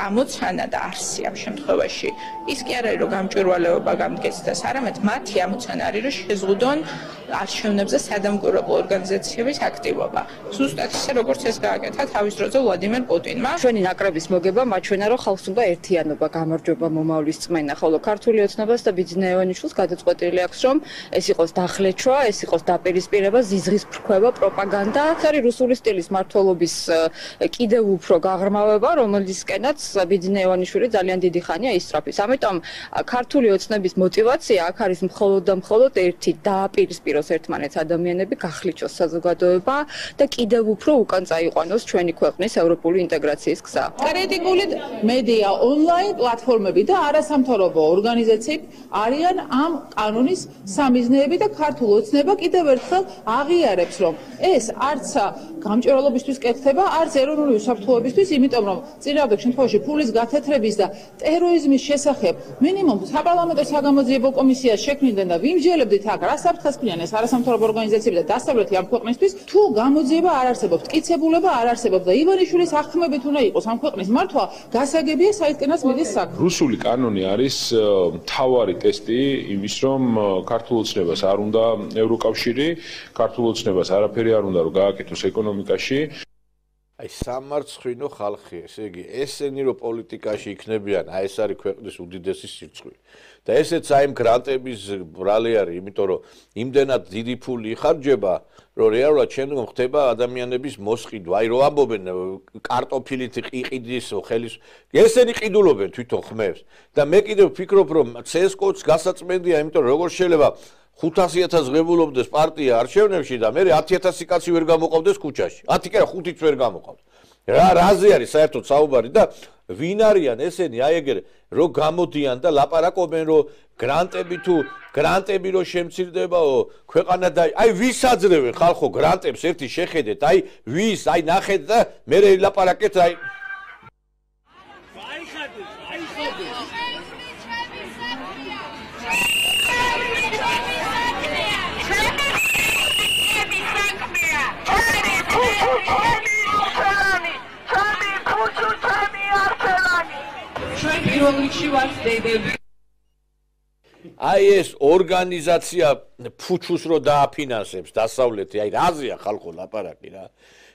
S11: ამოცანა და არსი ამ შემთხვევაში ის კი არ არის რომ გამჭვირვალეობა გამდგეცდას, არამედ მათი ამოცანა არის რომ შეზღუდონ არჩევნებზე სადამკვირვებლო ორგანიზაციების აქტივობა. ზუსტად ისე როგორც ეს გააკეთა თავის დროზე ვლადიმერ პუტინმა.
S12: ჩვენი ნაკრების მოგება მაჩვენა რომ ხალხს უნდა ერთიანობა, გამარჯვება, მომავლის წმენა, ხოლო ქართული ოცნებას და ბიძინა ივანიშვილს გადაწყვეტილი აქვს რომ ეს იყოს დახლეჩვა, ეს იყოს დაპირისპირება, ზიზღის ფრქვევა, პროპაგანდა. ეს არის რუსული სტილის მმართველობის კიდევ უფრო გაღრმავება, რომელისკენაც ბიძინა ივანიშვილი ძალიან დიდი ხანია ისწრაფის. ამიტომ ქართული ოცნების мотиваცია აქ არის მხოლოდ და მხოლოდ ერთი დააპირისპიროს ერთმანეთს ადამიანები, გახლიჩოს საზოგადოება და კიდევ უფრო უკან წაიყვანოს ჩვენი ქვეყნის ევროპული ინტეგრაციის გზა.
S11: კრიტიკული მედია ონლაინ პლატფორმები და არასამთავრობო ორგანიზაციები არიან ამ კანონის სამიზნეები და ქართულ ოცნება კიდევ ერთხელ აღიარებს, რომ ეს არც გამჭვირვალობისთვის კეთდება, არც ეროვნული უსაფრთხოებისთვის, იმიტომ რომ წინააღმდეგ შემთხვევაში ფულის გათეთრების და ტერორიზმის შესახებ მინიმუმ საპარლამენტო საგამოძიებო კომისიას შექმნიდნენ და ვიმსჯელებდით აქ რა საფრთხეს ქმნიან ეს არასამთავრობო ორგანიზაციები და დასავლეთი ამ ქვეყნისთვის, თუ გამოძიება არ არსებობს, მტკიცებულება არ არსებობს და ივანიშვილის აღქმებით უნდა იყოს ამ ქვეყნის მართვა, გასაგებია საიდკენას მიდის საქმე.
S13: რუსული კანონი არის მთავარი ტესტი იმის, რომ ქართულ ოცნებას არ უნდა ევროკავშირი, ქართულ ოცნებას არაფერი არ უნდა რომ გააკეთოს ეკონომიკაში.
S1: აი სამარცხვინო ხალხი, ესე იგი, ესენი რო პოლიტიკაში იქნებიან, აი ეს არის ქვეყნის უდიდესი სირცხვილი. და ესეც აი გრანტების ბრალი არის, იმიტომ რომ იმდენად დიდი ფული იხარჯება, რომ რეალურად შემდგომ ხდება ადამიანების მოსყიდვა. აი რო ამბობენ კარტოფილით იყიდის ხელის, ესენი ყიდულობენ თვითონ ხმებს. და მე კიდევ ვფიქრობ, რომ ცესკოც გასაწმენდია, იმიტომ რომ როგორ შეიძლება ხუთასი ათასი ღებულობდეს პარტია არჩევნებში და მე ათი ათასი კაცი ვერ გამოყავდეს ქუჩაში. ათი კი არა, ხუთიც ვერ გამოყავთ. რა რაზე არის საერთოდ საუბარი და ვინ არიან ესენი? აი ეგრე რო გამოდიან და ლაპარაკობენ რომ გრანტები თუ გრანტები რო შემცირდებაო ქვეყანა და აი ვის აძლევენ ხალხო გრანტებს ერთი შეხედეთ, აი ვის, აი ნახეთ და მე ლაპარაკეთ აი
S11: პირველ რიგში ვაცდები.
S1: აი ეს ორგანიზაცია ფუჩუს რო დააფინანსებს დასავლეთი, აი რაზეა ხალხო ლაპარაკი რა.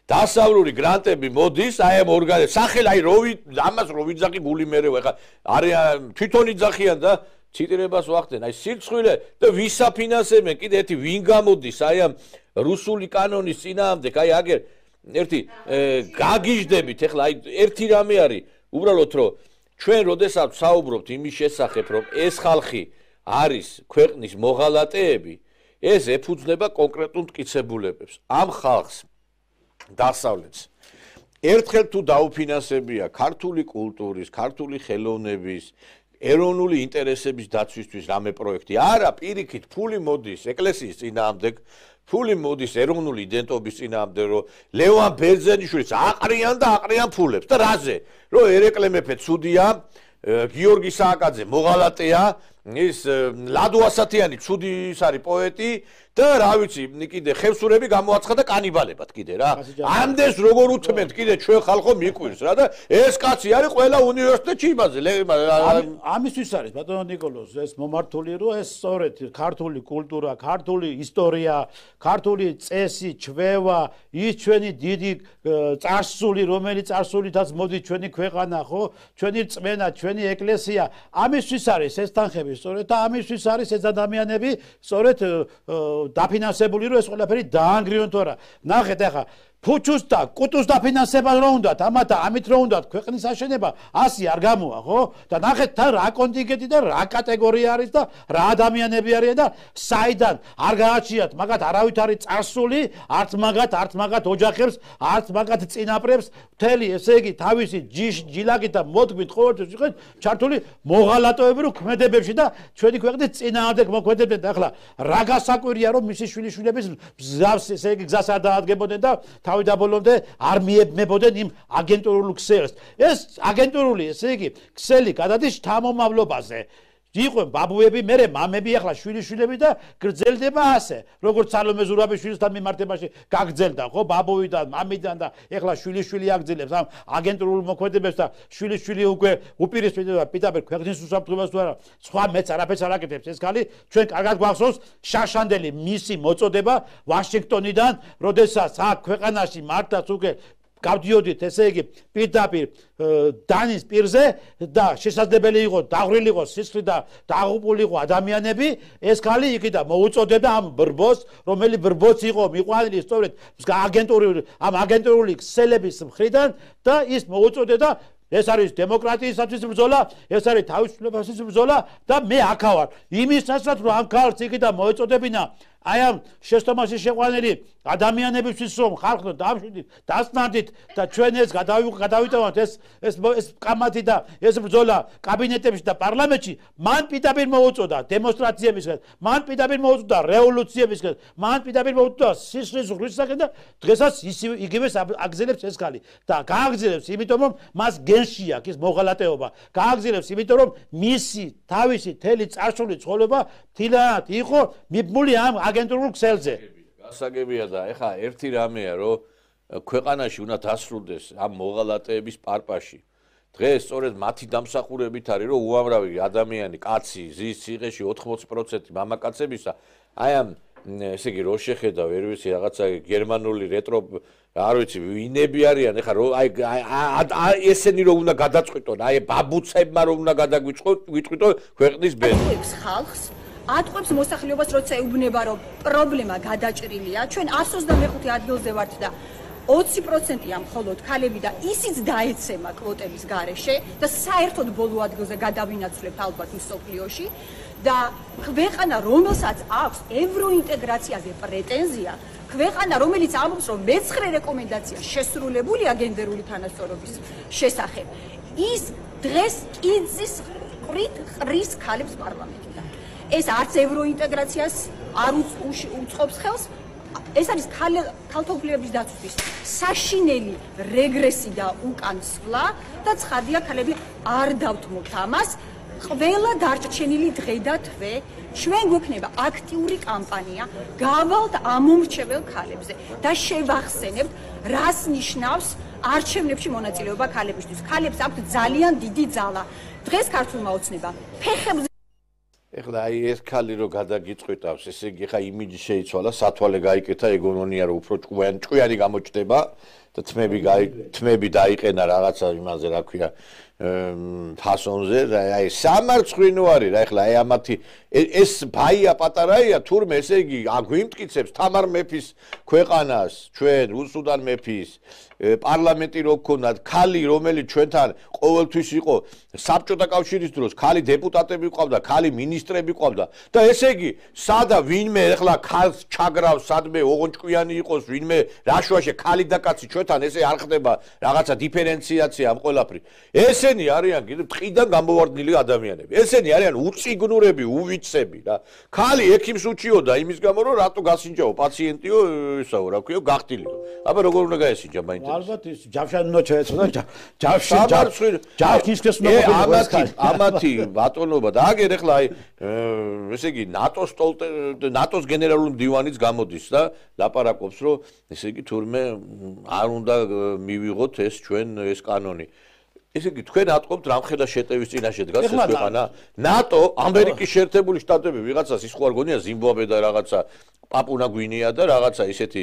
S1: დასავლური გრანტები მოდის, აი ამ ორგანიზ სახელ აი როვი ამას რო ვიძახი გული მერევა, ხა არის თვითონ იძახიან და ციტირებას ვახდენ, აი სირცხვილე და ვისაფინანსებენ, კიდე ერთი ვინ გამოდის აი ამ რუსული კანონის წინააღმდეგ, აი აგერ ერთი გაგიჟდებით, ეხლა აი ერთი რამე არის, უბრალოდ რომ ჩვენ როდესაც საუბრობთ იმის შესახებ, რომ ეს ხალხი არის ქვეყნის მოღალატეები, ეს ეფუძნება კონკრეტულ მტკიცებულებებს. ამ ხალხს დასავლეთს ერთხელ თუ დაუფინანსებია ქართული კულტურის, ქართული ხელოვნების, ეროვნული ინტერესების დაცვისთვის რამე პროექტი, არა, პირიქით ფული მოდის ეკლესიის წინააღმდეგ, ფული მოდის ეროვნული იდენტობის წინააღმდეგ, რომ ლევან ბერძენიშვილს აყრიან და აყრიან ფულებს და რაზე? რომ ერეკლე მეფე ცუდია, გიორგი სააკაძე მოღალატეა, ის ლადო ასათიანი ცუდი ის არის პოეტი და რა ვიცი, კიდე ხევსურები გამოაცხადა კანიბალებად კიდე რა. ამდენს როგორ უთმენთ კიდე ჩვენ ხალხო მიკვირს რა და ეს კაცი არის ყველა უნივერსიტეტში იმაზე.
S2: ამისთვის არის ბატონო ნიკოლოზ ეს მომართული, რომ ეს სწორედ ქართული კულტურა, ქართული ისტორია, ქართული წესი, ჩვევა, ის ჩვენი დიდი წარსული, რომელიც წარსულითაც მოდის ჩვენი ქვეყანა, ხო? ჩვენი რწმენა, ჩვენი ეკლესია, ამისთვის არის ეს თანხები. სწორედ და ამისთვის არის ეს ადამიანები სწორედ დაფინანსებული, რომ ეს ყველაფერი დაანგრიონ თორა. ნახეთ ახლა ფუჩუს და კუტუს დაფინანსება რო უნდათ, ამათ ამით რო უნდათ ქვეყნის აშენება ასი არ გამოა, ხო? და ნახეთ თან რა კონტინგენტი და რა კატეგორია არის და რა ადამიანები არიან და საიდან არ გააჩიათ მაგათ არავით არის წარსული, არც მაგათ, არც მაგათ ოჯახებს, არც მაგათ წინაპრებს, მთელი ესე იგი თავისი ჯილაკით და მოთქვით ყოველთვის იყეთ ჩართული მოღალატეები რო ქმედებებში და ჩვენი ქვეყნის წინააღმდეგ მოქმედებდნენ. ახლა რა გასაკვირია რომ მისი შვილიშვილების გზას ესე იგი გზას არ დაადგებოდნენ და თავიდან ბოლომდე არ მიებმებოდნენ იმ აგენტურულ ქსელს. ეს აგენტურული, ესე იგი, ქსელი გადადის შთამომავლობაზე. იყო ბაბუები, მერე მამები, ახლა შვილიშვილები და გრძელდება ასე. როგორც სალომე ზურაბიშვილთან მიმართებაში გაგრძელდა, ხო, ბაბუიდან, მამიდან და ახლა შვილიშვილი აგრძელებს ამ აგენტურულ მოქმედებებს და შვილიშვილი უკვე უპირისპირდება პირდაპირ ქვეყნის უსაფრთხოებას თუ არა, სხვა მეც არაფერს არ აკეთებს ეს ქალი. ჩვენ კარგად გვახსოვს შაშანდელი მისი მოწოდება ვაშინგტონიდან, როდესაც აქ ქვეყანაში მართლაც უკვე გავდიოდით, ესე იგი, პირდაპირ დანის პირზე და შესაძლებელი იყო დაღვრილი იყო სისხლი და დაღუპული იყო ადამიანები, ეს ქალი იქიდან მოუწოდებდა ამ ბრბოს, რომელი ბრბოც იყო მიყვანილი სწორედ აგენტურული ამ აგენტურული ქსელების მხრიდან და ის მოუწოდებდა ეს არის დემოკრატიისათვის ბრძოლა, ეს არის თავისუფლებასთვის ბრძოლა და მე აქა ვარ. იმისასაც რომ ამ ქალს იქიდან მოეწოდებინა აი ამ შეცდომაში შეყვანილი ადამიანებისთვის რომ ხალხო დამშვიდით, დასნარდით და ჩვენ ეს გადავიტანოთ ეს ეს ეს კამათი და ეს ბრძოლა კაბინეტებში და პარლამენტში, მან პირდაპირ მოუწოდა დემონსტრაციებისგან, მან პირდაპირ მოუწოდა რევოლუციებისგან, მან პირდაპირ მოუწოდა სისხლის ღრისისგან და დღესაც იგივეს აგზელებს ეს ქალი და გააგზელებს, იმიტომ რომ მას გენში აქვს ის მოღალატეობა, გააგზელებს, იმიტომ რომ მისი თავისი თელი წარსული ცხოვრება თილად იყო მიბმული ამ აგენტურულ ქსელზე.
S1: გასაგებია და ეხა ერთი რამეა, რომ ქვეყანაში უნდა დასრულდეს ამ მოღალატეების პარპაში. დღეს სწორედ მათი დამსახურებით არის, რომ უამრავი ადამიანი, კაცი, ზის ციხეში ოთხმოცი პროცენტი მამაკაცებისა, აი ამ ესე იგი რო შეხედა, ვერ ვიცი, რაღაცა გერმანული რეტრო, არ ვიცი, ვინები არიან, ეხა რო აი ესენი რო უნდა გადაწყვიტონ, აი ბაბუცებმა რო უნდა გადაგვიწყიტონ ქვეყნის ბედნიერს.
S14: ხალხს ატყვევს მოსახლეობას, როცა ეუბნება, რომ პრობლემა გადაჭრილია, ჩვენ εκατს ოცდამეხუთე ადგილზე ვართ და ოცი პროცენტია მხოლოდ ქალები და ისიც დაეცემა კვოტების გარეშე და საერთოდ ბოლო ადგილზე გადავინაცვლებთ ალბათ მსოფლიოში და ქვეყანა, რომელსაც აქვს ევროინტეგრაციაზე პრეტენზია, ქვეყანა, რომელიც ამბობს, რომ მეცხრე რეკომენდაცია შესრულებულია გენდერული თანასწორობის შესახებ, ის დღეს კიძის ყრით ყრის ქალებს პარლამენტიდან. ეს არც ევროინტეგრაციას არ უწყობს ხელს, ეს არის ქალთობლიების დაცვის საშინელი რეგრესი და უკანსვლა და ცხადია ქალები არ დავთმობთ ამას. ყველა დარჩენილი დღე და თვე ჩვენ გვექნება აქტიური კამპანია გავალთ ამომრჩეველ ქალებზე და შევახსენებთ, რას ნიშნავს არჩევნებში მონაწილეობა ქალებისთვის. ქალებს აქვთ ძალიან დიდი ძალა. დღეს ქართულმა ოცნებამ ფეხებზე
S1: ეხლა აი ეს ქალი რო გადაგიწყვიტავს, ესე იგი ხა იმიჯი შეიცვალა, სათვალე გაიკეთა, ეგონონია რომ უფრო ჭკვიანი ჭკვიანი გამოჩნდება და თმები თმები დაიყენა რაღაცა იმაზე, რა ქვია, ფასონზე, აი სამარცხვინო არის რა, ეხლა აი ამათი ეს ბაია პატარაია, თურმე ესე იგი აგვიმტკიცებს თამარ მეფის ქვეყანას, ჩვენ რუსუდან მეფის პარლამენტი რო გქონდათ, ქალი რომელიც ჩვენთან ყოველთვის იყო საბჭოთა კავშირის დროს, ქალი დეპუტატები ყავდა, ქალი მინისტრები ყავდა და ესე იგი სადა ვინმე ეხლა ქალს ჩაგრავს, სადმე ოღონ ჭკვიანი იყოს, ვინმე რაშვაშე ქალი და კაცი ჩვენთან ესე არ ხდება რაღაცა დიფერენციაცია ამ ყველაფრის. ესენი არიან კიდე ტყიდან გამოვარდნილი ადამიანები. ესენი არიან უწიგნურები, უვიცები რა. ქალი ექიმს უჩიოდა იმის გამო რომ რატო გასინჯაო პაციენტიო, ისაო რა ქვია, გახტილიო. აბა როგორ უნდა გაესინჯა მაინც?
S2: ალბათ ის ჯავშანი უნდა შეეცოდა ჯავში ჯავშის უნდა
S1: ამათი ამათი ბატონობა და აგერ ეხლა აი ესე იგი ნატოს ნატოს გენერალური მდივანიც გამოდის და ლაპარაკობს რომ ესე იგი თურმე არ უნდა მივიღოთ ეს ჩვენ ეს კანონი. ესე იგი თქვენ ატყობთ რამხელა შეტევის წინაშე დგას ეს ქვეყანა ნატო ამერიკის შეერთებული შტატები ვიღაცას ის ხო არ გონია ზიმბაბვე და რაღაცა პაპუნა გვინეა და რაღაცა ისეთი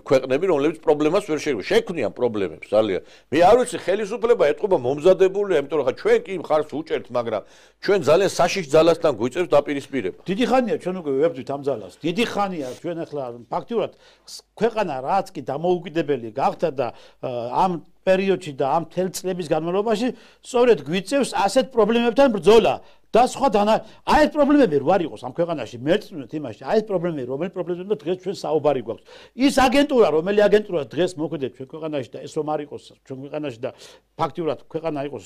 S1: ქვეყნები რომლებიც პრობლემას ვერ შეგვი შექმნიან პრობლემებს ძალიან მე არ ვიცი ხელისუფლება ეტყობა მომზადებულია იმიტომ რომ ხა ჩვენ კი მხარს უჭერთ მაგრამ ჩვენ ძალიან საშიშ ძალასთან გვიწევს დაპირისპირება
S2: დიდი ხანია ჩვენ უკვე ვებრძვით ამ ძალას დიდი ხანია ჩვენ ახლა ფაქტიურად ქვეყანა რაც კი დამოუკიდებელი გახდა და ამ პერიოდში და ამ თელ წლების განმავლობაში სწორედ გვიწევს ასეთ პრობლემებთან ბრძოლა და სხვა დანა აი ეს პრობლემები რო არ იყოს ამ ქვეყანაში მერწმუნეთ იმაში აი ეს პრობლემები რომელი პრობლემებია დღეს ჩვენ საუბარი გვაქვს ის აგენტურა რომელი აგენტურა დღეს მოქმედებს ჩვენ ქვეყანაში და ეს რომ არ იყოს ჩვენ ქვეყანაში და ფაქტიურად ქვეყანა იყოს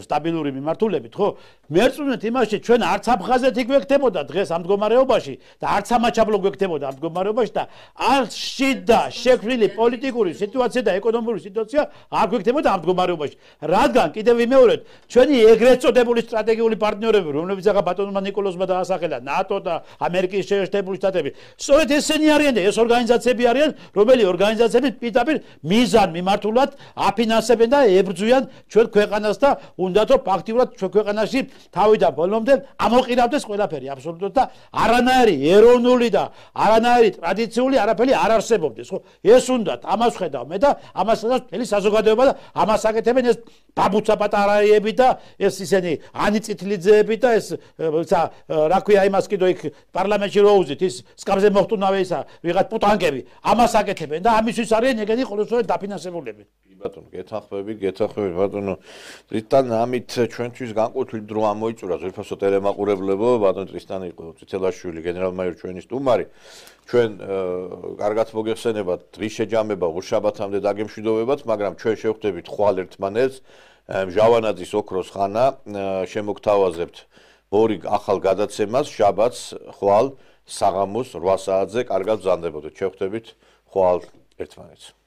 S2: სტაბილური მიმართულებით ხო მერწმუნეთ იმაში ჩვენ არც აფხაზეთი გვექთებოდა დღეს ამ მდგომარეობაში და არც ამაჩაბლო გვექთებოდა ამ მდგომარეობაში და არც შიდა შექმნილი პოლიტიკური სიტუაცია და ეკონომიკური სიტუაცია არ გვექთებოდა ამ მდგომარეობაში რადგან კიდევ ვიმეორებ ჩვენი ეგრეთ წოდებული სტრატეგიული პარტნიორები რომლებიც ახლა ბატონმა ნიკოლოზმა დაასახელა ნატო და ამერიკის შეერთებული შტატები სწორედ ესენი არიან და ეს ორგანიზაციები არიან რომელი ორგანიზაციები პირდაპირ მიზან მიმართულად აფინანსებენ და ებრძვიან ჩვენ ქვეყანას და უნდათ რომ ფაქტიურად ჩვენ ქვეყანაში თავიდან ბოლომდე ამოყირავდეს ყველაფერი აბსოლუტურად და არანაირი ეროვნული და არანაირი ტრადიციული არაფერი არ არსებობდეს ხო ეს უნდათ ამას ხედავ მე და ამას ხედავს მთელი საზოგადოება და ამას აკეთებენ ეს ბაბუცა პატარაიები და ეს ისინი ანიწითლიძე და ეს რა ქვია იმას კიდო იქ პარლამენტში როუზით ის სკამზე მოხტუნავე ისა ვიღაც პუტანკები ამას აკეთებენ და ამისთვის არიან ეგენი ყოველწლიურად დაფინანსებულები
S1: კი ბატონო გეთანხმებით გეთანხმებით ბატონო ტრისტან ამით ჩვენთვის განყოფილი დრო ამოიწურა ზურფასო ტელემაყურებლებო ბატონო ტრისტან იყო წითელაშვილი გენერალ-მაიორი ჩვენი სტუმარი ჩვენ კარგად მოგეხსენებათ დღის შეჯამება უშაბათამდე დაგემშვიდობებათ მაგრამ ჩვენ შევხვდებით ხვალ ერთმანეთს ჟავანაძის ოქროს ხანა შემოგთავაზებთ ორი ახალ გადაცემას შაბათს ხვალ საღამოს რვა საათზე კარგად ბრძანდებოდეთ შევხვდებით ხვალ ერთმანეთს